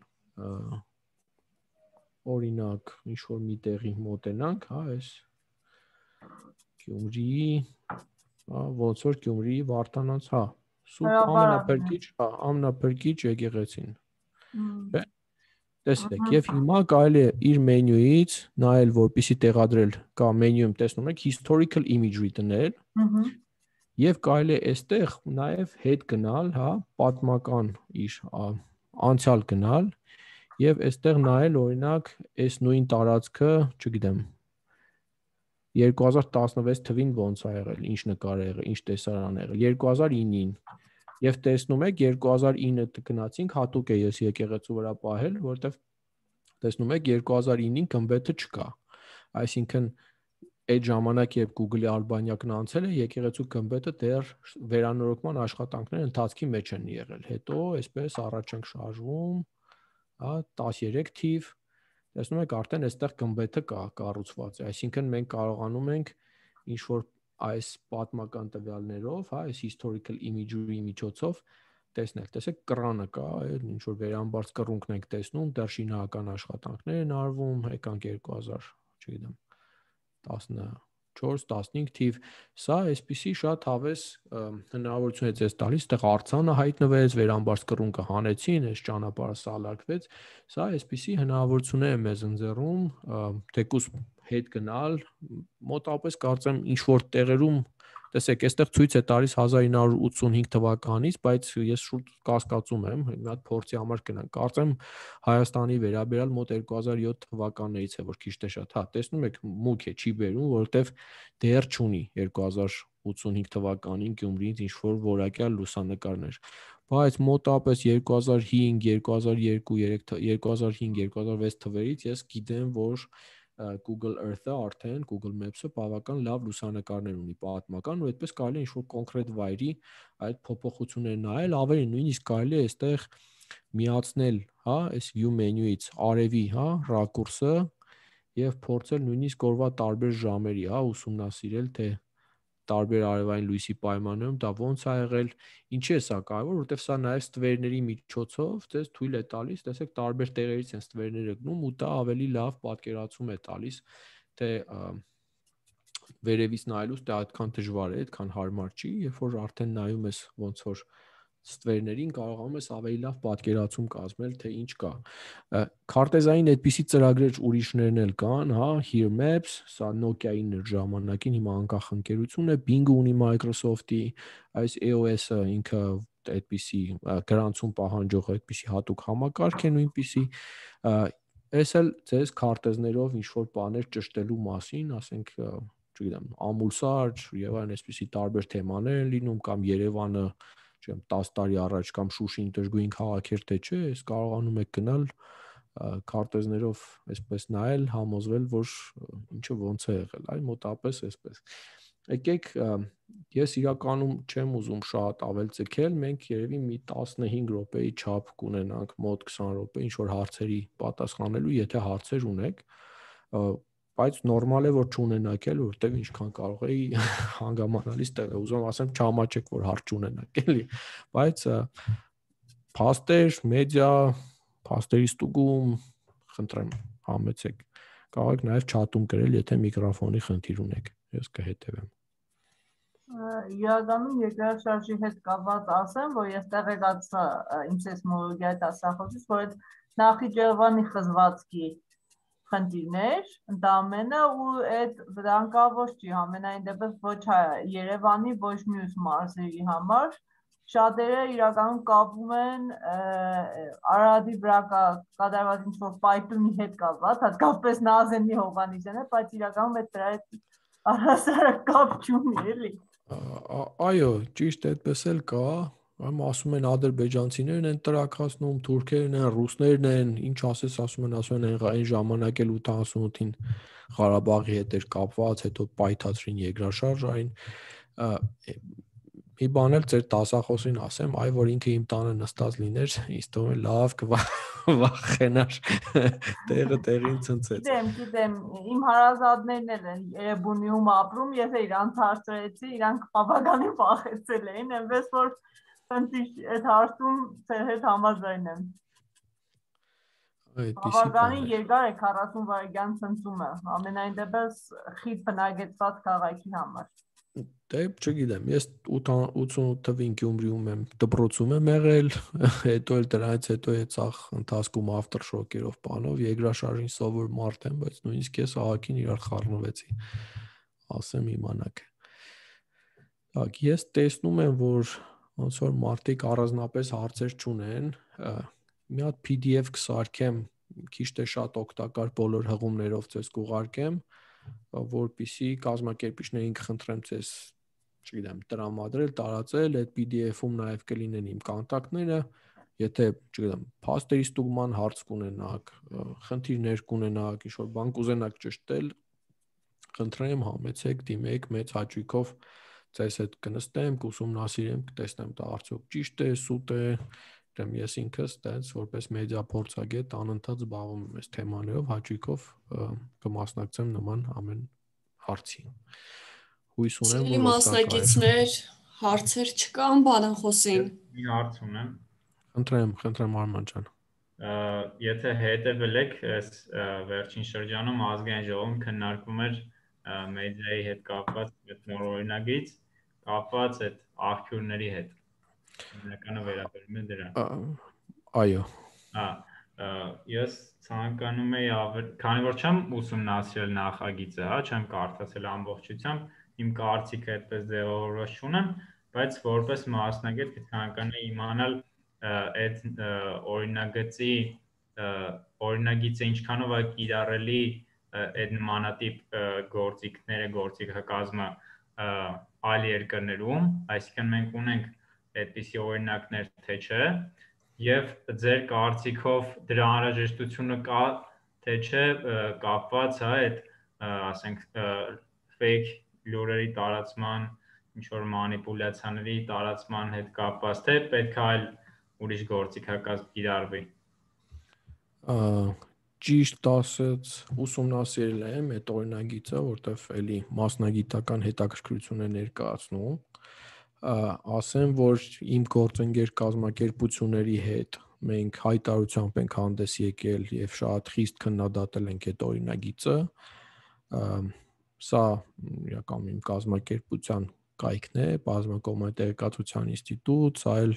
օրինակ, ինչ որ մի տեղի մոտենանք, հա, այս Գյումրի, հա, ոնց որ Գյումրի Վարդանանց, հա, սուտ ամենափրկիչ, հա, ամենափրկիչ եկեղեցին։ Չէ՞։ Տեսեք, եւ հիմա կարելի է իր մենյուից նայել, որպեսի տեղադրել, կա մենյուում տեսնում եք historical imagery դնել, եւ կարելի է այստեղ նաեւ հետ գնալ, հա, պատմական իր անցյալ գնալ եւ այստեղ նայել, օրինակ, այս նույն տարածքը, չգիտեմ, երկու հազար տասնվեց թվին ոնց ա եղել, ինչ նկար ա եղել, ինչ տեսարան ա եղել, երկու հազար ինին եւ տեսնում եք երկու հազար ինը գնացինք, հատուկ է ես եկեղեցու վրա պահել, որովհետեւ տեսնում եք երկու հազար ինին գմբեթը չկա, այսինքն այդ ժամանակ երբ Google-ի արբանյակն անցել է, եկեղեցու գմբեթը դեռ վերանորոգման աշխատանքների ընթացքի մեջ են եղել, հետո այսպես առաջ ենք շարժվում, հա, տասներեք թիվ, տեսնում եք արդեն այստեղ գմբեթը կա, կառուցված է, այսինքն մենք կարողանում ենք ինչ որ այս պատմական տվյալներով, հա, այս historical imagery միջոցով տեսնել, տեսեք կռանը կա, ինչ որ վերամբարձ կռունկն ենք տեսնում, դեռ շինական աշխատանքներ են արվում, եկանք երկու հազար, չգիտեմ, տասնչորս տասնհինգ թիվ, սա այսպիսի շատ հավես հնարավորություն է ձեզ տալիս, այդտեղ արձանը հայտնվեց, վերամբարձ կռունկը հանեցին, այս ճանապարհը սալարկվեց, սա այսպիսի հնարավորություններ է մեզ ընձեռում, թեկուզ հետ գնալ, մոտավորապես կարծեմ ինչ որ տեղերում, տեսեք, այստեղ ցույց է տալիս հազար ինը հարյուր ութսունհինգ թվականից, բայց ես շուտ կասկածում եմ, մի հատ փորձի համար կնանք, կարծեմ Հայաստանի վերաբերյալ մոտ երկու հազար յոթ թվականներից է, որ քիչ թե շատ, հա, տեսնում եք, մուգ է, չի բերում, որովհետև դեռ չունի երկու հազար ութսունհինգ թվականին Գյումրիից ինչ որ որակյալ լուսանկարներ։ բայց մոտավորապես երկու հազար հինգ, երկու հազար երկու, երկու հազար հինգ, երկու հազար վեց թվերից ես գիտեմ, որ Google Earth-ը արդեն Google Maps-ը բավական լավ լուսանկարներ ունի պատմական ու այդպես կարելի է ինչ-որ կոնկրետ վայրի այդ փոփոխությունները նայել, ավելի նույնիսկ կարելի է այստեղ միացնել, հա, այս view menu-ից արևի, հա, ռակուրսը եւ փորձել նույնիսկ օրվա տարբեր ժամերի, հա, ուսումնասիրել, թե տարբեր արևային լույսի պայմաններում դա ոնց է եղել, ինչի է սա կարևոր, որովհետև սա նաև ստվերների միջոցով ձեզ թույլ է տալիս, տեսեք տարբեր տեղերից են ստվերները գնում ու դա ավելի լավ պատկերացում է տալիս, թե վերևից նայելուց դա այդքան դժվար է, այդքան հարմար չի, երբ որ արդեն նայում ես ոնց որ ստվերներին կարողանում ես ավելի լավ պատկերացում կազմել, թե ինչ կա։ Քարտեզային այդպիսի ծրագրեր ուրիշներն էլ կան, հա, Here Maps, սա Nokia-ին էր ժամանակին, հիմա անկախ ընկերություն է, Bing ունի Microsoft-ի, այս E O S-ը ինքը այդպիսի գրանցում պահանջող այդպիսի հատուկ համակարգ է նույնպիսի, այս էլ ձեզ քարտեզներով ինչ-որ բաներ ճշտելու մասին, ասենք, չգիտեմ, ամուսար եւ այլն այսպիսի տարբեր թեմաներ են լինում կամ Երևանը չեմ տասը տարի առաջ կամ Շուշին դժգույն քաղաք էր թե չէ, ես կարողանում եք գնալ քարտեզներով այսպես նայել, համոզվել, որ ինչը ոնց է եղել, այ մոտավորապես այսպես։ Եկեք, ես իրականում չեմ ուզում շատ ավել ձգել, մենք երևի մի տասնհինգ րոպեի չափ կունենանք, մոտ քսան րոպե ինչ որ հարցերի պատասխանելու, եթե հարցեր ունեք, բայց նորմալ է որ չունենաք էլ, որտեղ ինչքան կարող էի հանգամանալից տեղ է, ուզում ասեմ չհամաչեք որ հարց չունենաք, էլի, բայց փաստեր, մեդիա, փաստերի ստուգում, խնդրեմ, համեցեք, կարող եք նաև չաթում գրել, եթե միկրոֆոնի խնդիր ունեք, ես կհետևեմ։ Իրականում երկրաշարժի հետ կապված ասեմ, որ ես տեղեկացա իմ սեյսմոլոգիայի դասախոսից, որ այդ Նախիջևանի խզվածքի խնդիրներ, ընդամենը ու այդ վտանգավոր չի, ամենայն դեպս ոչ Երևանի, ոչ մյուս մարզերի համար, շատերը իրականում կապում են Արարատի վրա կատարված ինչ-որ պայթյունի հետ կապված, հատկապես Նազենի Հովհաննիսյանը, բայց իրականում այդ դրա հետ առհասարակ կապ չունի, էլի։ Այո, ճիշտ այդպես էլ կա, Ամ ասում են ադրբեջանցիներն են տրաքացնում, թուրքերն են, ռուսներն են, ինչ ասես ասում են, ասում են այն ժամանակ էլ ութանասունութին Ղարաբաղի հետ էր կապված, հետո պայթացրին երկրաշարժային։ Մի բան էլ ձեր դասախոսին ասեմ, այ որ ինքը իմ տանը նստած լիներ, ինձ թվում է լավ կվախենար, տեղը տեղին ցնցեց։ Գիտեմ, գիտեմ, իմ հարազատներն էլ են Երևանիում ապրում, ես իրանց հարցրեցի, իրանք բավականին վախեցել էին, այնպես որ այդ հարցում ձեր հետ համաձայն եմ։ Բավականին երկար է քառասուն վայրկյան ցնցումը, ամենայն դեպս խիտ բնակեցված քաղաքի համար։ Դե չգիտեմ, ես ութանասուն թվին Գյումրիում եմ դպրոցում եմ եղել, հետո էլ դրանից հետո է ցախ ընթացքում ավտորշոկերով բանով երկրաշարժին սովոր մարդ եմ, բայց նույնիսկ ես ահագին իրար խառնվեցի, ասեմ իմանաք։ Так, ես տեսնում եմ, որ ոնց որ մարդիկ առանձնապես հարցեր չունեն, մի հատ P D F կսարքեմ, քիչ թե շատ օգտակար բոլոր հղումներով ձեզ կուղարկեմ, որպեսզի կազմակերպիչներին կխնդրեմ ձեզ, չգիտեմ, տրամադրել, տարածել, այդ P D F-ում նաև կլինեն իմ կոնտակտները, եթե, չգիտեմ, փաստերի ստուգման հարց կունենաք, խնդիրներ կունենաք, ինչ-որ բան կուզենաք ճշտել, խնդրեմ, համեցեք, դիմեք, մեծ հաճույքով ձեզ հետ կնստեմ, կուսումնասիրեմ, կտեսնեմ դա արդյոք ճիշտ է, սուտ է, դեմ ես ինքս տենց որպես մեդիա փորձագետ անընդհատ զբաղվում եմ այս թեմաներով, հաճույքով կմասնակցեմ նման ամեն հարցի։ Հույս ունեմ, որ մասնակիցներ հարցեր չկան բանախոսին։ Մի հարց ունեմ։ Խնդրեմ, խնդրեմ Արման ջան։ Եթե հետևել եք այս վերջին շրջանում ազգային ժողովում քննարկվում էր մեդիայի հետ կապված այդ նոր օրինագիծ, կապված այդ աղբյուրների հետ։ Հիմնականը վերաբերում է դրան։ Այո։ Հա, ես ցանկանում եի ավել, քանի որ չեմ ուսումնասիրել նախագիծը, հա, չեմ կարդացել ամբողջությամբ, իմ կարծիքը այդպես ձևավորված չունեմ, բայց որպես մասնագետ կցանկանայի իմանալ այդ օրինագծի օրինագիծը ինչքանով է կիրառելի այդ նմանատիպ գործիքները, գործիքակազմը այլ երկրներում, այսինքն մենք ունենք այդպիսի օրինակներ, թե չէ, եւ ձեր կարծիքով դրա անհրաժեշտությունը կա, թե չէ, կապված հա այդ, ասենք, fake լուրերի տարածման, ինչ որ մանիպուլյացիաների տարածման հետ կապված, թե պետք է այլ ուրիշ գործիքակազմ կիրառվի։ Ճիշտ ասած, ուսումնասիրել եմ այդ օրինագիծը, որտեղ էլի մասնագիտական հետաքրքրություն է ներկայացնում, ասեմ, որ իմ գործընկեր կազմակերպությունների հետ մենք հայտարարությամբ ենք հանդես եկել եւ շատ խիստ քննադատել ենք այդ օրինագիծը, սա իրական իմ կազմակերպության կայքն է, բազմակողմանի տեղեկատվության ինստիտուտ, սա էլ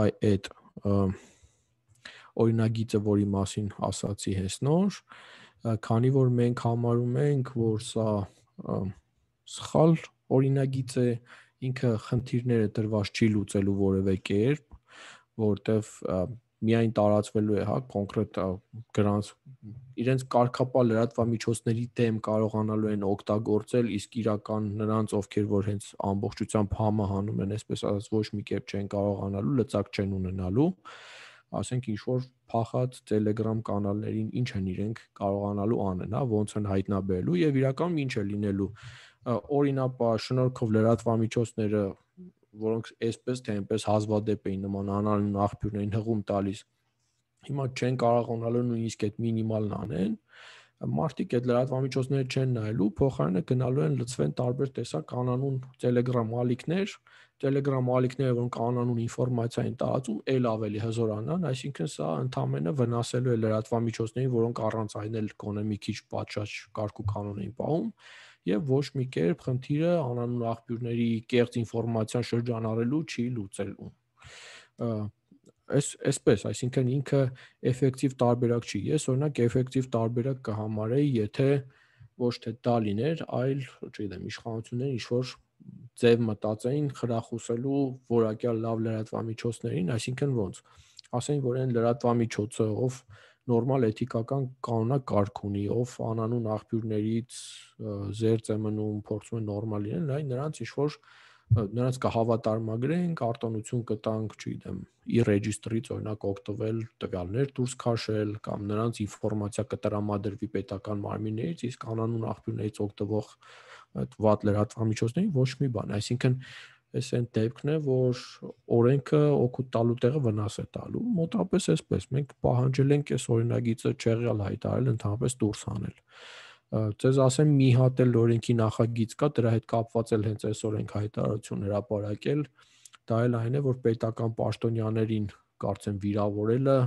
այդ օրինագիծը, որի մասին ասացի հենց նոր, քանի որ մենք համարում ենք, որ սա սխալ օրինագիծ է, ինքը խնդիրները դրված չի լուծելու որևէ կերպ, որտեվ միայն տարածվելու է, հա, կոնկրետ գրանց իրենց կարգապահ լրատվամիջոցների դեմ կարողանալու են օգտագործել, իսկ իրական նրանց, ովքեր որ հենց ամբողջությամբ համահանում են, այսպես ասած, ոչ մի կերպ չեն կարողանալու, լծակ չեն ունենալու, ասենք ինչ որ փախած Telegram կանալներին ինչ են իրենք կարողանալու անեն, հա, ոնց են հայտնաբերելու եւ իրականում ինչ է լինելու, օրինապար շնորհքով լրատվամիջոցները, որոնք այսպես թե այնպես հազվադեպ էին նման անանուն աղբյուրներին հղում տալիս, հիմա չեն կարողանալու նույնիսկ այդ մինիմալն անեն, մարդիկ այդ լրատվամիջոցները չեն նայելու, փոխարենը գնալու են լծվեն տարբեր տեսակ անանուն Telegram ալիքներ, Telegram ալիքները, որոնք անանուն ինֆորմացիա են տարածում, ել ավելի հզորանան, այսինքն սա ընդհանրապես վնասելու է լրատվամիջոցներին, որոնք առանց այն էլ գոնե մի քիչ պատշաճ կարգ ու կանոն են պահում, եւ ոչ մի կերպ խնդիրը անանուն աղբյուրների կեղծ ինֆորմացիան շրջանառելու չի լուծելու։ Այս այսպես, այսինքն ինքը էֆեկտիվ տարբերակ չի։ Ես օրինակ էֆեկտիվ տարբերակ կհամարեի, եթե ոչ թե դա լիներ, այլ, չգիտեմ, իշխանությունները ինչ որ ձև մտածեին խրախուսելու որակյալ լավ լրատվամիջոցներին, այսինքն ոնց։ Ասենք, որ այն լրատվամիջոցը, ով նորմալ էթիկական կանոնակարգ ունի, ով անանուն աղբյուրներից զերծ է մնում, փորձում է նորմալ լինել, այ նրանց ինչ որ նրանց կհավատարմագրենք, արտոնություն կտանք, չգիտեմ, ի ռեջիստրից օրինակ օգտվել տվյալներ դուրս քաշել կամ նրանց ինֆորմացիա կտրամադրվի պետական մարմիններից, իսկ անանուն աղբյուրներից օգտվող այդ վատ լրատվամիջոցներին ոչ մի բան, այսինքն այս այն դեպքն է, որ օրենքը օգուտ տալու տեղը վնաս է տալու, մոտավորապես այսպես, մենք պահանջել ենք այս օրինագիծը չեղյալ հայտարարել, ընդհանրապես դուրս հանել։ Ձեզ ասեմ, մի հատ էլ օրենքի նախագիծ կա, դրա հետ կապված էլ հենց այսօր ենք հայտարարություն հրապարակել, դա էլ այն է, որ պետական պաշտոնյաներին կարծեմ վիրավորելը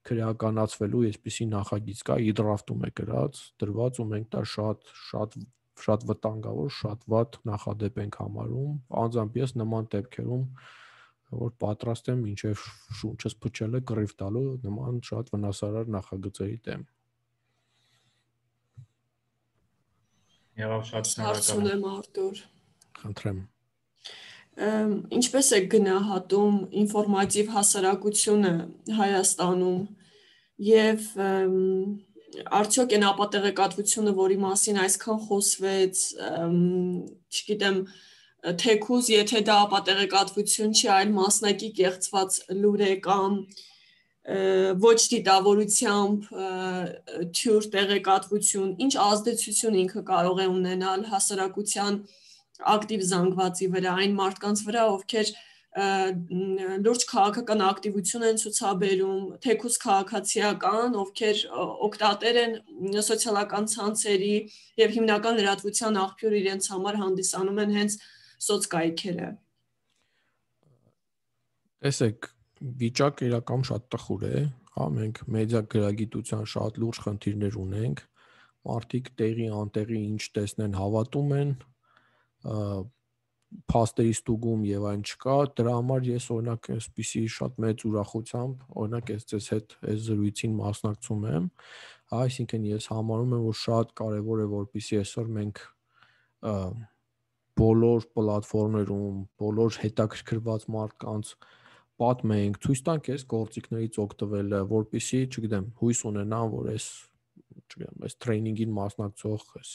քրեականացվելու այսպիսի նախագիծ կա, իդրաֆտում է գրած, դրված ու մենք դա շատ շատ շատ վտանգավոր, շատ վատ նախադեպ ենք համարում, անձամբ ես նման դեպքերում, որ պատրաստ եմ մինչև շունչս փչելը կռիվ տալու նման շատ վնասարար նախագծերի դեմ։ Եղավ շատ շնորհակալ եմ Արտուր։ Խնդրեմ։ Ինչպես է գնահատում ինֆորմատիվ հասարակությունը Հայաստանում եւ արդյոք այն ապատեղեկատվությունը, որի մասին այսքան խոսվեց, չգիտեմ, թեկուզ, եթե դա ապատեղեկատվություն չի, այլ մասնակի կեղծված լուր է կամ ոչ դիտավորությամբ թյուր տեղեկատվություն, ինչ ազդեցություն ինքը կարող է ունենալ հասարակության ակտիվ զանգվածի վրա, այն մարդկանց վրա, ովքեր լուրջ քաղաքական ակտիվություն են ցուցաբերում, թեկուզ քաղաքացիական, ովքեր օգտատեր են սոցիալական ցանցերի եւ հիմնական լրատվության աղբյուր իրենց համար հանդիսանում են հենց սոցկայքերը։ Տեսեք, վիճակը իրական շատ տխուր է, հա, մենք մեդիա գրագիտության շատ լուրջ խնդիրներ ունենք, մարդիկ տեղի անտեղի ինչ տեսնեն հավատում են, փաստերի ստուգում եւ այն չկա, դրա համար ես օրինակ այսպիսի շատ մեծ ուրախությամբ, օրինակ ես ձեզ հետ այս զրույցին մասնակցում եմ, այսինքն ես համարում եմ, որ շատ կարեւոր է, որպեսզի այսօր մենք բոլոր պլատֆորմերում, բոլոր հետաքրքրված մարդկանց պատմենք, ցույց տանք այս գործիքներից օգտվելը, որպեսզի, չգիտեմ, հույս ունենան, որ այս, չգիտեմ, այս տրեյնինգին մասնակցող այս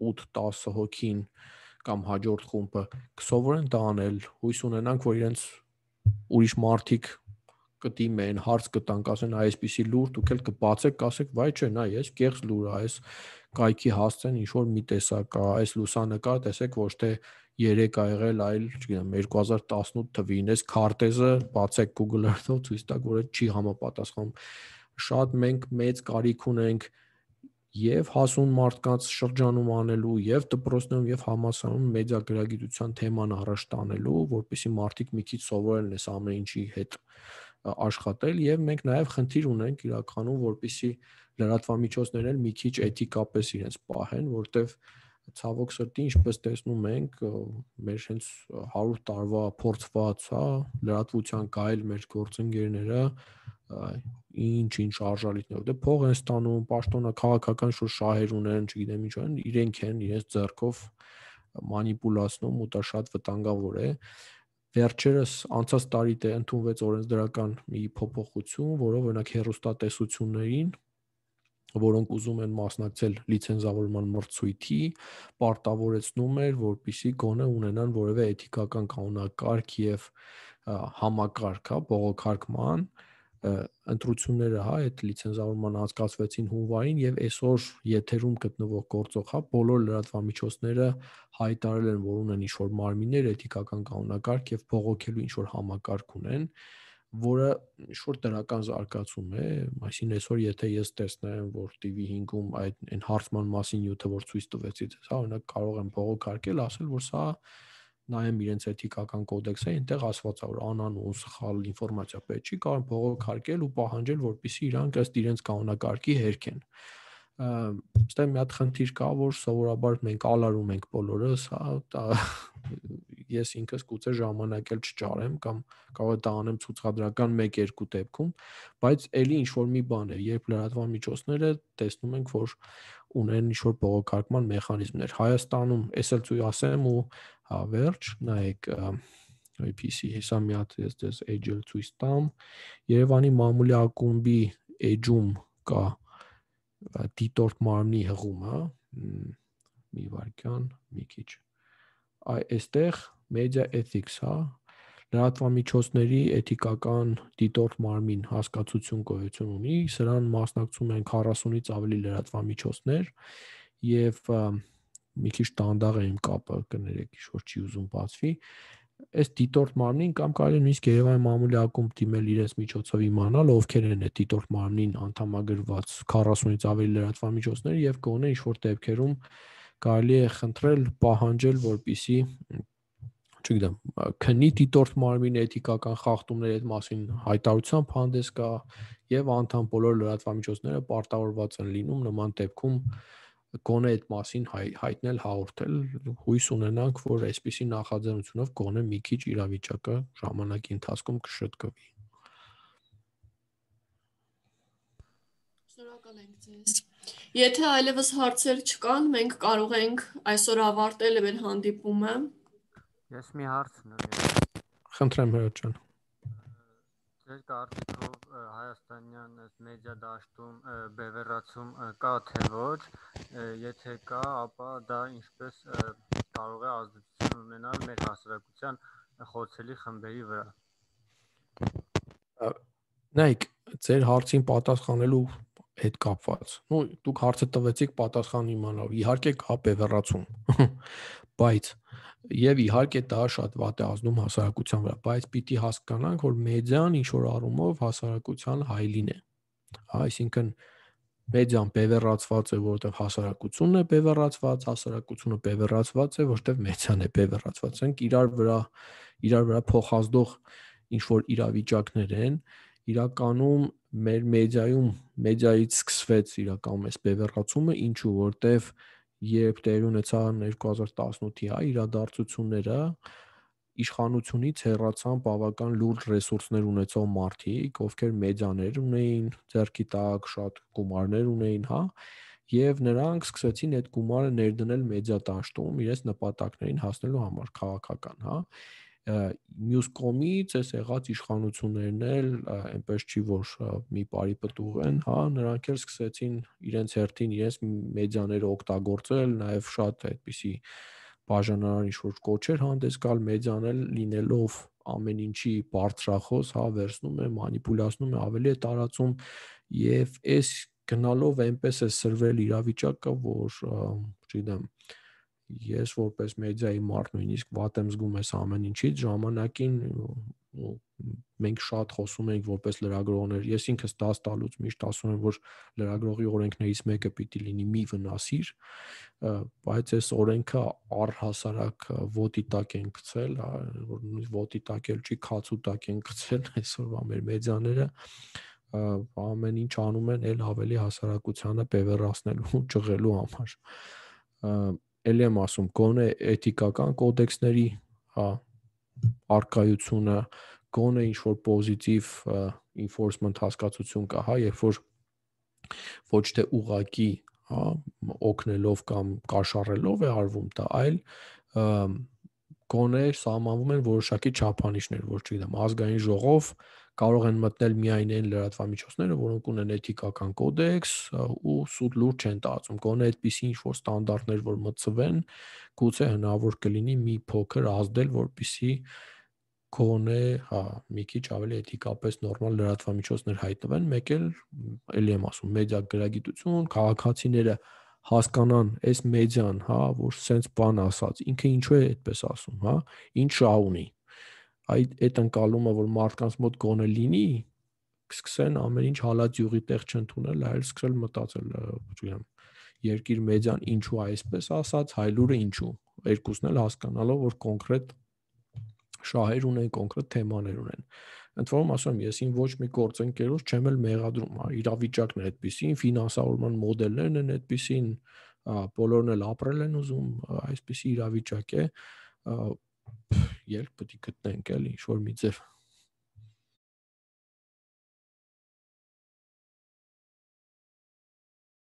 ութ տասը հոգին կամ հաջորդ խումբը կսովորեն դա անել, հույս ունենանք, որ իրենց ուրիշ մարդիկ կդիմեն, հարց կտանք, ասեն այսպիսի լուր, դուք էլ կբացեք, կասեք, վայ չէ, նա ես կեղծ լուր է, այս կայքի հասցեն ինչ որ մի տեսակ է, այս լուսանկար տեսեք, ոչ թե երեք ա եղել, այլ, չգիտեմ, երկու հազար տասնութ թվին, այս քարտեզը բացեք Google Earth-ով ցույց տաք, որ այդ չի համապատասխանում։ Շատ մենք մեծ կարիք ունենք եւ հասուն մարդկանց շրջանում անելու, եւ դպրոցներում, եւ համալսարանում մեդիա գրագիտության թեման առաջ տանելու, որպեսզի մարդիկ մի քիչ սովորեն այս ամեն ինչի հետ աշխատել, եւ մենք նաեւ խնդիր ունենք իրականում, որպեսզի լրատվամիջոցներն էլ մի քիչ էթիկապես իրենց պահեն, որտեվ ցավոք սրտի, ինչպես տեսնում ենք, մեր հենց հարյուր տարվա փորձված, հա, լրատվության գայլ մեր գործընկերները ինչ-ինչ արժալիքներ, դե փող են ստանում, պաշտոնա քաղաքական շուտ շահեր ունեն, չգիտեմ ինչ են, իրենք են իրենց ձեռքով մանիպուլացնում ու դա շատ վտանգավոր է։ Վերջերս անցած տարի դե ընդունվեց օրենսդրական մի փոփոխություն, որով օրինակ հեռուստատեսություններին, որոնք ուզում են մասնակցել լիցենզավորման մրցույթի, պարտավորեցնում էր, որպեսզի գոնե ունենան որևէ էթիկական կանոնակարգ եւ համակարգ, հա, բողոքարկման ընտրությունները, հա, այդ լիցենզավորման անցկացվեցին հունվարին եւ այսօր եթերում գտնվող գործող, հա, բոլոր լրատվամիջոցները հայտարարել են, որ ունեն ինչ-որ մարմիններ, էթիկական կանոնակարգ եւ բողոքելու ինչ-որ համակարգ ունեն, որը ինչ-որ դրական զարգացում է, այսինքն այսօր եթե ես տեսնեմ, որ T V հինգում այդ այն հարցման մասին նյութը, որ ցույց տվեցի, հա, օրինակ կարող եմ բողոքարկել, ասել, որ սա նայեմ իրենց էթիկական կոդեքսը, այնտեղ ասված է, որ անանուն սխալ ինֆորմացիա պետք չի, կարող են բողոքարկել ու պահանջել, որպեսզի իրանք ըստ իրենց կանոնակարգի հերքեն։ Այստեղ մի հատ խնդիր կա, որ սովորաբար մենք ալարում ենք բոլորս, հա, ես ինքս գուցե ժամանակ էլ չճարեմ կամ կարող է դա անեմ ցուցադրական մեկ-երկու դեպքում, բայց ելի ինչ որ մի բան է, երբ լրատվամիջոցները տեսնում ենք, որ ունեն ինչ որ բողոքարկման մեխանիզմներ։ Հայաստանում էս էլ ցույց ասեմ ու հա վերջ, նայեք այ P C հեսա մի հատ ես դες edge-ը ցույց տամ, Երևանի մամուլի ակումբի edge-ում կա դիտորդ մարմնի հղումը, մի վարքյան, մի քիչ։ Այ այստեղ media ethics, հա, լրատվամիջոցների էթիկական դիտորդ մարմին հասկացություն գոյություն ունի, սրան մասնակցում են քառասունից ավելի լրատվամիջոցներ եւ մի քիչ տանդաղ է իմ կապը, կներեք, ինչ որ չի ուզում բացվի։ Այս դիտորդ մարմնին կամ կարելի նույնիսկ Երևանի մամուլի ակումբ դիմել իրենց միջոցով իմանալ, ովքեր են այդ դիտորդ մարմնին անդամագրված քառասունից ավելի լրատվամիջոցներ եւ գոնե ինչ որ դեպքերում կարելի է խնդրել, պահանջել, որպեսզի, չգիտեմ, քնի դիտորդ մարմին էթիկական խախտումների այդ մասին հայտարարությամբ հանդես գա եւ անդամ բոլոր լրատվամիջոցները պարտավորված են լինում նման դեպքում գոնե այդ մասին հայ, հայտնել, հաղորդել, հույս ունենանք, որ այսպիսի նախաձեռնությունով գոնե մի քիչ իրավիճակը ժամանակի ընթացքում կշտկվի։ Շնորհակալ ենք ձեզ։ Եթե այլևս հարցեր չկան, մենք կարող ենք այսօր ավարտել մեր հանդիպումը։ Ես մի հարց ունեմ։ Խնդրեմ հրաժարական ջան։ Ձեր կարծիքով հայաստանյան մեդիա դաշտում բևեռացում կա թե ոչ, եթե կա, ապա դա ինչպես կարող է ազդեցություն ունենալ մեր հասարակության խոցելի խմբերի վրա։ Նայեք, ձեր հարցին պատասխանելու հետ կապված։ Նու դուք հարցը տվեցիք պատասխան իմանալու։ Իհարկե կա բևեռացում, բայց եւ իհարկե դա շատ վատ է ազդում հասարակության վրա, բայց պիտի հասկանանք, որ մեդիան ինչ որ առումով հասարակության հայլին է։ Այսինքն մեդիան բևեռացված է, որովհետեւ հասարակությունն է բևեռացված, հասարակությունը բևեռացված է, որովհետեւ մեդիան է բևեռացված։ Ենք իրար վրա իրար վրա փոխազդող ինչ որ իրավիճակներ են, իրականում մեր մեդիայում մեդիայից սկսվեց իրականում այս բևեռացումը, ինչու որովհետեւ երբ տեղի ունեցան երկու հազար տասնութի հա իրադարձությունները, իշխանությունից հեռացան բավական լուրջ ռեսուրսներ ունեցող մարդիկ, ովքեր մեդիաներ ունեին, ձեռքի տակ շատ գումարներ ունեին, հա, եւ նրանք սկսեցին այդ գումարը ներդնել մեդիա դաշտում իրենց նպատակներին հասնելու համար, քաղաքական, հա։ Մյուս կողմից այս եղած իշխանություններն էլ այնպես չի որ մի բարի պտուղ են, հա, նրանք էլ սկսեցին իրենց հերթին իրենց մեդիաները օգտագործել, նաև շատ այդպիսի բաժանարար ինչ-որ կոչեր հանդես գալ, մեդիան էլ լինելով ամեն ինչի բարձրախոս, հա, վերցնում է, մանիպուլացնում է, ավելի է տարածում եւ այս գնալով այնպես է սրվել իրավիճակը, որ չգիտեմ, ես որպես մեդիայի մարդ նույնիսկ վատ եմ զգում այս ամեն ինչից, ժամանակին մենք շատ խոսում ենք որպես լրագրողներ, ես ինքս դաս տալուց միշտ ասում եմ, որ լրագրողի օրենքներից մեկը պիտի լինի մի վնասիր, բայց այս օրենքը առհասարակ ոտի տակ են գցել, որ նույնիսկ ոտի տակ էլ չի, քացու տակ են գցել այսօրվա մեր մեդիաները, ամեն ինչ անում են էլ ավելի հասարակությանը բևեռացնելու, ճղելու համար։ Էլի եմ ասում, գոնե էթիկական կոդեքսների, հա, արկայությունը, գոնե ինչ-որ պոզիտիվ enforcement հասկացություն կա, հա, երբ որ ոչ թե ուղղակի, հա, օգնելով կամ կաշառելով է արվում դա, այլ գոնե սահմանվում են որոշակի չափանիշներ, որ չգիտեմ, ազգային ժողով կարող են մտնել միայն այն լրատվամիջոցները, որոնք ունեն էթիկական կոդեքս ու սուտ լուրջ չեն տարածում, գոնե այդպիսի ինչ-որ ստանդարտներ, որ մտցվեն, գուցե հնարավոր կլինի մի փոքր ազդել, որպեսզի գոնե, հա, մի քիչ ավելի էթիկապես նորմալ լրատվամիջոցներ հայտնվեն, մեկ էլ էլի եմ ասում, մեդիա գրագիտություն, քաղաքացիները հասկանան այս մեդիան, հա, որ սենց բան ասած, ինքը ինչու է այդպես ասում, հա, ինչ շահ ունի, այդ այդ ընկալումը, որ մարդկանց մոտ գոնե լինի, կսկսեն ամեն ինչ հալած յուղի տեղ չընդունել, այլ սկսել մտածել, չգիտեմ, երկիր մեդիան ինչու այսպես ասած, հայլուրը ինչու, երկուսն էլ հասկանալով, որ կոնկրետ շահեր ունեն, կոնկրետ թեմաներ ունեն։ Ընդ որում ասում եմ, ես ին ոչ մի գործընկերոջ չեմ էլ մեղադրում, իրավիճակն է այդպեսին, ֆինանսավորման մոդելներն են այդպեսին, բոլորն էլ ապրել են ուզում, այսպեսի իրավիճակ է, ելք պետք է գտնենք էլ ինչ որ մի ձև։